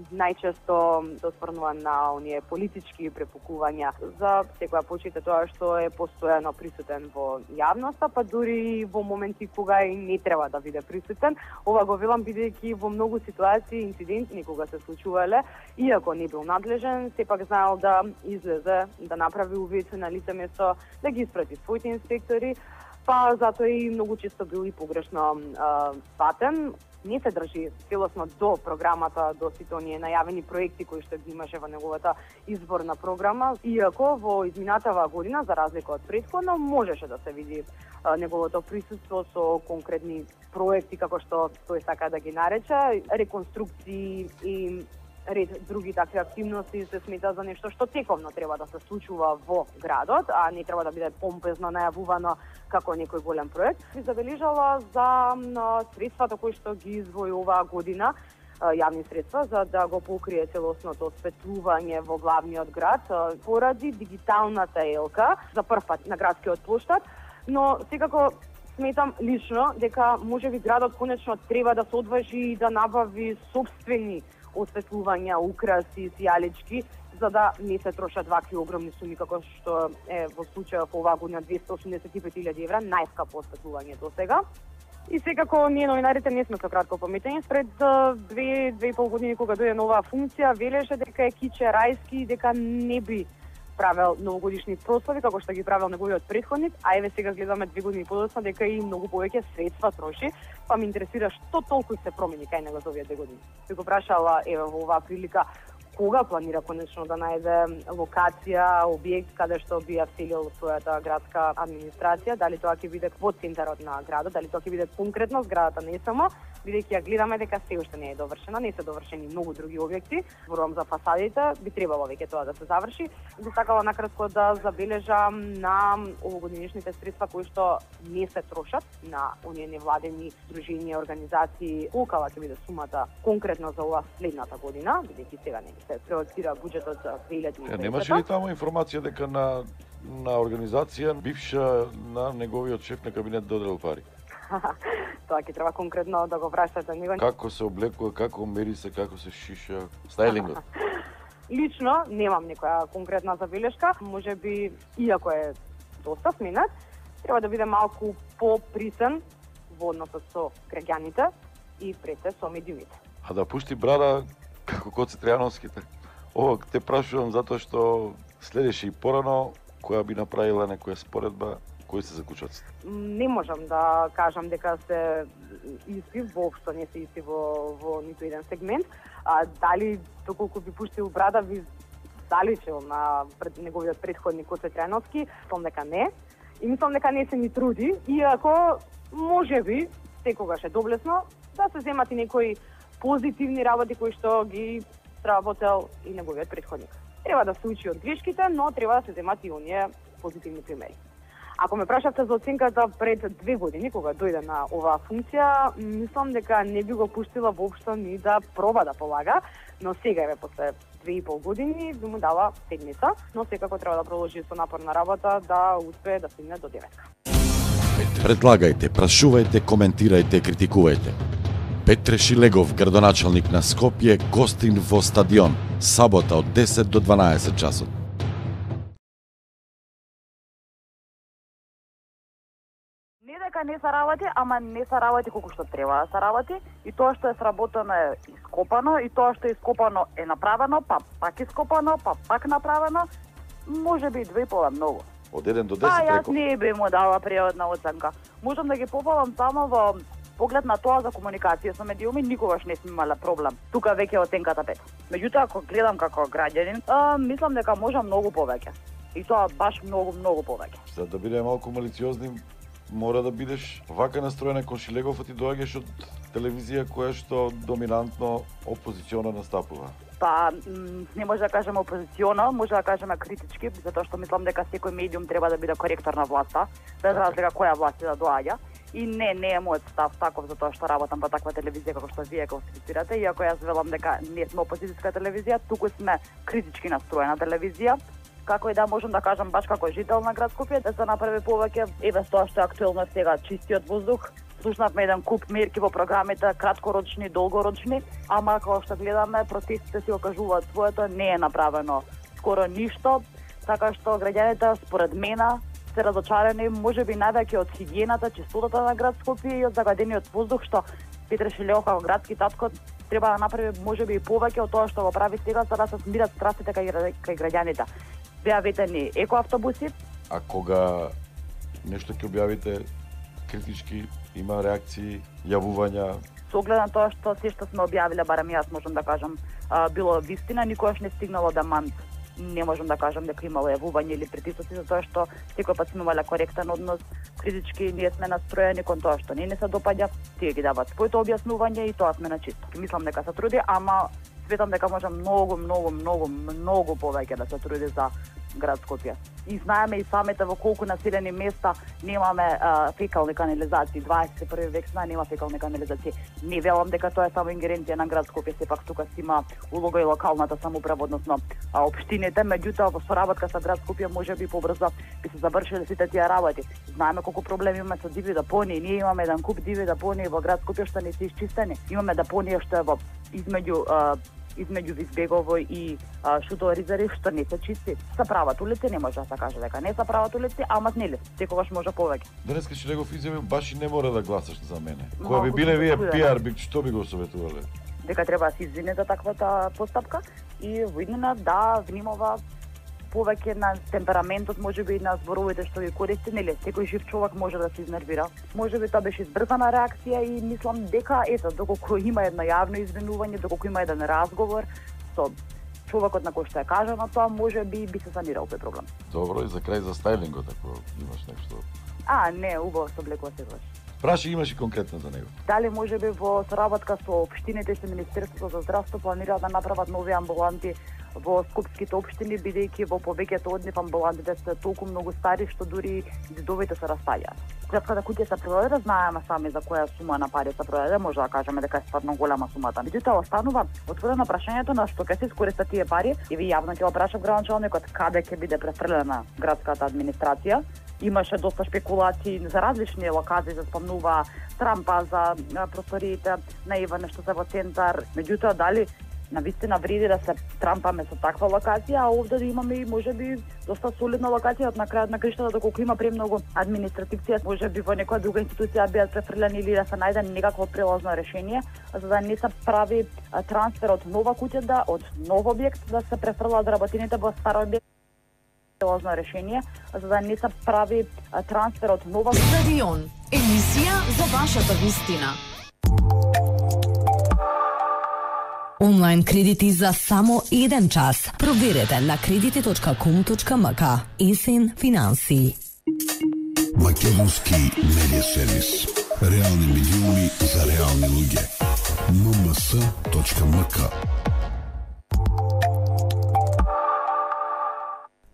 најчесто се осврнува на оние политички препукувања за секоја почита тоа што е постојано присутен во јавноста, па дури во моменти кога и не треба да биде присутен. Ова го велам бидејќи во многу ситуации инциденти кога се случувале, иако не бил надлежен, сепак знаел да излезе, да направи увид на лице место, да ги испрати своите инспектори, па затоа и многу често бил и погрешно сватен. Не се држи целосно до програмата, до сите оние најавени проекти кои што ги имаше во неговата изборна програма, иако во изминатава година, за разлика од претходно, можеше да се види неговото присуство со конкретни проекти, како што тој сака да ги нарече, реконструкции и ред други такви активности се смета за нешто што тековно треба да се случува во градот, а не треба да биде помпезно најавувано како некој голем проект. Би забележала за средствата кои што ги издвои оваа година, јавни средства, за да го покрие целосното осветлување во главниот град поради дигиталната елка за прв пат на градскиот плоштад, но секако сметам лично дека можеби градот конечно треба да се одважи и да набави собствени осветлувања, украси, сијалички, за да не се трошат вакви огромни суми како што е во случајот оваа година 285.000 евра, најскапо осветлување до сега. И секако ние новинарите не сме со кратко паметени. Пред 2,5 години кога дојде нова функција, велеше дека е киче рајски, дека не би правел новогодишни прослави како што ги правел неговиот претходник, а еве сега гледаме 2 години подоцна дека и многу повеќе средства троши, па ме интересира што толку се промени кај него за овие 2 години. Се го прашала еве во оваа прилика кога планира конечно да најде локација, објект каде што би ја вселил својата градска администрација, дали тоа ќе биде во центарот на градот, дали тоа ќе биде конкретно зградата не само, бидејќи ја гледаме дека се уште не е довршена, не се довршени многу други објекти, зборувам за фасадите, би требало веќе тоа да се заврши. Би сакала накратко да забележам на овогодинешните средства кои што не се трошат на оние невладени здруженија, организации, колкава ќе биде сумата конкретно за оваа следната година, бидејќи сега не се проектира буџетот за 2020. Немаше ли таму информација дека на организација бивша на неговиот шеф на кабинет доделил пари? Тоа ќе треба конкретно да го прашате него. Како се облекува, како мери се, како се шиша, стајлингот? Лично немам некоја конкретна забелешка, можеби иако е доста сменет, треба да биде малку поприсен во односот со граѓаните и пред се со медиумите. А да пушти брада како Коце Тријановските. Ова те прашувам затоа што следеше и порано која би направила некоја споредба. Кои се закучаците? Не можам да кажам дека се исти, воопшто не се исти во ниту еден сегмент. Дали доколку би пуштил брада би заличил на неговиот претходник Коце Тријановски, мислам дека не. И мислам дека не се ни труди, иако можеби секогаш е доблесно да се земат и некои позитивни работи кои што ги сработел и неговиот претходник. Треба да се учи од грешките, но треба да се земат и оние позитивни примери. Ако ме прашавте за оценката пред 2 години, кога дојде на оваа функција, мислам дека не би го пуштила воопшто ни да проба да полага, но сега еве после 2,5 години би му дала седмица, но секако треба да продолжи со напорна работа да успее да стигне до 9. Предлагајте, прашувајте, коментирајте, критикувајте. Петре Шилегов, градоначалник на Скопје, гостин во стадион, сабота од 10 до 12 часот. Дека не се работи, ама не се работи колку што треба да се работи, и тоа што е сработено е ископано, и тоа што е ископано е направено, па пак ископано, па пак направено, може би 2,5 многу. Од 1 до 10 Јас реков. не би му дала пријатна оценка. Можам да ги попалам само во поглед на тоа за комуникација со медиуми, никогаш не сме имале проблем. Тука веќе оценката 5. Меѓутоа, ако гледам како граѓанин, мислам дека можам многу повеќе. И тоа баш многу повеќе. За да биде малку малициозни, мора да бидеш вака настроена кон Шилегов, а ти доаѓаш од телевизија која што доминантно опозициона настапува. Па, не може да кажеме опозициона, може да кажеме критички, затоа што мислам дека секој медиум треба да биде коректор на власта, без разлика која власт да доаѓа. И не е мојот став таков затоа што работам по таква телевизија како што вие класифицирате, иако јас велам дека не сме опозицијска телевизија, туку сме критички настроена телевизија. Како и да можам да кажам баш како жител на град Скопје да се направи повеќе, еве тоа што е актуелно сега чистиот воздух. Слушнавме еден куп мерки во програмите, краткорочни, долгорочни, ама како што гледаме, протестите си окажуваат своето, не е направено скоро ништо, така што граѓаните според мене се разочарени, можеби највеќе од хигиената, чистотата на град Скопје и од загадениот воздух, што Петре Шилегов како градски татко треба да направи можеби и повеќе од тоа што го прави сега, за да се смират страстите кај граѓаните. Беа ветени екоавтобуси. А кога нешто ќе објавите критички, има реакции, јавувања? Со оглед на тоа што се што сме објавиле, барем јас можам да кажам, било вистина, никогаш не стигнало да манд. Не можам да кажам дека имало јавување или притисоци, затоа што секој пат сме имале коректен однос, критички, ние сме настроени кон тоа што не се допаѓа, тие ги дават своето објаснување и тоа сме на чисто. Мислам дека се труди, ама светам дека може многу повеќе да се труди за град Скопје. И знаеме и самите во колку населени места немаме фекални канализации. 21 век нема фекални канализации. Не велам дека тоа е само ингеренција на град Скопје, сепак тука си има улога и локалната самоуправа, односно општините, меѓутоа во соработка со град Скопје можеби побрзо би се завршиле сите тие работи. Знаеме колку проблеми имаме со диви депонии. Ние имаме еден куп диви депонии во град Скопје што не се исчистени. Имаме депонија што е во измеѓу Визбегово и Шудоризари што не се чисти. Се прават улици, не може да се каже дека не се прават улици, ама нели, секогаш може повеќе. Денеска Шилегов изјави баш и не мора да гласаш за мене. Кога би биле вие пиар, што би го советувале? Дека треба да се извине за таквата постапка и во иднина да внимава повеќе на темпераментот, можеби и на зборовите што ги користи, нели, секој жив човек може да се изнервира. Можеби тоа беше избрзана реакција и мислам дека ето доколку има едно јавно извинување, доколку има еден разговор со човекот на кој што е кажано тоа, можеби би се санирал тој проблем. Добро, и за крај за стајлингот, ако имаш нешто. Не, убаво се облекува секогаш. Праши имаш и конкретно за него. Дали можеби во соработка со општините и со Министерството за здравство планираат да направат нови амбуланти во скопските општини, бидејќи во повеќето од нив амбулантите се толку многу стари што дури зидовите се растаѓаат. Клетката куќа се продаде, знаеме сами за која сума на пари се продаде, може да кажеме дека е стварно голема сумата. Меѓутоа останува отворено прашањето на што ќе се искористат тие пари и ви јавно ќе го прашав градоначалникот каде ќе биде префрлена градската администрација. Имаше доста спекулации за различни локации, се спомнува трампа за просториите на Иване што се во центар. Меѓутоа дали навистина вреди да се трампаме со таква локација, а овде да имаме и можеби доста солидна локација од на крајот на криштата, доколку има премногу административција, можеби во некоја друга институција бидат префрлени или да се најде некакво прелазно решение, за да не се прави трансфер од нова куќа, од нов објект, да се префрлаат работините во стар објект. Прелазно решение, за да не се прави трансфер од нова Стадион. Емисија за вашата вистина. Онлайн кредити за само 1 час. Проверете на кредити.com.mk. Исин финансии. Македонски медиа сервис. Реални медиуми за реални луѓе. mms.mk.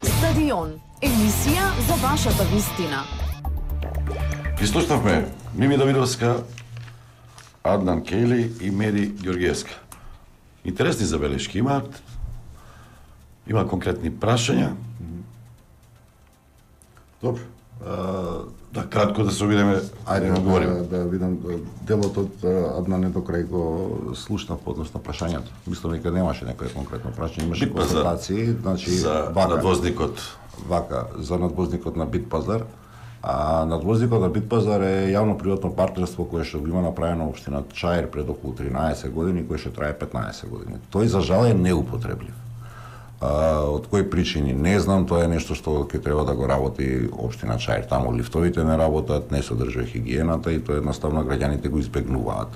Стадион. Емисија за вашата вистина. Ги слушнавме Мими Давидовска, Аднан Кейли и Мери Ѓоргиевска. Интересни забелешки имаат. Има конкретни прашања. Добро. Да, кратко да се обидеме, ајде да говориме. Да видам делот од Аднан до крај го слушнав поднос на прашањата. Мислам дека немаше некој конкретно прашање, имаше констатации, значи за надвозникот. Вака, за надвозникот на Битпазар. А надвозникот на Битпазар е јавно-приватно партнерство кое што го има направено општина Чаир пред околу 13 години, кое што трае 15 години. Тој за жал е неупотребљив. Од кои причини не знам, тоа е нешто што ќе треба да го работи општина Чаир. Таму лифтовите не работат, не се одржува хигиената и тоа едноставно граѓаните го избегнуваат.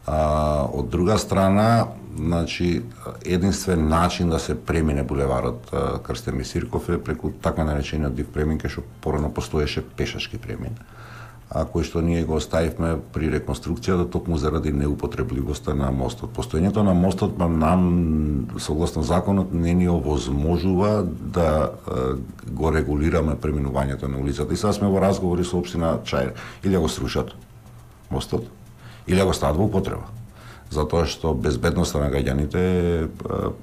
Од друга страна, значи единствен начин да се премине булеварот Крстен Мисирков е преку така наречениот див премин, кај што порано постоеше пешачки премин, кој што ние го оставивме при реконструкцијата токму заради неупотребливоста на мостот. Постоењето на мостот нам, согласно законот, не ни овозможува да го регулираме преминувањето на улицата. И сега сме во разговори со општина Чаир, или го срушат мостот, или го стават во употреба. Затоа што безбедноста на граѓаните е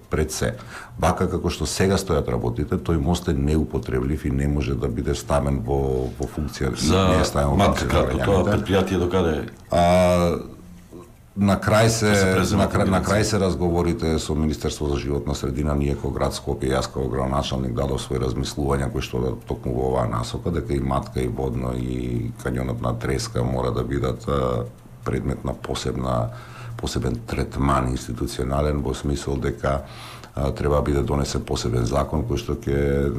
пред се. Вака како што сега стојат работите, тој мост е неупотреблив и не може да биде ставен во функција. За матката, тоа предпријатие докаде? На крај се разговорите со Министерство за животна средина, ние како град Скопје, јас како градоначалник дадов свои размислувања кои што токму во оваа насока, дека и Матка и Водно и кањонот на Треска мора да бидат предмет на посебен третман институционален, во смисол дека треба да биде донесен посебен закон кој што ќе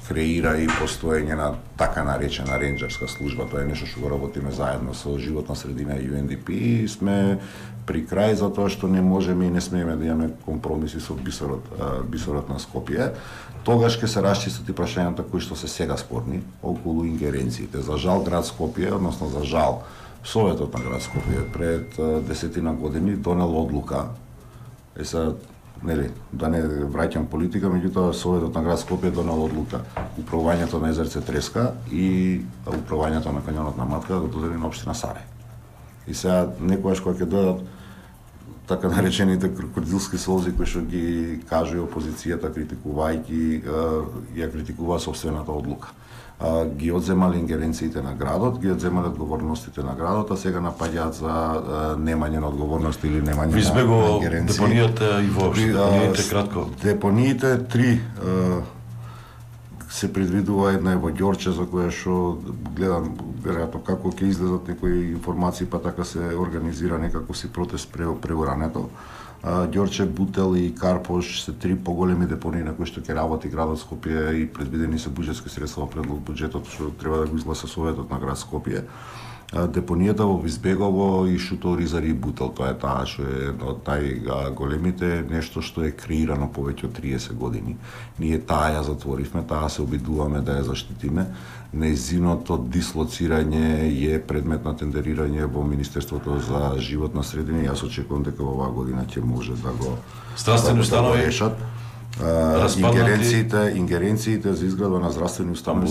креира и постоење на така наречена ренџерска служба. Тоа е нешто што го работиме заедно со Животна средина и UNDP и сме при крај затоа што не можеме и не смееме да имаме компромиси со бисерот на Скопје. Тогаш ќе се расчистат и прашањата кои што се сега спорни околу ингеренциите. За жал град Скопје, односно за жал Советот на град Скопје пред 10 години донел одлука. Да не враќам политика, меѓутоа Советот на град Скопје донел одлука управувањето на езерце Треска и управувањето на кањонот на Матка да го додели на општина Сарај. И сега некогаш кога ќе дојдат така наречените крокодилски солзи кои што ги кажува опозицијата критикувајќи ја критикува собствената одлука. Ги одземале ингеренциите на градот, ги одземале одговорностите на градот, а сега напаѓаат за немање на одговорност или немање на ингеренции. Депонијата и воопшто, депониите кратко. Депониите 3 се предвидува, една е во Ѓорче за која што гледам веројатно како ќе излезат некои информации, па така се организира некако си протест преурането. Ѓорче, Бутел и Карпош се 3 поголеми депонии на кои што ќе работи градот Скопје и предвидени се буџетски средства во предлог буџетот што треба да го изгласа Советот на град Скопје. Депонијата во Визбегово и Шутол, Ризари и Бутел, тоа е таа што е едно од најголемите, нешто што е креирано повеќе од 30 години. Ние таа ја затворивме, таа се обидуваме да ја заштитиме. Нејзиното дислоцирање е предмет на тендерирање во Министерството за животна средина и јас очекувам дека во оваа година ќе може да го решат. Ингеренциите за изградба на здравствени установи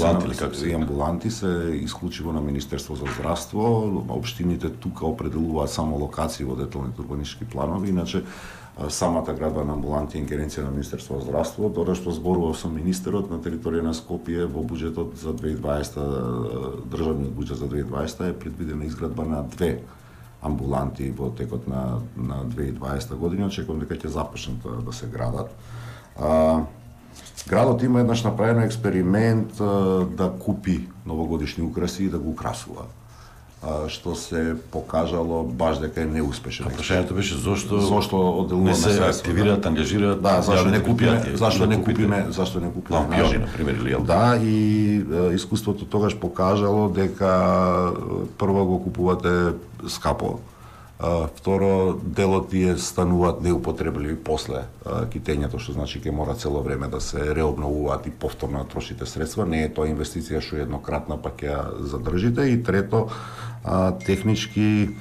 и амбуланти се исклучиво на Министерство за здравство. Општините тука определуваат само локации во деталните урбанистички планови, иначе самата градба на амбуланти е ингеренција на Министерство за здравство. Додека што зборував со министерот на територија на Скопје во буџетот за 2020, државниот буџет за 2020 е предвидена изградба на 2 амбуланти во текот на 2020 година. Очекувам дека ќе започнат да се градат. Градот има еднаш направен експеримент да купи новогодишни украси и да го украсува, што се покажало баш дека е неуспешен. Прашањето беше зошто одделуваме средства, не се активираат, ангажираат. Да, зашто не купиме лампиони, например, или јел? Да, и искуството тогаш покажало дека прво го купувате скапо, второ, делот тие стануваат неупотребливи после китењето, што значи ќе мора цело време да се реобновуваат и повторно трошите средства. Не е тоа инвестиција што е еднократна, па ќе ја задржите. И трето, технички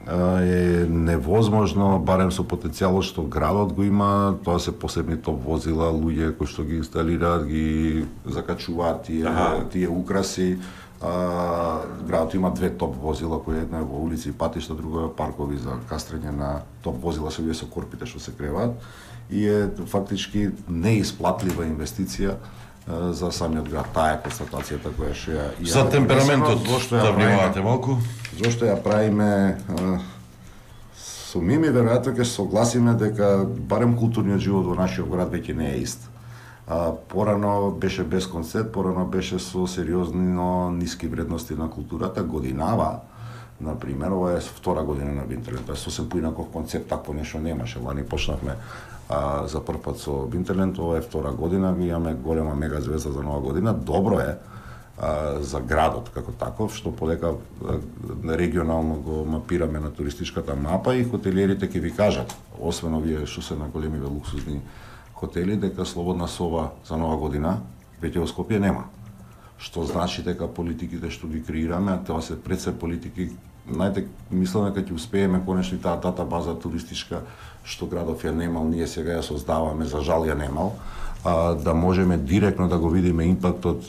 е невозможно, барем со потенцијалот што градот го има, тоа се посебни топ возила, луѓе кои што ги инсталираат, ги закачуваат тие украси. Градот има 2 топ возила, кои една е во улици и патишта, друга е паркови за кастрење на топ возила со корпите што се креваат и е фактички неисплатлива инвестиција за самиот град. Таа е констатацијата која што ја за темпераментот да внимавате малку. Зошто ја правиме со Мими, веројатно ќе се согласиме дека барем културниот живот во нашиот град веќе не е ист. Порано беше без концерт, порано беше со сериозно ниски вредности на културата. Годинава, например, ова е втора година на Винтерленд, тоа е сосем поинаков концепт, такво нешто немаше. Лани почнавме за прв пат со Винтерленд, ова е втора година, ми имаме голема мега звезда за нова година. Добро е за градот како таков, што подека регионално го мапираме на туристичката мапа и хотелиерите ќе ви кажат, освен овие што се на големиве луксузни хотели, дека слободна соба за нова година веќе во Скопје нема. Што значи дека политиките што ги креираме, тоа се пред се политики, мислам дека ќе успееме конечно и таа дата база туристичка што градов ја немал, ние сега ја создаваме, за жал ја немал, да можеме директно да го видиме импактот,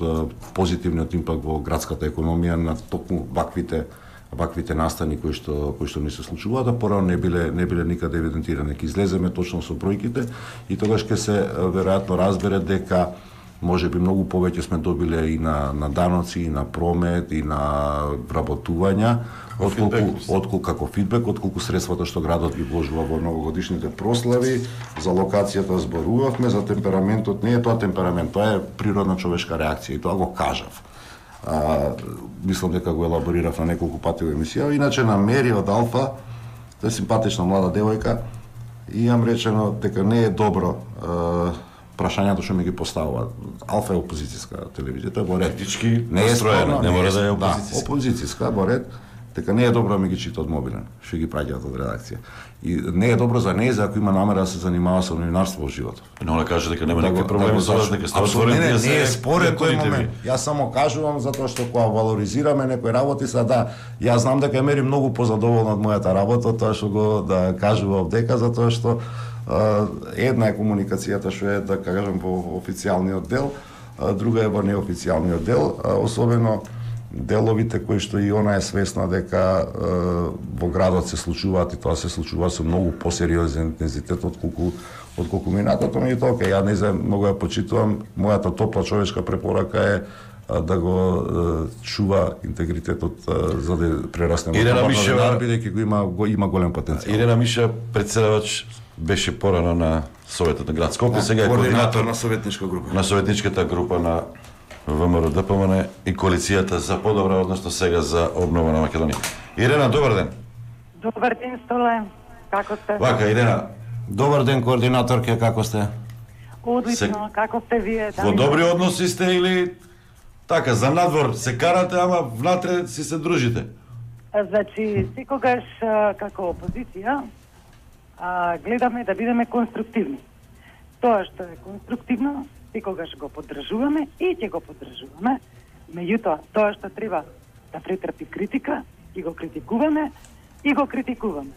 позитивниот импакт во градската економија на токму ваквите настани кои што ни се случуваат, а порано не биле никаде евидентирани. Ќе излеземе точно со бројките и тогаш ќе се веројатно разбере дека можеби многу повеќе сме добиле и на даноци, и на промет, и на вработувања, отколку како фидбек, отколку средствата што градот ги вложува во новогодишните прослави. За локацијата зборувавме, за темпераментот не е тоа темперамент, тоа е природна човешка реакција и тоа го кажав. Мислам дека го елаборирав на неколку пати во емисија. Иначе на Мери од Алфа, тоа е симпатична млада девојка, и имам речено дека не е добро прашањето што ми ги поставува. Алфа е опозицијска телевизија, тоа во ред. Етички не е настроена, не мора да е опозицијска. Да, опозицијска во ред, дека не е добро да ми ги чита од мобилен, што ги праќаат од редакција. И не е добро за неја ако има намера да се занимава со новинарство во животот. Но она каже дека нема никакви проблеми со вас, дека сте отворени не, за не е според тој ви. момент. Јас само кажувам затоа што кога валоризираме некои работи, да, јас знам дека е мери многу позадоволна од мојата работа, тоа што го да кажував дека затоа што една е комуникацијата што е да кажам во официјалниот дел, друга е во неофицијалниот дел, особено деловите кои што и она е свесна дека во градот се случуваат и тоа се случува со многу посериозен интензитет отколку минатото, меѓутоа окей, ја не знам, многу ја почитувам, мојата топла човечка препорака е да го чува интегритетот за да прерасне во новинар, бидејќи го има голем потенцијал. Ирена Миша, председавач, беше порано на Советот на град Скопје, сега е координатор на советничка група. На советничката група на ВМРО ДПМН и коалицијата за подобра, односно сега за обнова на Македонија. Ирена, добар ден. Добар ден, Столе. Како сте? Вака, Ирена. Добар ден, координаторке, како сте? Одлично, како сте вие? Во добри односи сте или така, за надвор се карате, ама внатре си се дружите? Значи, секогаш како опозиција гледаме да бидеме конструктивни. Тоа што е конструктивно, секогаш го поддржуваме и ќе го поддржуваме. Меѓутоа, тоа што треба да претрпи критика, и го критикуваме, и го критикуваме.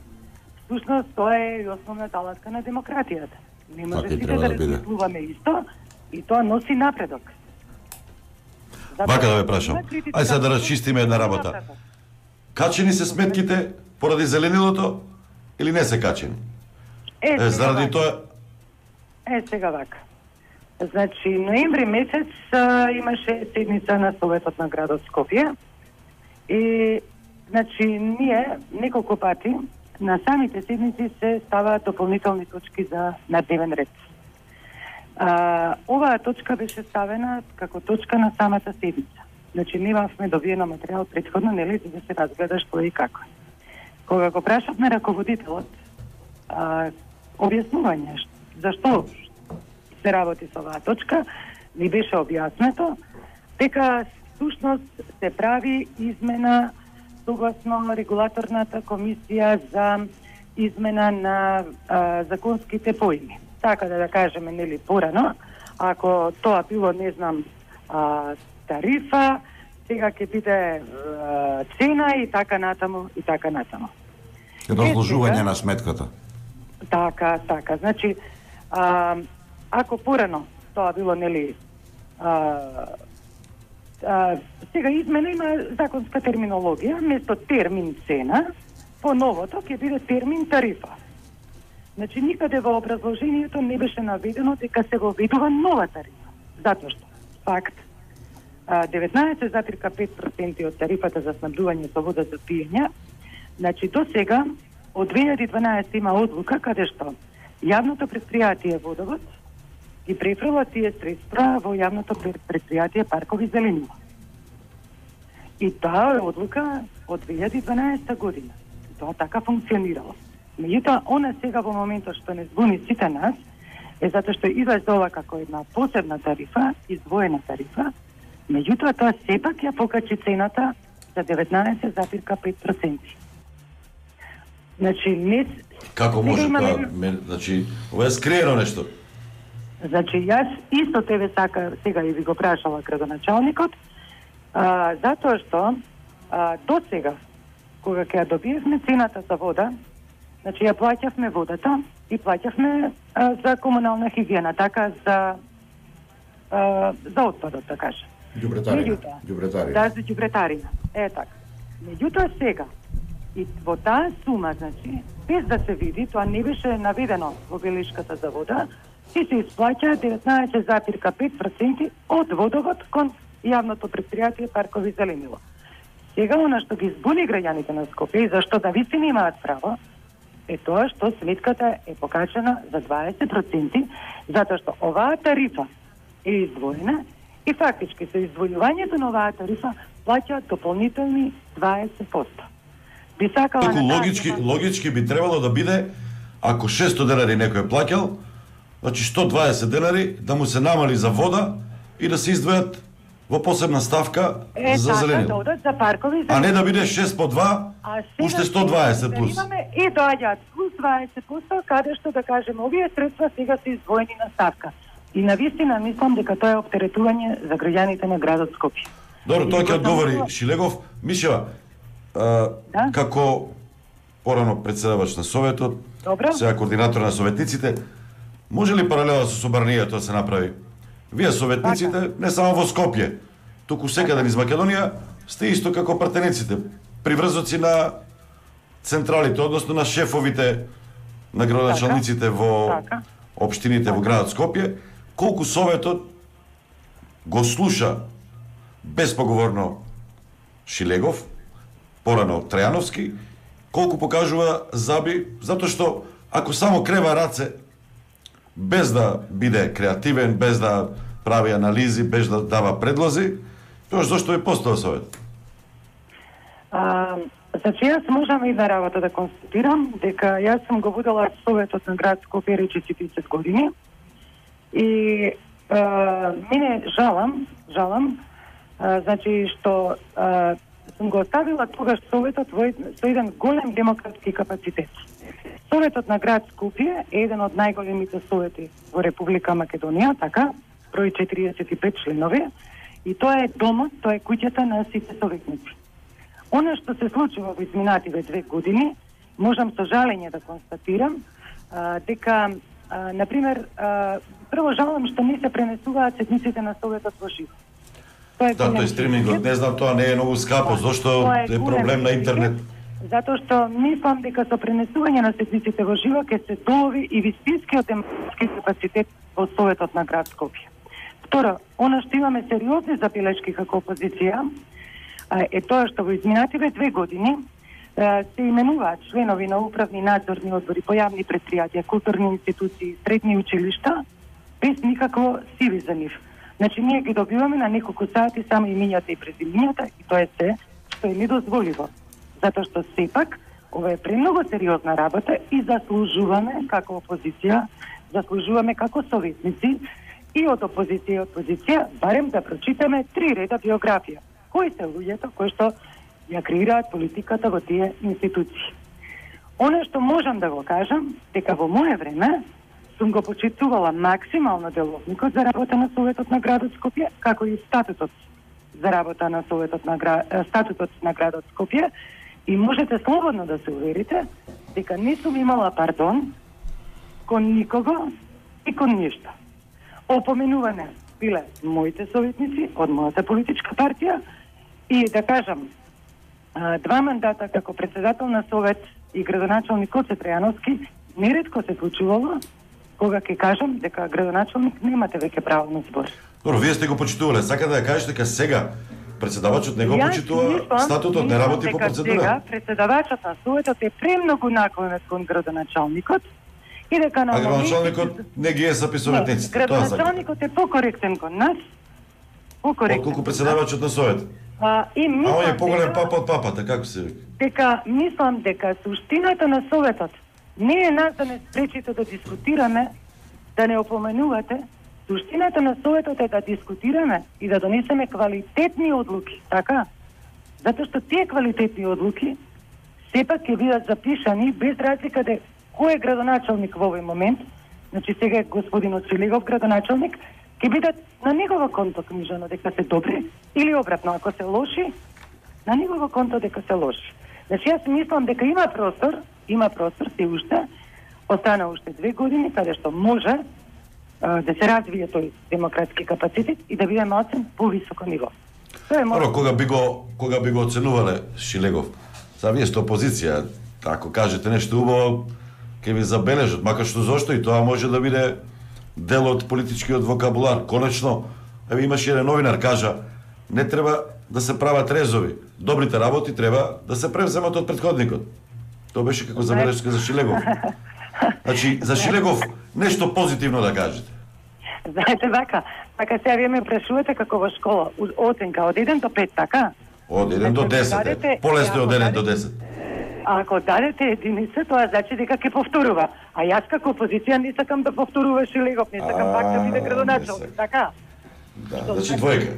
Всушност, тоа е и основната алатка на демократијата. Не може сите да размислуваме исто, и тоа носи напредок. Вака да ве прашам. Ајде сега да расчистиме една работа. Качени се сметките поради зеленилото или не се качени? Заради тоа... Сега вака. Значи, ноември месец имаше седница на Советот на градот Скопје и, значи, ние неколку пати на самите седници се ставаат дополнителни точки за на дневен ред. Оваа точка беше ставена како точка на самата седница. Значи, немавме добиено материјал претходно, нели, за да се разгледа што и како. Кога го прашавме раководителот, објаснување зашто се работи со оваа точка, ни беше објаснето дека всушност се прави измена согласно регулаторната комисија за измена на законските поими. Така да кажеме, нели, порано, ако тоа било, не знам, тарифа, сега ќе биде цена и така натаму, и така натаму. Разложување на сметката. Така. Значи, ако порано тоа било, нели, сега измена има законска терминологија, место термин цена, по новото ќе биде термин тарифа. Значи, никаде во образложението не беше наведено дека се воведува нова тарифа. Затоа што, факт, 19,5% од тарифата за снабдување со вода за пиење, значи, до сега, од 2012 има одлука каде што јавното предпријатие Водовод ги префрла тие средства во јавното предпријатие Паркови зеленила. И таа е одлука од 2012 година. Тоа така функционирало. Меѓутоа, она сега во моментот што не збуни сите нас, е затоа што излезола како една посебна тарифа, издвоена тарифа, меѓутоа тоа сепак ја покачи цената за 19,5%. Значи, не... Како може тоа? Значи, ова е скриено нешто. Значи, јас исто тебе сега и ви го прашала градоначалникот, затоа што до сега, кога ќе ја добиевме цената за вода, значи ја плаќавме водата и плаќавме за комунална хигиена, така за отпадот, да кажем. Ѓубретарина. Да, за ѓубретарина. Така. Меѓутоа сега, и во таа сума, значи, без да се види, тоа не беше наведено во белешката за вода, и се исплаќа 19,5% од Водовод кон јавното предпријатие Паркови зеленила. Сега, она што ги збуни граѓаните на Скопје и зашто да вистина имаат право, е тоа што сметката е покачена за 20%, затоа што оваа тарифа е издвоена и фактички со издвојувањето на оваа тарифа плаќаат дополнителни 20%. Би сакала логички би требало да биде ако 600 денари некој плаќал, значи 120 денари да му се намали за вода и да се издвојат во посебна ставка за зеленило. Да одат за паркови, а не да биде 6 по 2, уште 120 плюс. И доаѓаат плюс 20%, каде што да кажеме, овие средства сега се издвоени на ставка. И навистина мислам дека тоа е оптеретување за граѓаните на градот Скопје. Добро, тоа ќе одговори Шилегов. Мишева, како порано председавач на Советот, сега координатор на советниците, може ли паралела со собранието да се направи? Вие советниците, не само во Скопје, туку секаде низ Македонија, сте исто како пратениците, приврзоци на централите, односно на шефовите, на градоначалниците во општините во градот Скопје. Колку Советот го слуша безпоговорно Шилегов, порано Трајановски, колку покажува заби, затоа што ако само крева раце, без да биде креативен, без да прави анализи, без да дава предлози, тоа зашто е постава Совет? Значи, јас можам и една работа да констатирам, дека јас сум го водела Советот на град Скопје рече 40 години и мене жалам, значи, што сум го оставила тогаш Советот со еден голем демократски капацитет. Советот на град Скопје е еден од најголемите совети во Република Македонија, така, број 45 членови, и тоа е домот, тоа е куќата на сите советници. Она што се случува во изминативе 2 години, можам со жалење да констатирам дека, например, прво жалам што не се пренесуваат седниците на Советот во живо. Тој стримингот, не знам, тоа не е многу скапо, зашто е проблем на интернет. Затоа што мислам дека со пренесување на седниците во живо ќе се долови и вистинскиот демократски капацитет во Советот на град Скопје. Второ, она што имаме сериозни забелешки како опозиција е тоа што во изминативе 2 години се именуваат членови на управни надзорни одбори по јавни претпријатија, културни институции, средни училишта без никакво CV за нив. Значи, ние ги добиваме на неколку сати само имињата и презимињата и тоа е се што е недозволиво. Затоа што сепак ова е премногу сериозна работа и заслужуваме како опозиција, заслужуваме како советници и од опозиција и од позиција барем да прочитаме 3 реда биографија. Кои се луѓето кои што ја креираат политиката во тие институции. Оно што можам да го кажам, дека во мое време сум го почитувала максимално деловникот за работа на Советот на градот Скопје, како и статутот за работа на статутот на градот Скопје, и можете слободно да се уверите дека не сум имала пардон кон никого и кон ништо. Опоменуване биле моите советници од мојата политичка партија и да кажам 2 мандата како председател на Совет и градоначалник Гоце Трајановски неретко се случувало кога ќе кажам дека градоначалник немате веќе право на збор. Добро, вие сте го почитувале. Сака да ја кажете дека сега председавачот не го почитува, статутот не работи по процедура. Сега председавачот на Советот е премногу наклонет кон градоначалникот и дека на градоначалникот не ги е сапи советниците. Градоначалникот е покоректен кон нас. Колку председавачот на Совет? И мислам, он е поголем папа од папата, како се вика? Дека мислам дека суштината на Советот не е нас да не спречите да дискутираме, да не опоменувате. Суштината на Советот е да дискутираме и да донесеме квалитетни одлуки, така? Затоа што тие квалитетни одлуки сепак ќе бидат запишани без разлика де кој е градоначалник во овој момент, значи сега е господин Шилегов градоначалник, ќе бидат на негова конто книжано дека се добри или обратно, ако се лоши, на негова конто дека се лоши. Значи јас мислам дека има простор се уште, остана уште 2 години каде што може да се развие тој демократски капацитет и да биде оцен по високо ниво. Тоа е може. Кога би го оценувале Шилегов? Са вие сте опозиција, ако кажете нешто убаво, ќе ви забележат, макар што зошто и тоа може да биде дел од политичкиот вокабулар. Конечно, имаше еден новинар кажа, не треба да се прават резови. Добрите работи треба да се превземат од претходникот. Тоа беше како забелешка за Шилегов. Значи, за Шилегов нешто позитивно да кажете. Знаете, така сега вие ме прашувате како во школа, оценка од 1 до 5, така? Од 1 до 10, полесно од 1 до 10. ако дадете единица, тоа значи дека ќе повторува. А јас како опозиција не сакам да повторува Шилегов, не сакам пак да биде градоначелник, така? Да, значи двојка.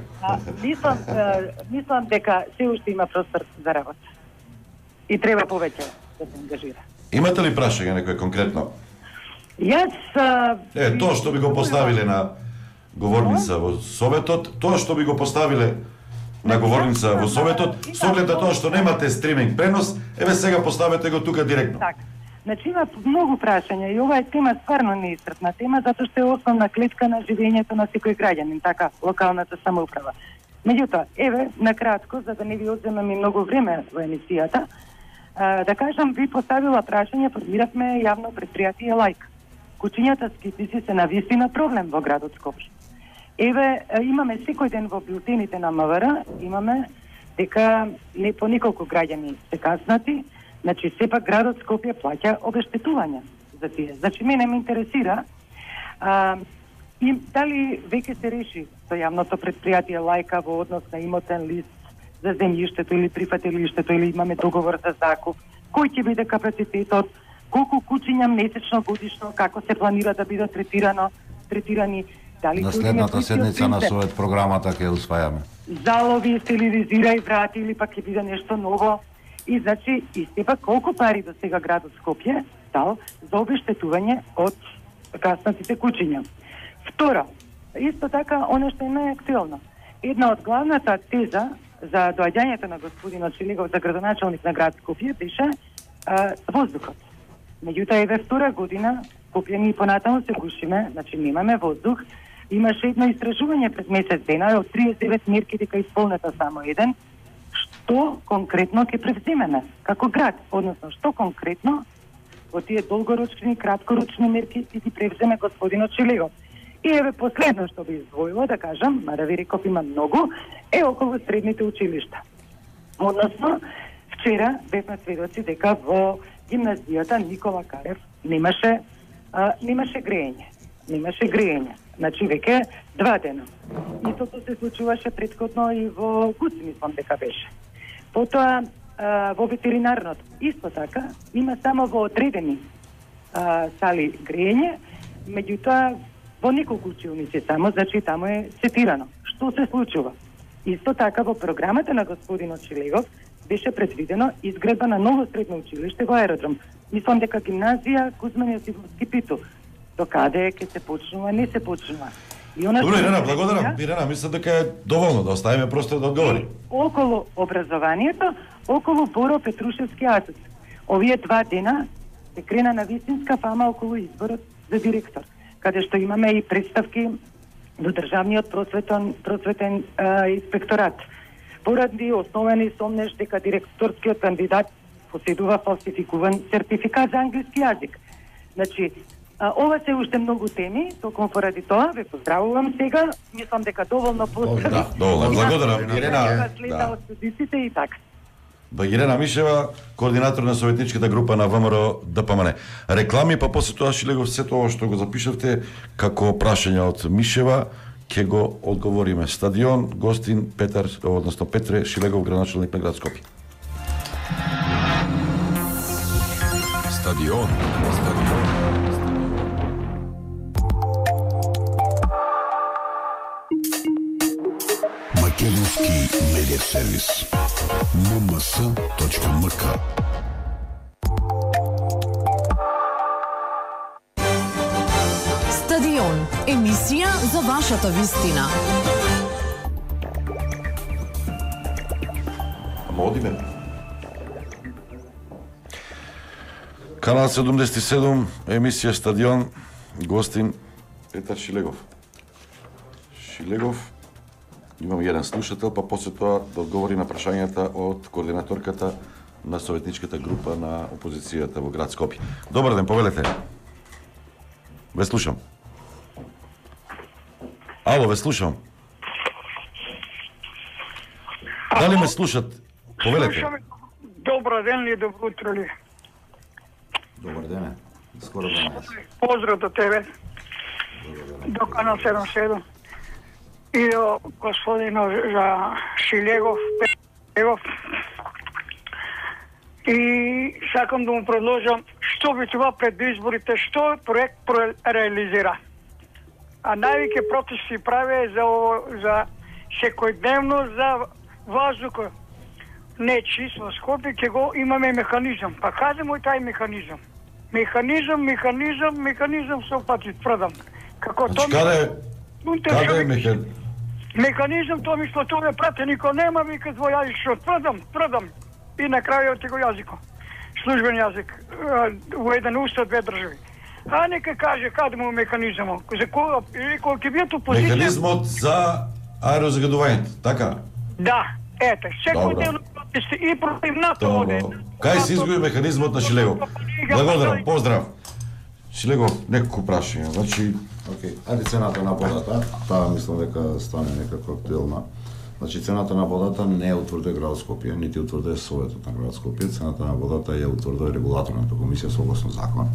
Мислам дека се уште има простор за работа. И треба повеќе да се ангажира. Имате ли прашање некој конкретно? Јас... Тоа што би го поставиле на говорница во Советот, тоа што би го поставиле на говорница во Советот, со оглед на тоа што немате стриминг пренос, еве сега поставете го тука директно. Така. Значи има многу прашања и ова е тема стварно неисцрпна тема, затоа што е основна клетка на живењето на секој граѓанин, така, локалната самоуправа. Меѓутоа, еве, накратко, за да не ви одземам и многу време во емисијата, да кажам, ви поставила прашање, формиравме јавно предпријатие Лајк. Кучињата скитници се навистина проблем во градот Скопје. Еве, имаме секој ден во бюлетините на МВР, имаме дека не по неколку граѓани се каснати, значи сепак градот Скопје плаќа обештетување за тие. Значи мене ме интересира и дали веќе се реши со јавното предпријатие Лајка во однос на имотен лист за земјиштето или прифатилиштето или имаме договор за закуп, кој ќе биде капацитетот, колку кучиња месечно, годишно, како се планира да бидат третирани, дали на следната седница на Совет програмата ќе усвајаме. Залови, стерилизирај врати или пак ќе биде нешто ново. И значи, и сепак колку пари до сега градот Скопје дал за обештетување од каснатите кучиња. Второ, исто така, оно што е најактуелно. Една од главната теза за доаѓањето на господинот Шилегов за градоначалник на град Скопје беше воздухот. Меѓутоа, еве втора година, Скопје ни понатаму се гушиме, значи немаме воздух. Имаше едно истражување пред месец дена, од 39 мерки дека исполнета само еден. Што конкретно ќе превземеме како град, односно што конкретно во тие долгорочни, краткорочни мерки ќе ги превземе господинот Шилегов. И еве последно што би издвоила, да кажам, мада ви реков има многу, е околу средните училишта. Односно, вчера бевме сведоци дека во гимназијата Никола Карев немаше грејење. Немаше грејење. Значи веќе 2 дена. Истото се случуваше претходно и во Гуц, мислам дека беше. Потоа во ветеринарното исто така има само во одредени сали грејење, меѓутоа во неколку училници само, значи таму е сетирано. Што се случува? Исто така во програмата на господинот Шилегов беше предвидено изградба на ново средно училиште во аеродром. Мислам дека гимназија Кузман Јосифовски Питу. До каде ќе се почнува, не се почнува. Добре, Ирена, благодарам. Ирена, мислам дека е доволно да оставиме простор да одговори. Околу образованието, околу Боро Петрушевски асоц. Овие 2 дена се крена на вистинска фама околу изборот за директор, каде што имаме и представки до државниот просветен инспекторат. Поради основени сомнеш дека директорскиот кандидат поседува фалсификуван сертификат за англиски јазик. Значи, ова се уште многу теми, токму поради тоа ве поздравувам сега. Мислам дека доволно поздрави. Да, доволно. Благодарам, Ирена. Следа од студиците и така. Ирена Мишева, координатор на советничката група на ВМРО ДПМН. Реклами, па после тоа Шилегов се тоа што го запишавте како прашање од Мишева, ќе го одговориме. Стадион, гостин Петре Шилегов, градоначалник на град Скопје. Стадион. Македонски медиа сервис. mms.mk. Стадион. Емисија за вашата вистина. Одиме. Канал 77, емисија Стадион, гостин Петар Шилегов. Имам еден слушател, па после тоа да одговори на прашањата од координаторката на советничката група на опозицијата во град Скопје. Добар ден, повелете. Ве слушам. Ало, ве слушам. Дали ме слушат? Повелете. Добар ден ли, добро утро ли? Добар ден. Скоро 12. Поздрав до тебе. До канал 77. И до господино за Шилегов. И сакам да му предложам што би това пред изборите, што проект реализира. А највеќе протести прави за секојдневно за воздухот. Не чист во Скопје, ќе го имаме механизам. Па кажемо и тај механизам. Механизам со пати тврдам. Како Значи, каде е механизам, тоа мисло, тоа ме прате, нико нема, вика двојазично, тврдам. И на крајот го јазико. Службен јазик, во еден устав, две држави. А нека каже каде му механизмот, за кога, или кога ќе бијат опозиција... Механизмот за аерозагадувањето, така? Да, ете, секој ден и против НАТО оде. Кај се изгуби механизмот на Шилегов? Благодарам, поздрав. Шилегов, неколку прашања, значи... Океј, ајде цената на водата, таа мислам дека стане некако актуелна. Значи, цената на водата не утврдува градот Скопје, нити утврдува Советот на градот Скопје, цената на водата ја утврдува регулаторната комисија согласно закон.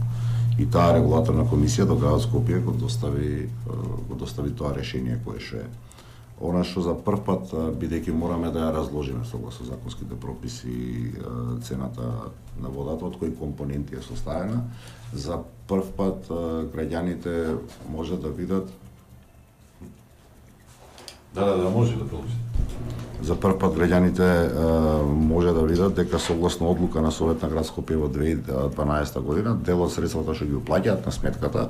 И таа регулаторна комисија до градот Скопје го достави тоа решение кое што е. Она што за прв пат, бидејќи мораме да ја разложиме согласно законските прописи цената на водата, од кои компоненти е составена, за прв пат граѓаните може да видат може да продолжи. За прв пат граѓаните може да видат дека согласно одлука на Совет на град Скопје во 2012 година, дел од средствата што ги уплаќаат на сметката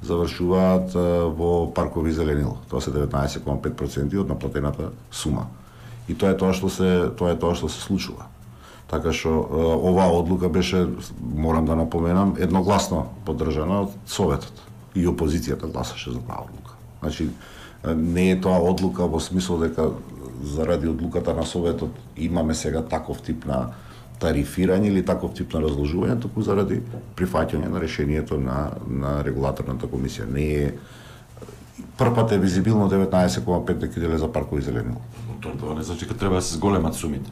завршуваат во паркови зеленило. Тоа се 19,5% од наплатената сума. И тоа е тоа што се случува. Така што оваа одлука беше, морам да напоменам, едногласно поддржана од Советот. И опозицијата гласаше за таа одлука. Значи, не е тоа одлука во смисол дека заради одлуката на Советот имаме сега таков тип на тарифирање или таков тип на разложување, туку заради прифаќање на решението на регулаторната комисија. Не е првпат е визибилно 19,5 дека за паркови зеленило. Тоа не значи дека треба да се зголемат сумите.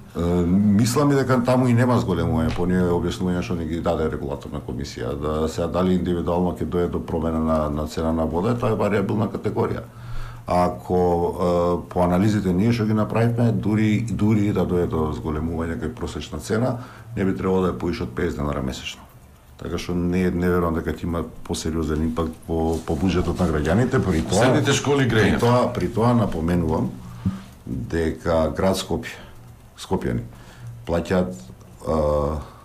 Мислам и дека таму и нема зголемување, по оние објаснувања што ни ги даде регулаторна комисија, да се дали индивидуално ќе дојде до промена на цена на вода, тоа е варијабилна категорија. Ако по анализите ние што ги направивме, дури да дојде до зголемување кај просечна цена, не би требало да е поише од 50 денара месечно. Така што не верувам дека ќе има посериозен импакт по буџетот на граѓаните, при тоа средните школи грејење. При тоа напоменувам дека град Скопјани плаќаат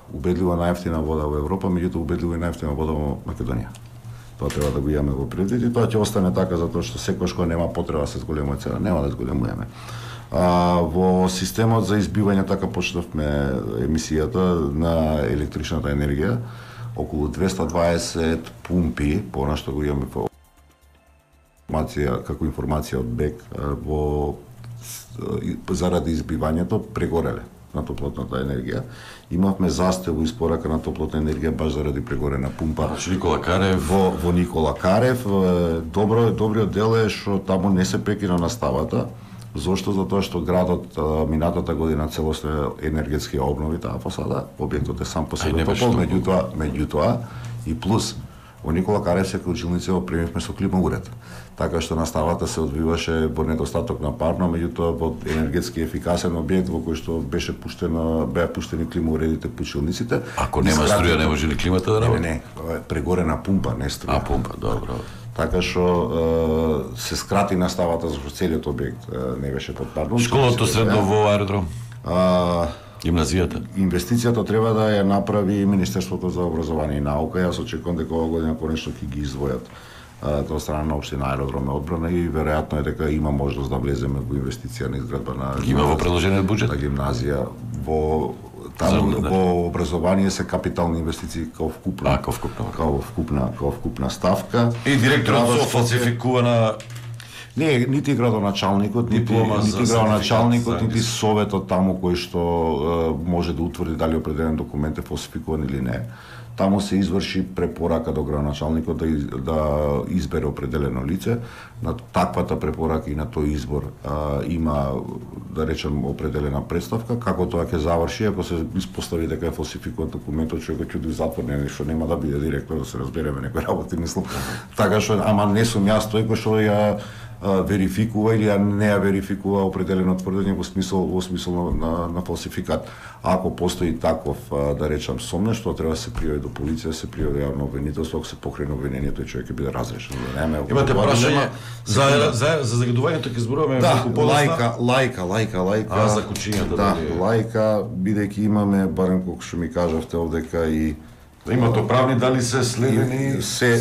убедливо најевтина вода во Европа, меѓутоа убедливо и најевтина вода во Македонија. Тоа треба да го имаме во предвид и тоа ќе остане така затоа што секогаш кога нема потреба да се зголемува цена, нема да зголемуваме. Во системот за избивање така почнавме емисијата на електричната енергија, околу 220 пумпи, по она што го имаме по информација од БЕК, заради избивањето прегореле на топлотната енергија. Имавме застој во испорака на топлотна енергија баш заради прегорена пумпа. Никола Карев. Во Никола Карев. Добриот дел е што таму не се прекина наставата. Зошто? Затоа што градот минатата година целосно енергетски обнови таа фасада. Објектот е сам по себе топол, меѓутоа и плюс во Никола Карев се училници опремивме со климауред. Така што наставата се одвиваше во недостаток на парно, меѓутоа во енергетски ефикасен објект во кој што беа пуштени климауредите по училниците. Ако нема струја, не може ли климата да работи? Не, прегорена пумпа, не струја. Пумпа, добро. Така што се скрати наставата за целиот објект не беше под парно. Школото средно во аеродром? Гимназијата. Инвестицијата треба да ја направи Министерството за образование и наука. Јас очекувам дека оваа година конечно ќе ги издвојат тоа страна на општина Аеродром и одбрана и веројатно е дека има можност да влеземе во инвестиција на изградба на има во предложениот буџет на гимназија во образование се капитални инвестиции као вкупна ставка. И директорот со фалсификувана не, нити градоначалникот, нити советот таму кој што може да утврди дали определен документ е фалсификуван или не. Таму се изврши препорака до градоначалникот да избере определено лице. На таквата препорака и на тој избор има, да речем, определена представка. Како тоа ќе заврши, ако се испостави дека е фалсификуван документот, човекот ќе оди в затвор, што нема да биде директор, да се разбереме некои работи, мислам. Така што, ама не сум јас тој кој што ја верификува или не ја верификува определено тврдење во смисол на фалсификат. Ако постои таков, да речам, сомнеж, што треба да се пријави до полиција, се пријави јавно обвинителство, ако се покрене обвинението, тој човек ќе биде разрешен. Имате прашање за загадувањето ќе зборуваме малку подоцна. Лајка. За кучињата. Да, лајка, бидејќи имаме, барем колку што ми кажавте овдека и имате правни дали се следени, се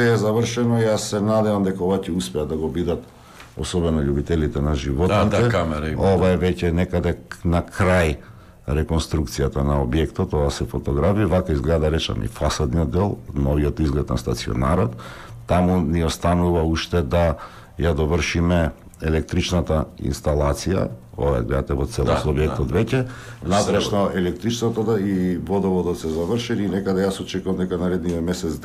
е завршено. Јас се надевам дека ова ќе успеат да го бидат, особено љубителите на животните. Ова е веќе некаде на крај реконструкцијата на објектот, ова се фотографии, вака изгледа, речам, и фасадниот дел, новиот изглед на стационарот. Таму ни останува уште да ја довршиме електричната инсталација, ова гледате во целост објектот веќе, надрешно електричното и водоводот се завршени, и некаде јас очекувам дека наредниот месец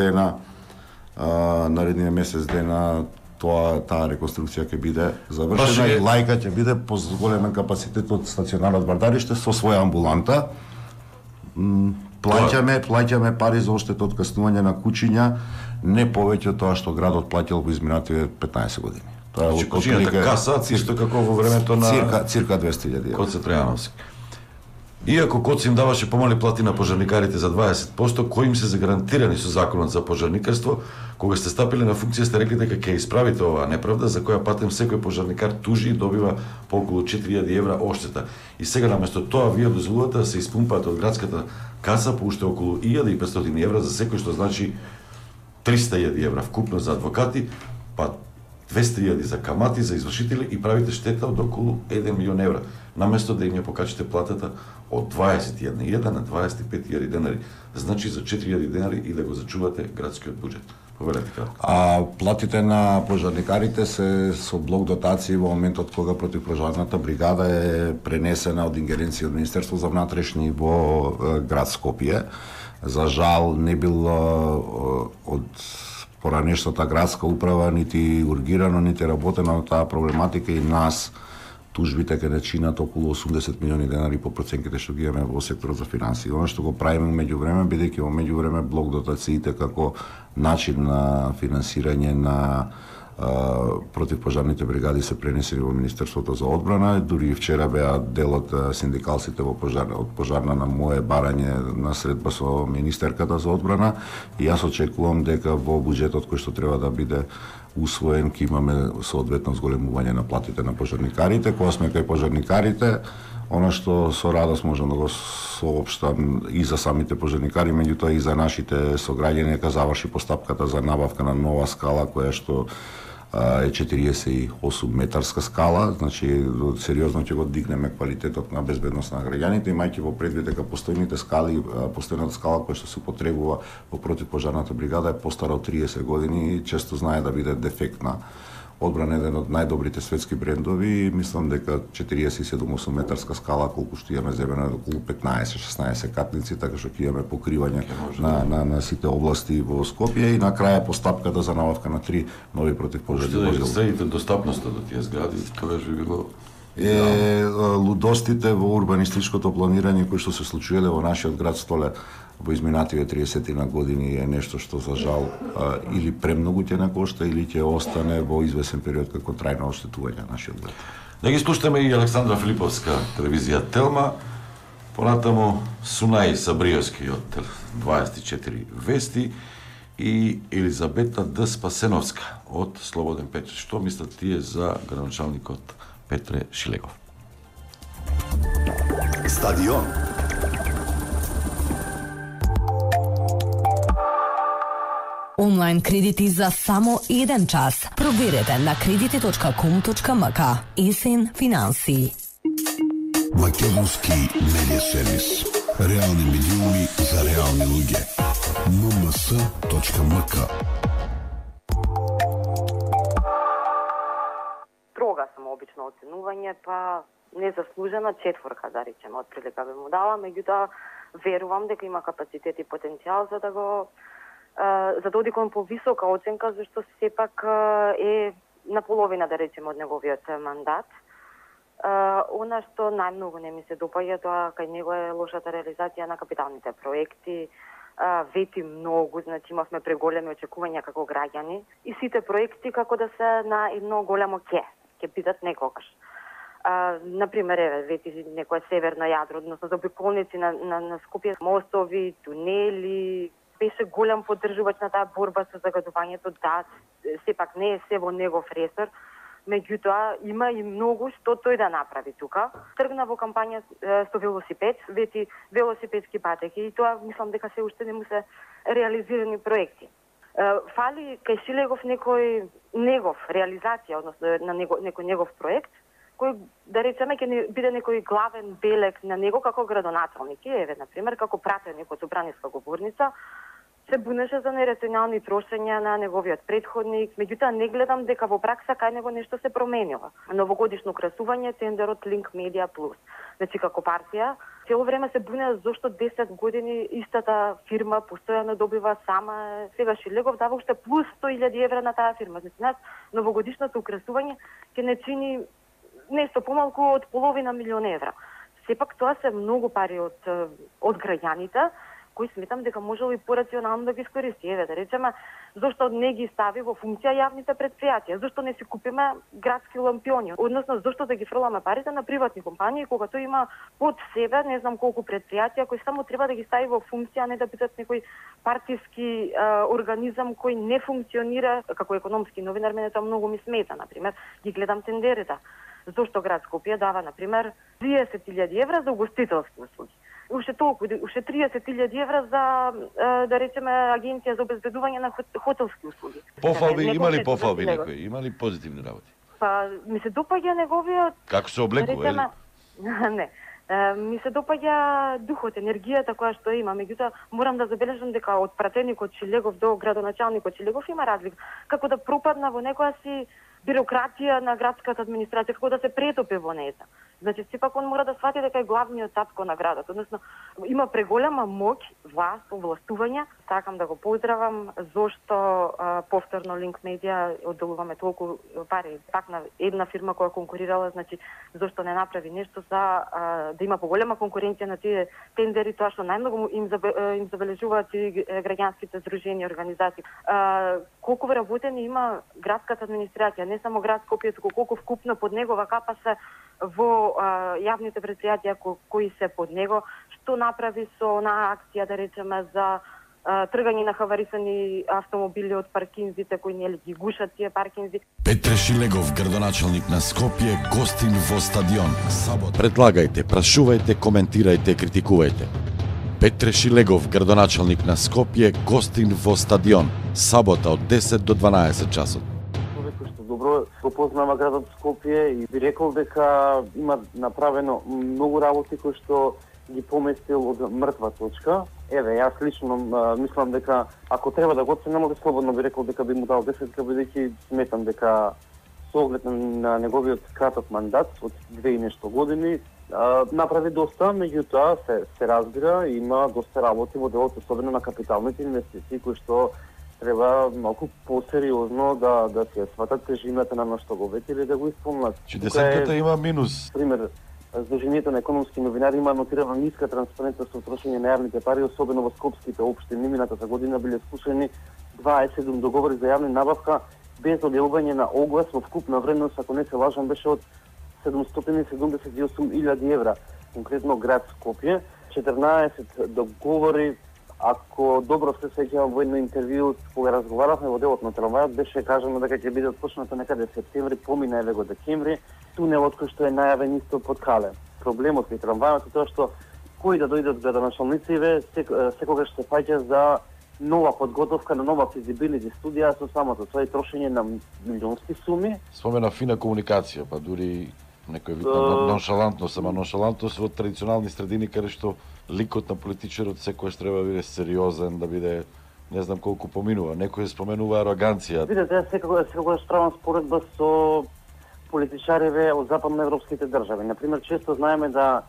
дена таа реконструкција ќе биде завршена и лајка ќе биде по големен капацитет од стационарот Бардарище со своја амбуланта. Плаќаме пари за оштета од каснување на кучиња, не повеќе од тоа што градот плаќал во изминатите 15 години. Тоа е кучињата каса, исто како во времето на цирка 200.000 евра. Коце Тројановски. Иако Коце им даваше помали плати на пожарникарите за 20%, кои им се загарантирани со законот за пожарникарство, кога сте стапиле на функција сте рекли дека ќе исправите оваа неправда, за која патем секој пожарникар тужи и добива по околу 4.000 евра одштета. И сега наместо тоа вие дозволувате да се испумпаат од градската каса по уште околу 1.500 евра за секој, што значи 300.000 евра вкупно за адвокати, па 200.000 за камати, за извршители, и правите штета од околу 1 милион евра, наместо да им ја покачите платата од 21.000 на 25.000 денари, значи за 4.000 денари и да го зачувате градскиот буџет. Повелете кратко. Платите на пожарникарите се со блок дотации во моментот кога противпожарната бригада е пренесена од ингеренција од Министерство за внатрешни во град Скопје. За жал не било од поранешната градска управа нити ургирано, нити работено на таа проблематика, и нас тужбите ќе не чинат околу 80 милиони денари по проценките што ги имаме во секторот за финансии. Оно што го правиме меѓувреме, бидејќи во меѓувреме блок дотациите како начин на финансирање на противпожарните бригади се пренесени во Министерството за одбрана. Дури и вчера беа дел од синдикалците од пожарна на мое барање на средба со министерката за одбрана, и јас очекувам дека во буџетот кој што треба да биде усвоен ќе имаме соодветно зголемување на платите на пожарникарите. Кога сме кај пожарникарите, она што со радост можам да го соопштам и за самите пожарникари, меѓутоа и за нашите сограѓани, дека заврши постапката за набавка на нова скала, која што е 48 метарска скала, значи сериозно ќе го дигнеме квалитетот на безбедност на граѓаните, имајќи во предвид дека постојната скала која што се употребува во противпожарната бригада е постара од 30 години и често знае да биде дефектна. Одбрана е еден од најдобрите светски брендови, и мислам дека 47-8 метарска скала, колку што имаме земено е околу 15-16 катници, така што ќе имаме покривање на сите области во Скопје, и на крај постапката за набавка на 3 нови противпожарни возила. Што следите достапноста до тие згради, тогаш би било лудостите во урбанистичкото планирање кои што се случиле во нашиот град Столе во изминативе 30 на години е нешто што за жал или премногу ќе не кошта, или ќе остане во извесен период како трајно оштетување на нашиот град. Да ги слушаме и Александра Филиповска, телевизија Телма, понатаму Сунај Сабриевски од 24 вести и Елизабета Д. Спасеновска од Слободен Печат. Што мислат тие за градоначалникот Петре Шилегов? Стадион. Онлайн кредити за само 1 час. Проверете на кредити.com.мк. Есен финансии. Македонски медиа сервис. Реални медиуми за реални луѓе. mms.mk. Строга сум обично оценување, па незаслужена 4, да речеме, отприлика би му дала, меѓутоа верувам дека има капацитет и потенцијал за да оди кон повисока оценка, зашто сепак е на половина, да речеме, од неговиот мандат. Она што најмногу не ми се допаѓа, тоа кај него е лошата реализација на капиталните проекти, вети многу, значи имавме преголеми очекувања како граѓани и сите проекти како да се на едно голямо ќе бидат некогаш. Например, вети некое северно јадро, односно заобиколници на Скопје, мостови, тунели, беше голем поддржувач на таа борба со загадувањето, да, сепак не е се во негов ресор, меѓутоа има и многу што тој да направи тука. Тргна во кампања со велосипед, вети велосипедски патеки и тоа мислам дека се уште не му се реализирани проекти. Фали кај Шилегов негов реализација, односно на некој негов проект, кој, да речеме, ќе биде некој главен белег на него како градоначалник. Еве, например, како пратеник од Собраниска говорница, се бунеше за нерационални трошења на неговиот претходник, меѓутоа не гледам дека во пракса кај него нешто се променило. Новогодишно украсување, тендерот Link Media Plus. Значи, како партија, цело време се буне зошто 10 години истата фирма постојано добива сама. Сега Шилегов дава уште плюс 100.000 евра на таа фирма. Значи, нас новогодишното украсување ќе не чини нешто помалку од половина милион евра. Сепак тоа се многу пари од граѓаните, кои сметам дека можело и порационално да ги искористи. Еве, да речеме, зошто не ги стави во функција јавните предпријатија? Зошто не си купиме градски лампиони? Односно, зошто да ги фрламе парите на приватни компании, кога тој има под себе не знам колку предпријатија кои само треба да ги стави во функција, а не да бидат некој партиски организам кој не функционира. Како економски новинар мене тоа многу ми смета, например, ги гледам тендерите. Зошто град Скопје дава, например, 30.000 евра за угостителски услуги? Уште 30.000 евра за, да речеме, агенција за обезбедување на хотелски услуги. Пофалби, има ли пофалби некој? Има ли позитивни работи? Па, ми се допаѓа неговиот... Како се облекува, да не. Ми се допаѓа духот, енергијата која што има, меѓутоа морам да забележам дека од пратеникот Шилегов до градоначалникот Шилегов има разлика. Како да пропадна во некоја си бирократија на градската администрација, како да се претопи во нејза. Значи, сепак он мора да свати дека е главниот татко на градот. Односно, има преголема моќ, власт, овластување. Сакам да го поздравам зошто повторно Link Media одделуваме толку пари. Пак на една фирма која конкурирала, значи, зошто не направи нешто за да има поголема конкуренција на тие тендери, тоа што најмногу им забележуваат и граѓанските здруженија, организации. Колку вработени има градската администрација, не само град Скопје, туку колку вкупно под негова капа се во јавните предпријатија кои се под него, што направи со онаа акција, да речеме, за тргање на хаварисани автомобили од паркинзите кои нели ги гушат тие паркинзи. Петре Шилегов, градоначалник на Скопје, гостин во стадион. Предлагајте, прашувајте, коментирајте, критикувајте. Петре Шилегов, градоначалник на Скопје, гостин во стадион. Сабота од 10 до 12 часот. Добро го познава градот Скопје и би рекол дека има направено многу работи кои што ги поместил од мртва точка. Еве, јас лично мислам дека ако треба да го оценам, слободно би рекол дека би му дал 10, бидејќи сметам дека со оглед на неговиот краток мандат од 2 и нешто години направи доста, меѓутоа се разбира, има доста работи во делот, особено на капиталните инвестиции кои што треба малку посериозно да се сватат тежината на што го ветили да го исполнат. Че десетката има минус. Пример, Сдруженијето на економски новинари има нотирана ниска транспарентност со трошење на јавните пари, особено во скопските општини. Минатата година биле скушени 27 договори за јавна набавка без објавување на оглас во вкупна вредност, ако не се лажам, беше од 778.000 евра. Конкретно град Скопје, 14 договори. Ако добро се сеќавам во едно интервју кога разговаравме во делот на трамвајот, беше кажано дека ќе биде отпочната некаде септември, помина еве го декември. Тунелот кој што е најавен исто под Кале. Проблемот при трамвајот е тоа што кои да дојдат градоначалниците секогаш се фаќа за нова подготовка на нова физибилити студија со самото тоа и трошење на милионски суми. Спомена фина комуникација, па дури некој вид на ноншалантност, ама ноншалантност во традиционални средини каде што ликот на политичарот секојаш треба да биде сериозен, да биде не знам колку поминува. Некој споменува ароганција. Видете, секогаш правам споредба со политичариве од западноевропските држави. Например, често знаеме да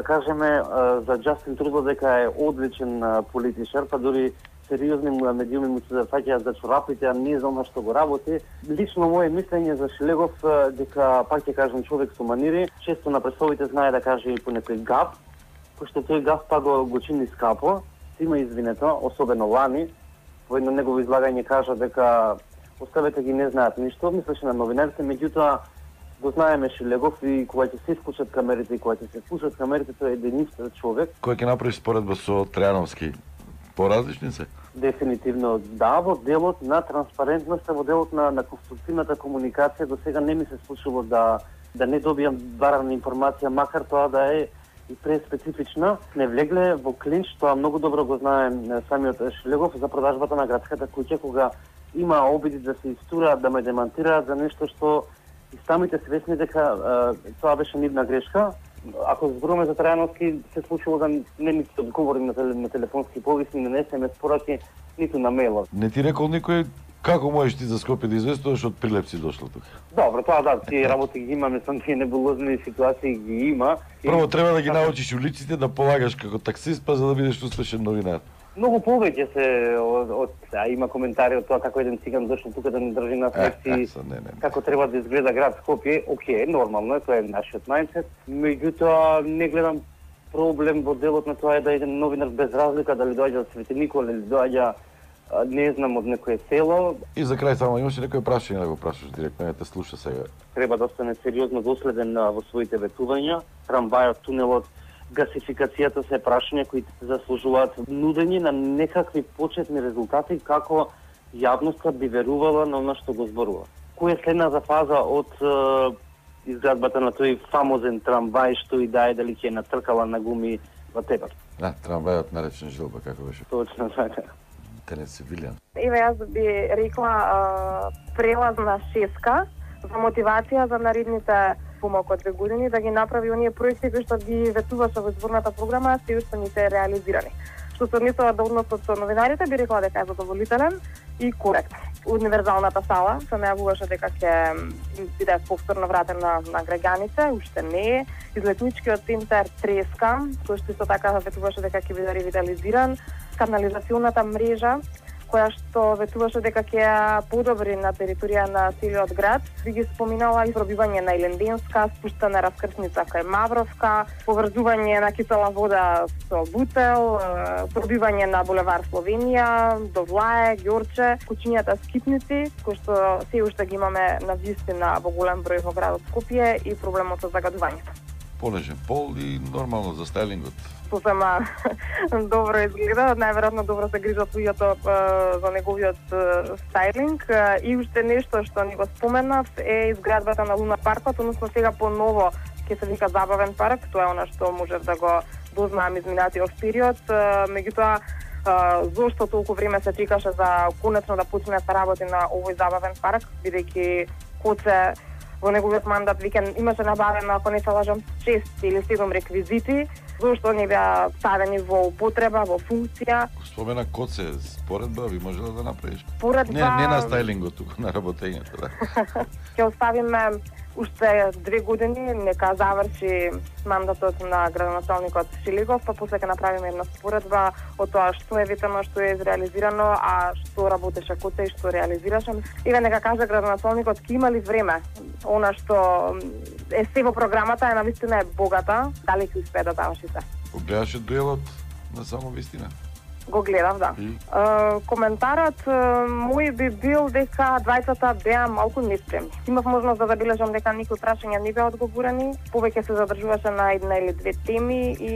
кажеме за Џастин Трудо дека е одличен политичар, па дури сериозни медиуми му се зафаќаат за чорапите, а не знам на што го работи. Лично мое мислење за Шилегов дека, пак ќе кажам, човек со манири, често на пресовите знае да каже и по некој гаф, кој што тој гаф па го чини скапо. сима извинето, особено лани, во едно негово излагање кажа дека оставете ги не знаат ништо, мислеше на новинарите, меѓутоа го знаеме Шилегов и кога ќе се исклучат камерите и кога ќе се вклучат камерите, тој е единствен човек. Кој ќе направи споредба со Трајановски? Поразлични се? Дефинитивно да, во делот на транспарентноста, во делот на конструктивната комуникација, до сега не ми се случило да не добијам барана информација, макар тоа да е и преспецифична. Не влегле во клинч, тоа многу добро го знаем самиот Шилегов за продажбата на градската куќа, кога има обиди да се истураат, да ме демантираат за нешто што и самите свесни дека тоа беше нивна грешка. Ако зборуваме за Трајановски, се случило да не ми се одговорим на телефонски повисни, на SMS пораки, ниту на мејлот. Не ти рекол никој како можеш ти за Скопје да известуваш од прилепци дошло тука? Добро, тоа да, тие работи ги има, мислам, тие небулозни ситуации ги има. Прво треба да ги научиш улиците, да полагаш како таксист, па за да бидеш успешен новинар. Многу повеќе се има коментари од тоа како еден циган дошол тука да не држи нас лекции, како треба да изгледа град Скопје. Океј, нормално е, тоа е нашиот мајндсет. Меѓутоа не гледам проблем во делот на тоа е да еден новинар без разлика дали доаѓа од Свети Никола или доаѓа не знам од некое село. И за крај само имаш некој прашање да го прашаш директно, не те слуша сега. Треба да остане сериозно доследен во своите ветувања. Трамвајот, тунелот, гасификацијата се прашања кои заслужуваат нудење на некакви почетни резултати како јавноста би верувала на она што го зборува. Која е следната фаза од изградбата на тој фамозен трамвај што и да е дали ќе натркала на гуми во Тепер? Да, трамвајот наречен Жилба, како беше? Точно така. Тенец Вилјан. Еве јас би рекла прелазна шеска за мотивација за наредните помалку од 2 години да ги направи оние проекти кои што ги ветуваше во изборната програма, се уште не се реализирани. Што се однесува до односот со новинарите, би рекла дека е задоволителен и коректен. Универзалната сала се најавуваше дека ќе биде повторно вратен на граѓаните, уште не е. Излетничкиот центар треска, кој што исто така ветуваше дека ќе биде ревитализиран. Канализацијната мрежа, која што ветуваше дека ќе ја подобри на територија на целиот град. Би ги споминала и пробивање на Иленденска, спуштана раскрсница кај Мавровка, поврзување на кисела вода со Бутел, пробивање на булевар Словенија, до Влае, Ѓорче, кучињата скитници, кои што се уште ги имаме на вистина во голем број во градот Скопје и проблемот со загадувањето. Понежен пол и нормално за стајлингот. Сосема добро изгледа, најверојатно добро се грижат луѓето за неговиот стајлинг. И уште нешто што ни го споменав е изградбата на Луна паркот, односно сега поново ќе се вика забавен парк, тоа е она што можев да го дознаам изминатиот период. Меѓутоа, зошто толку време се чекаше за конечно да почне да работи на овој забавен парк, бидејќи Коце во неговиот мандат веќе имаше набавено, ако не се лажам, 6 или 7 реквизити, зашто не беа ставени во употреба, во функција. Спомена Коце, споредба би можела да направиш? Споредба... Не на стајлингот, туку на работењето, да. Ќе оставиме уште 2 години, нека заврши мандатот на градоначалникот Шилегов, па после ќе направиме една споредба од тоа што е ветено, што е изреализирано, а што работеше Коце и што реализираше. Еве нека каже градоначалникот, ќе има ли време? Она што е се во програмата е навистина е богата, дали ќе успее да заврши се? Го гледаше дуелот на само вистина? Го гледав, да. Коментарот мој би бил дека двајцата беа малку неспремни. Имав можност да забележам дека никој прашања не беа одговорени, повеќе се задржуваше на една или две теми и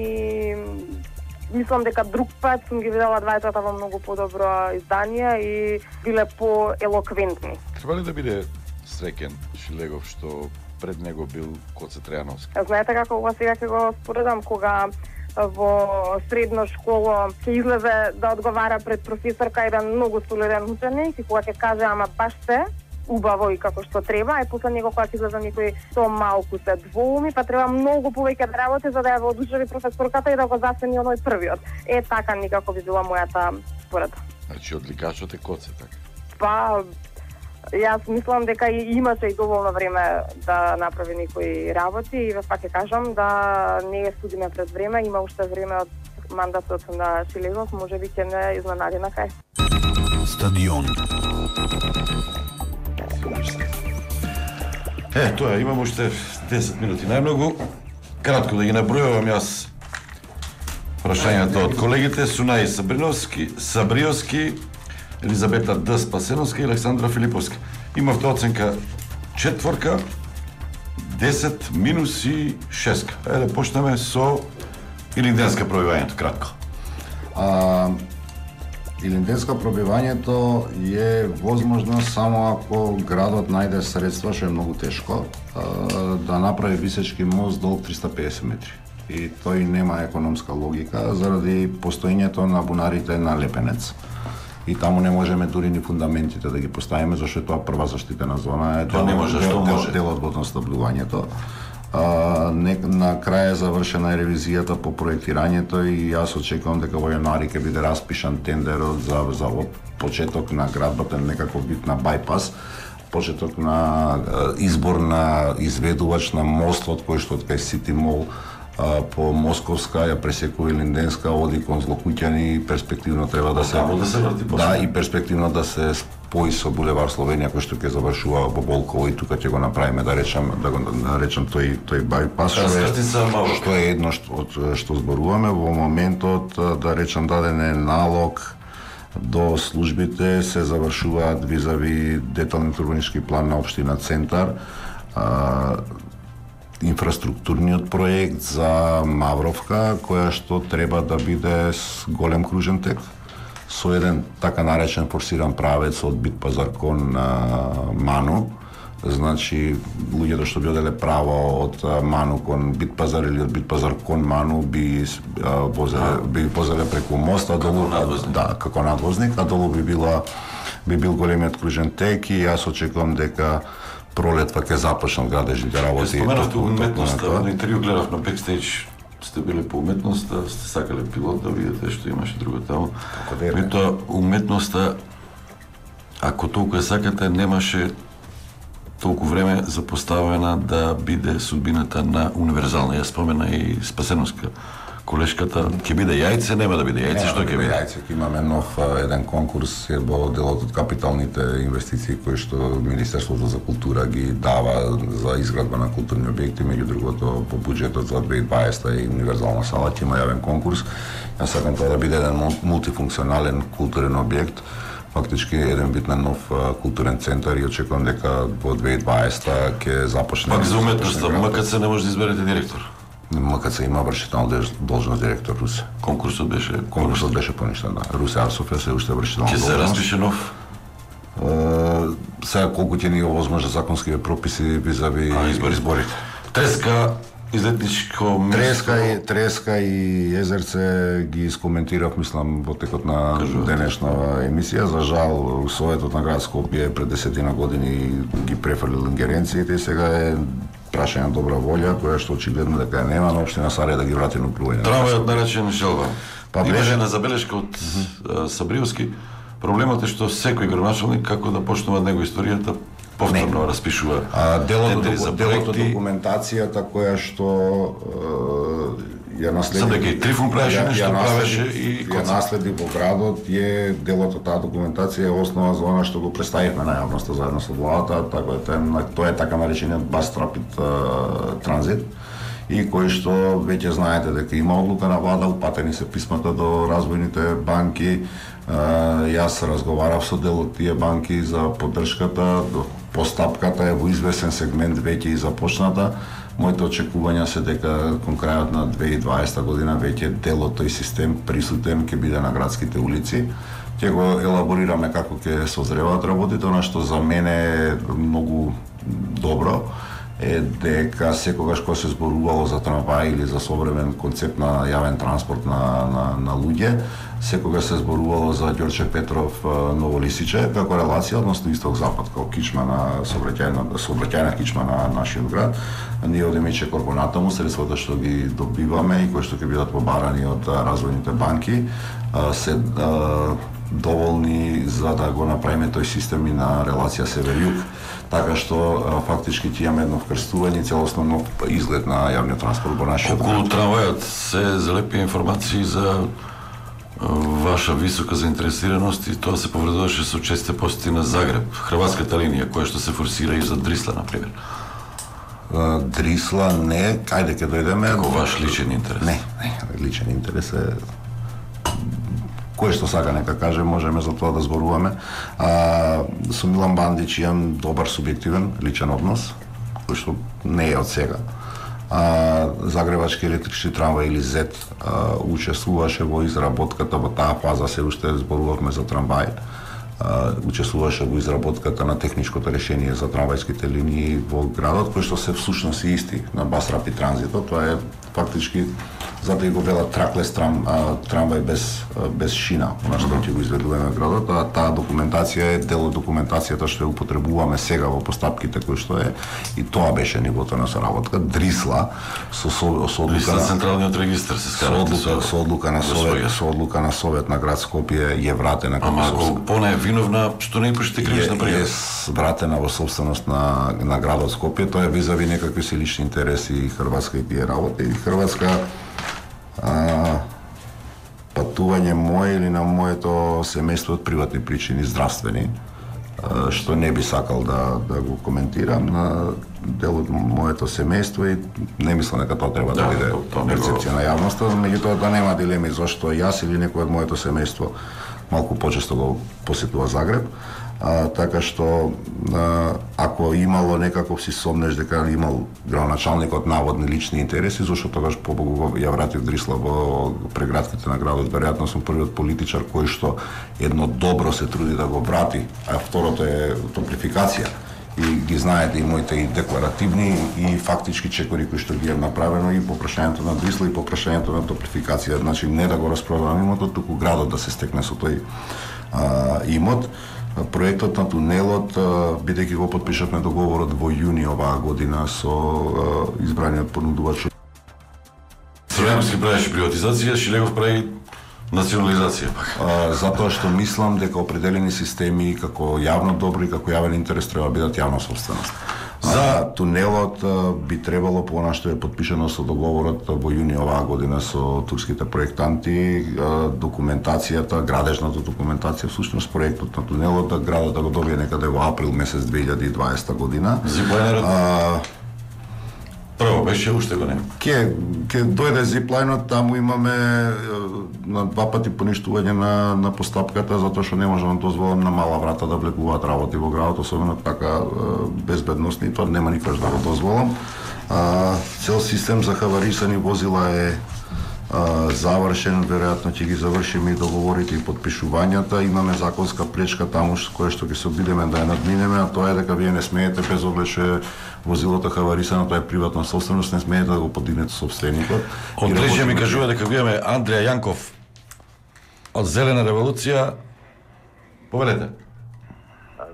мислам дека друг пат сум ги видела двајцата во многу подобро издание и биле по-елоквентни. Треба ли да биде среќен Шилегов што пред него бил Коце Трајановски? Знаете како ова сега ќе го споредам, кога во средно школо ќе излезе да одговара пред професорка еден многу солиден ученик и кога ќе каже ама баш се убаво и како што треба, и после него кога ќе излезе некој со малку се двоуми, па треба многу повеќе да работи за да ја воодушеви професорката и да го засени оној првиот. Е така никако би била мојата споредба. Значи одликачот е Коце, така? Па јас мислам дека имаше и доволно време да направи некои работи и пак ќе кажам да не е судиме пред време, има уште време од мандатот на Шилегов, можеби ќе не изненади на крај. Стадион. Тоа, имам уште 10 минути најмногу. Кратко да ги набројувам јас Прашањето од колегите Сунај Сабриовски, Елизабета Д. Спасеновска и Александра Филиповска. Имавте оценка 4, 10 минус и 6. Ајде почнеме со илинденска пробивањето, кратко. Илинденска пробивањето е возможно само ако градот најде средства, што е многу тешко, да направи висечки мост долг 350 метри. И тој нема економска логика заради постоењето на бунарите на Лепенец. И таму не можеме дури ни фундаментите да ги поставиме, зашто тоа прва заштитена зона е дел од водоснабдувањето. На крај е завршена ревизијата по проектирањето и јас очекувам дека во јануари ќе биде распишан тендерот за почеток на градбата, некако вид на бајпас, почеток на избор на изведувач на мостот кој што од кај Сити Мол по Московска ја пресекува Илинденска, оди кон Злокуќани и перспективно треба да се и перспективно да се спои со булевар Словенија кој што ќе завршува во Болково и тука ќе го направиме да го наречам тој бајпас што е едно што зборуваме во моментот, да речам, даден е налог до службите, се завршуваат визави деталниот урбанички план на општина Центар, инфраструктурниот проект за Мавровка, која што треба да биде голем кружен тек, со еден така наречен форсиран правец од Бит Пазар кон Ману. Значи, луѓето што би оделе право од Ману кон Бит Пазар или од Бит Пазар кон Ману би возеле преку моста долу, како надвозник, а долу би бил големиот кружен тек и јас очекувам дека пролетва ќе започнат градежните работи. Споменавте уметноста, на интервју гледав на бекстејдж, сте биле по уметноста, сте сакале пилот да видите што имаше друго таму. Меѓутоа, уметноста, ако толку ја сакате, немаше толку време за поставена да биде судбината на универзална. Ја спомена и Спасеновска колешката, ќе биде јајце, нема да биде јајце, што ќе биде? Јајце, ќе имаме нов еден конкурс, во делот од капиталните инвестиции кои што Министерството за култура ги дава за изградба на културни објекти, меѓу другото по буџетот за 2020 и универзална сала ќе има јавен конкурс. Јас сакам тоа да биде еден мултифункционален културен објект, фактички еден вид на нов културен центар и очекувам дека во 2020 ќе започне. Пак за уметноста, МКЦ не може да изберете директор. МКЦ има вршителна должност директор Русе. Конкурсот беше поништен, да. Русе Арсоф се уште вршителна должност. Ќе се распише нов? Сега колку ќе ни овозможат законски прописи визави изборите. Треска, излетничко место. Треска и Езерце ги искоментирав, мислам, во текот на денешна емисија. За жал, Советот на град Скопје пред 10 години ги префрлил ингеренциите и сега е прашање добра волја, која што очигледно дека нема на општина Сарија да ги врати на управување. Трамвајот наречен Желба. Имаше една забелешка од Сабриовски. Проблемот е што секој градоначалник, како да почнува од него историјата, повторно распишува тендери за проекти. Делот од документацијата која што ја наследи. Сам дека и Трифун правеше нешто, правеше и ја наследи во градот, е делот од таа документација е основа за она што го представивме на јавноста заедно со владата, така тоа е така наречениот Bus Rapid Transit, и кој што веќе знаете дека има одлука на влада, упатени се писмата до развојните банки. Јас разговарав со дел од тие банки за поддршката, постапката е во известен сегмент веќе и започната. Моите очекувања се дека кон крајот на 2020 година веќе дел од тој систем присутен ќе биде на градските улици. Ќе го елаборираме како ќе созреваат работите. Она што за мене е многу добро е дека секогаш кога се зборувало за трамвај или за современ концепт на јавен транспорт на луѓе, секогаш се зборувало за Ѓорче Петров Новолисиче како релација, односно исток-запад, како кичма на сообраќајна кичма на нашиот град. Ние одиме че корпонатаму, средствата што ги добиваме и кои што ќе бидат побарани од развојните банки се доволни за да го направиме тој систем и на релација север-југ, така што фактички ќе имаме едно вкрстување и целосно нов изглед на јавниот транспорт во нашиот град. Околу трамвајот се залепи информации за ваша висока заинтересираност и тоа се повредуваше со чести посети на Загреб, хрватската линија, која што се форсира и за Дрисла, например. Дрисла не, кајде ќе дојдеме? Како ваш личен интерес? Не, личен интерес е кој што сака нека каже, можеме за тоа да зборуваме. Со Милан Бандич имам добар субјективен личен однос, кој што не е од сега. Загребачки електрични трамвај или ЗЕТ учествуваше во изработката, во таа фаза се уште зборувавме за трамвај. Учествуваше во изработката на техничкото решение за трамвајските линии во градот, кои што се всушност и исти на Бас Рапид Транзитот. Тоа е фактички затоа и го велат траклес трамвај без шина, она што ќе го изведуваме во градот, а таа документација е дел од документацијата што ја употребуваме сега во постапките кои што е, и тоа беше нивото на соработка. Дрисла со одлука на централниот регистар се скарате со одлука на Совет на град Скопје е вратена како поне виновна што не пишете кривична пријава. Е вратена во собственост на градот Скопје, тоа е визави некакви си лични интереси Хрватска и тие работи. И Хрватска патување мое или на моето семејство од приватни причини, здравствени, што не би сакал да го коментирам на дел од моето семејство и не мислам дека тоа треба да биде перцепција на јавноста, меѓутоа да нема дилеми зашто јас или некој од моето семејство малку почесто го посетува Загреб, така што ако имало некаков си сомнеш дека имал градоначалникот наводни лични интереси, зашто тогаш побогу ја вратив Дрисла во преградките на градот. Веројатно сум првиот политичар кој што едно добро се труди да го врати, а второто е топлификација. И ги знаете и моите и декларативни и фактички чекори кои што ги е направено и по прашањето на Дрисла и по прашањето на топлификација. Значи не да го распродавам имотот, туку градот да се стекне со тој имот. Проектот на тунелот, бидејќи го потпишавме договорот во јуни оваа година со избраниот понудувач. Сремски правеше приватизација, Шилегов прави национализација. Затоа што мислам дека определени системи како јавно добро и како јавен интерес треба да бидат јавна собственост. За тунелот би требало по она што е потпишано со договорот во јуни оваа година со турските проектанти, документацијата, градежната документација, всушност проектот на тунелот, градот да го добие некаде во април месец 2020 година. Прво беше уште го нема. Ке дојде зиплајнот, таму имаме на два пати поништување на постапката, затоа што не можам да дозволам на мала врата да влегуваат работи во градот, особено така безбедносни, тоа нема никогаш да го дозволам. Цел систем за хаварисани возила е завршен, веројатно ќе ги завршиме и договорите и подпишувањата. Имаме законска пречка таму која што ќе се обидеме да ја надминеме, а тоа е дека вие не смеете, без оглед што е возилото хаварисано, тоа е приватна собственост, не смеете да го подигнете собственикот. Од Рече ми кажува дека го имаме Андреја Јанков од Зелена револуција. Повелете.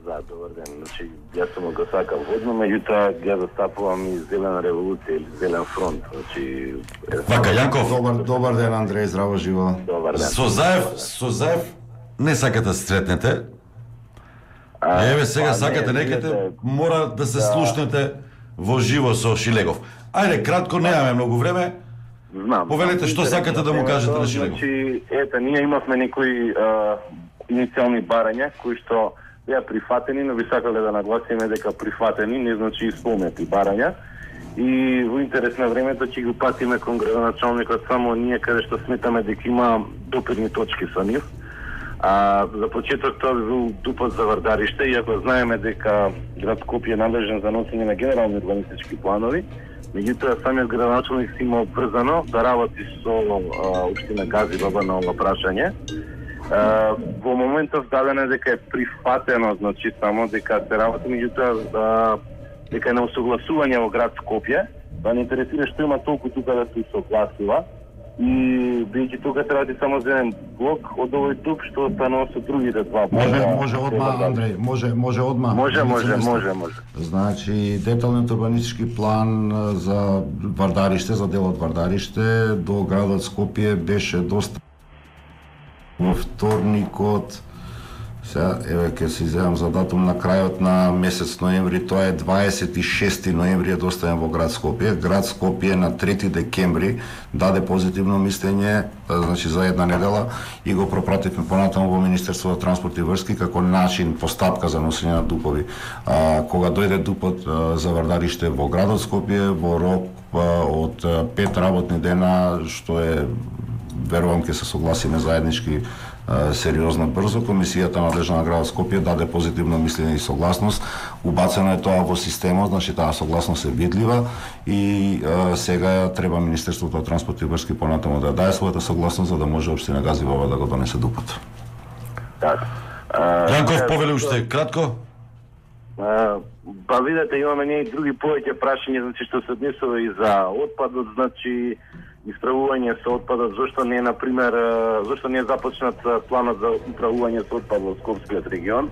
Да, добар ден. Значи, јас сум го сакал водно, меѓутоа ја застапувам и Зелена револуција или Зелен фронт. Значи, Вака Јанков. Добар ден, Андреј, здраво живо. Добар ден. Со Заев не сакате да се сретнете. Еве сега сакате некаде, мора да се слушнете во живо со Шилегов. Ајде, кратко, немаме многу време. Знам. Повелете што сакате да му кажете на Шилегов. Значи, ние имавме некои иницијални барања кои што беа прифатени, но би сакале да нагласиме дека прифатени не значи исполнети барања. И во интерес на времето ќе го патиме кон градоначалникот само ние каде што сметаме дека има допирни точки со нив. За почеток тоа би бил дупот за Вардариште, иако знаеме дека град Скопје е надлежен за носење на генерални урбанистички планови, меѓутоа самиот градоначалник си има обврзано да работи со општина Газибаба на ова прашање. Во моментов дадено дека е прифатено, значи само дека се работи, меѓутоа дека е на усогласување во град Скопје, да не интересира што има толку тука да се согласува. И бидејќи тука се работи само за еден блок од овој тук што останува со другите два блока. Може одма, Андреј, може одма. Може. Значи, деталниот урбанистички план за Вардариште, за делот Вардариште до градот Скопје беше доста во вторникот, Сега, еве, ќе се изјавам за датум на крајот на месец ноември, тоа е 26 ноември е доставен во град Скопје. Град Скопје на 3 декември даде позитивно мислење, значи за една недела, и го пропративме понатаму во Министерството за транспорт и врски како начин, постапка за носење на дупови. Кога дојде дупот за вардариште во градот Скопје, во рок од 5 работни дена, што е, верувам, ќе се согласиме заеднички сериозно брзо, комисијата надлежна на градот Скопје даде позитивно мислење и согласност. Убацено е тоа во системот, значи таа согласност е видлива и сега треба Министерството за транспорт и врски понатаму да даде својата согласност за да може општина Газивова да го донесе дупот. Јанков, повели уште кратко. Па видете, имаме ние и други повеќе прашања, значи што се однесува и за отпадот, значи исправување со отпадот, зошто не е, например, зошто не е започнат планот за управување со отпад во Скопскиот регион.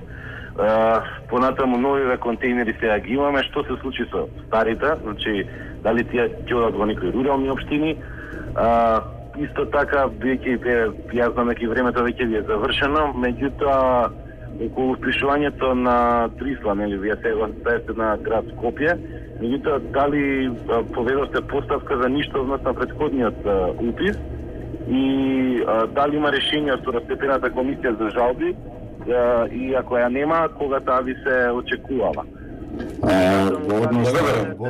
Понатаму новиве контейнери сега ги имаме, што се случи со старите, значи дали тие ќе одат во некои рурални општини. Исто така, јас знам дека времето веќе ви е завршено, меѓутоа околу впишувањето на Трисла, нели, вие сега сте на град Скопје, меѓутоа дали поведовте поставка за ништовност на претходниот упис и дали има решение од второстепената комисија за жалби и ако ја нема, кога таа ви се очекувала?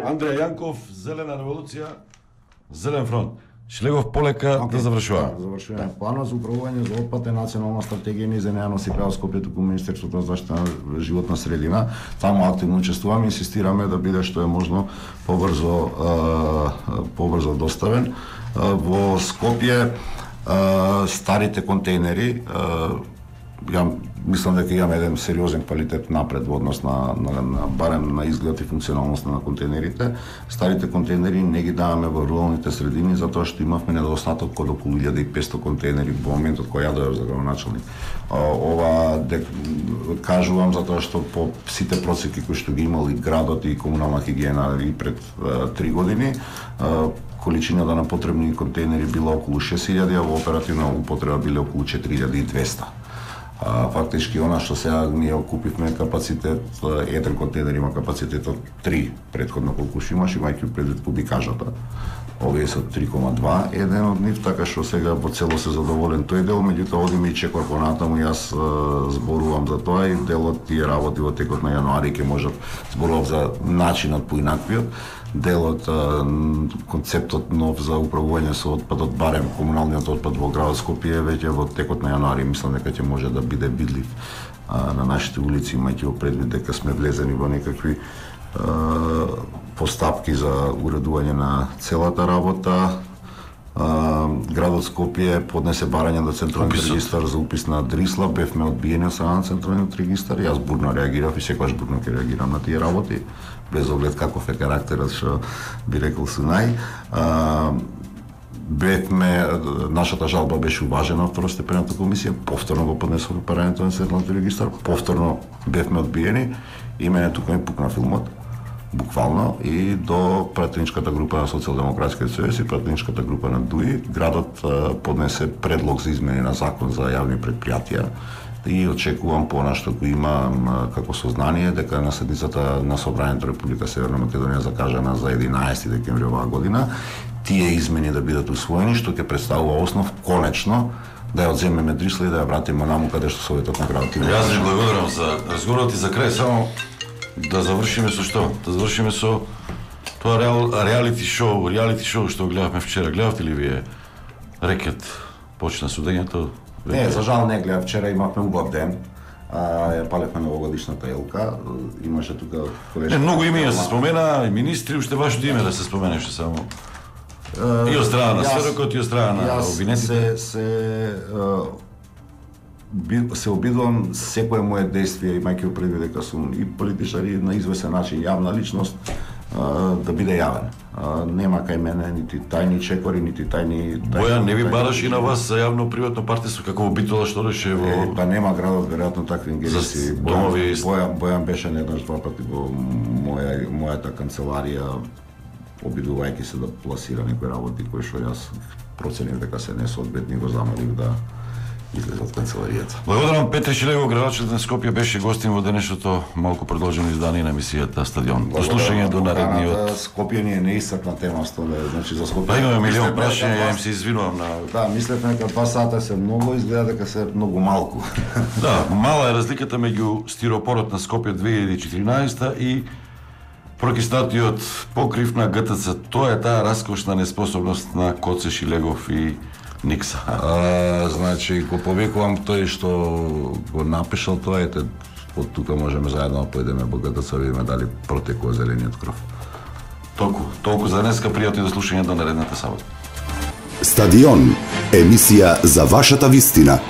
Андреј Јанков, Зелена револуција, Зелен фронт. Шлегов полека да завршува. Завршуваме. Планот за управување за отпад е национална стратегија низ ја носи прavo Скопје туку Министерството за заштита на животна средина. Таму активно учествуваме и инсистираме да биде што е можно побрзо доставен. Во Скопје старите контейнери, ја мислам дека имаме еден сериозен квалитет напред во однос на барем на изглед и функционалност на контейнерите. Старите контейнери не ги даваме во руралните средини затоа што имавме недостаток од околу 1500 контейнери во моментот кога ја дојдов за градоначалник. Ова кажувам затоа што по сите процеки кои што ги имал и градот и комунална хигиена и пред 3 години, количината на потребни контейнери била околу 6000, а во оперативна употреба биле околу 4200. Фактички она што сега ние окупивме капацитет, еден контейнер има капацитет од 3, претходно колку што имаш, имајќи предвид кубикажата. Овие се 3,2, еден од нив, така што сега во цело се задоволен тој дел, меѓутоа одиме и чекор понатаму, јас зборувам за тоа и дел од тие работи во текот на јануари ќе можат, зборувам за начинот поинаквиот, делот, концептот нов за управување со отпадот, барем комуналниот отпад во градот Скопје, веќе во текот на јануари мислам дека ќе може да биде видлив на нашите улици, имајќи предвид дека сме влезени во некакви постапки за уредување на целата работа. Градот Скопје поднесе барање до Централниот регистар за упис на Дрисла, бевме одбиени од страна на Централниот регистар, јас бурно реагирав и секогаш бурно ќе реагирам на тие работи, без оглед каков е карактерот што би рекол Сунај. Бевме, нашата жалба беше уважена од второстепената комисија, повторно го поднесовме барањето на Централниот регистар, повторно бевме одбиени и мене тука ми пукна филмот. Буквално и до пратеничката група на Социјалдемократскиот сојуз и пратеничката група на ДУИ, градот поднесе предлог за измени на закон за јавни предпријатија и очекувам понашто го имам како сознание дека на седницата на Собранието Република Северна Македонија закажана за 11 декември оваа година, тие измени да бидат усвоени, што ќе представува основ конечно да ја одземеме Дрисла и да ја вратиме наму каде што Советот на градот има. Јас ви благодарам за разговорот и за крај само да завршиме со што? Да завршиме со тоа реалити шоу што гледавме вчера. Гледавте ли вие Рекет? Почна судењето? Не, за жал не гледав. Вчера имавме убав ден. Ја палевме новогодишната елка. Имаше тука колешки. Не, многу имења се спомена, и министри, уште вашето име да се споменеше само. И од страна на СРК, и од страна на обвинетите. Се обидувам секое мое действие, имајќи предвид дека сум и политичар и на извесен начин јавна личност, да биде јавен. Нема кај мене нити тајни чекори, нити тајни... Бојан не ви бараш и на вас за јавно-приватно партнерство, како во Битола што реше во... Па нема градот веројатно такви ингеренции. Бојан беше еднаш два пати во мојата канцеларија, обидувајќи се да пласира некои работи кои што јас проценив дека се несоодветни, го замолив да излезе од канцеларијата. Благодарам. Петре Шилегов, градоначелник на Скопје, беше гостин во денешното малку продолжено издание на емисијата Стадион. До слушање до наредниот. Скопје ни е неисцрпна тема, значи за Скопје. Имаме милион прашања, ја им се извинувам на. Да, мислевме дека 2 сата се многу, изгледа дека се многу малку. Да, мала е разликата меѓу стиропорот на Скопје 2014 и прокиснатиот покрив на ГТЦ. Тоа е таа раскошна неспособност на Коце Шилегов и Никса. Значи, го повикувам тој што го напишал тоа, ете, од тука можеме заедно да појдеме во ГТЦ, видиме дали протекува зелениот кров. Толку за денеска, пријатно до слушање до наредната сабота. Стадион, емисија за вашата вистина.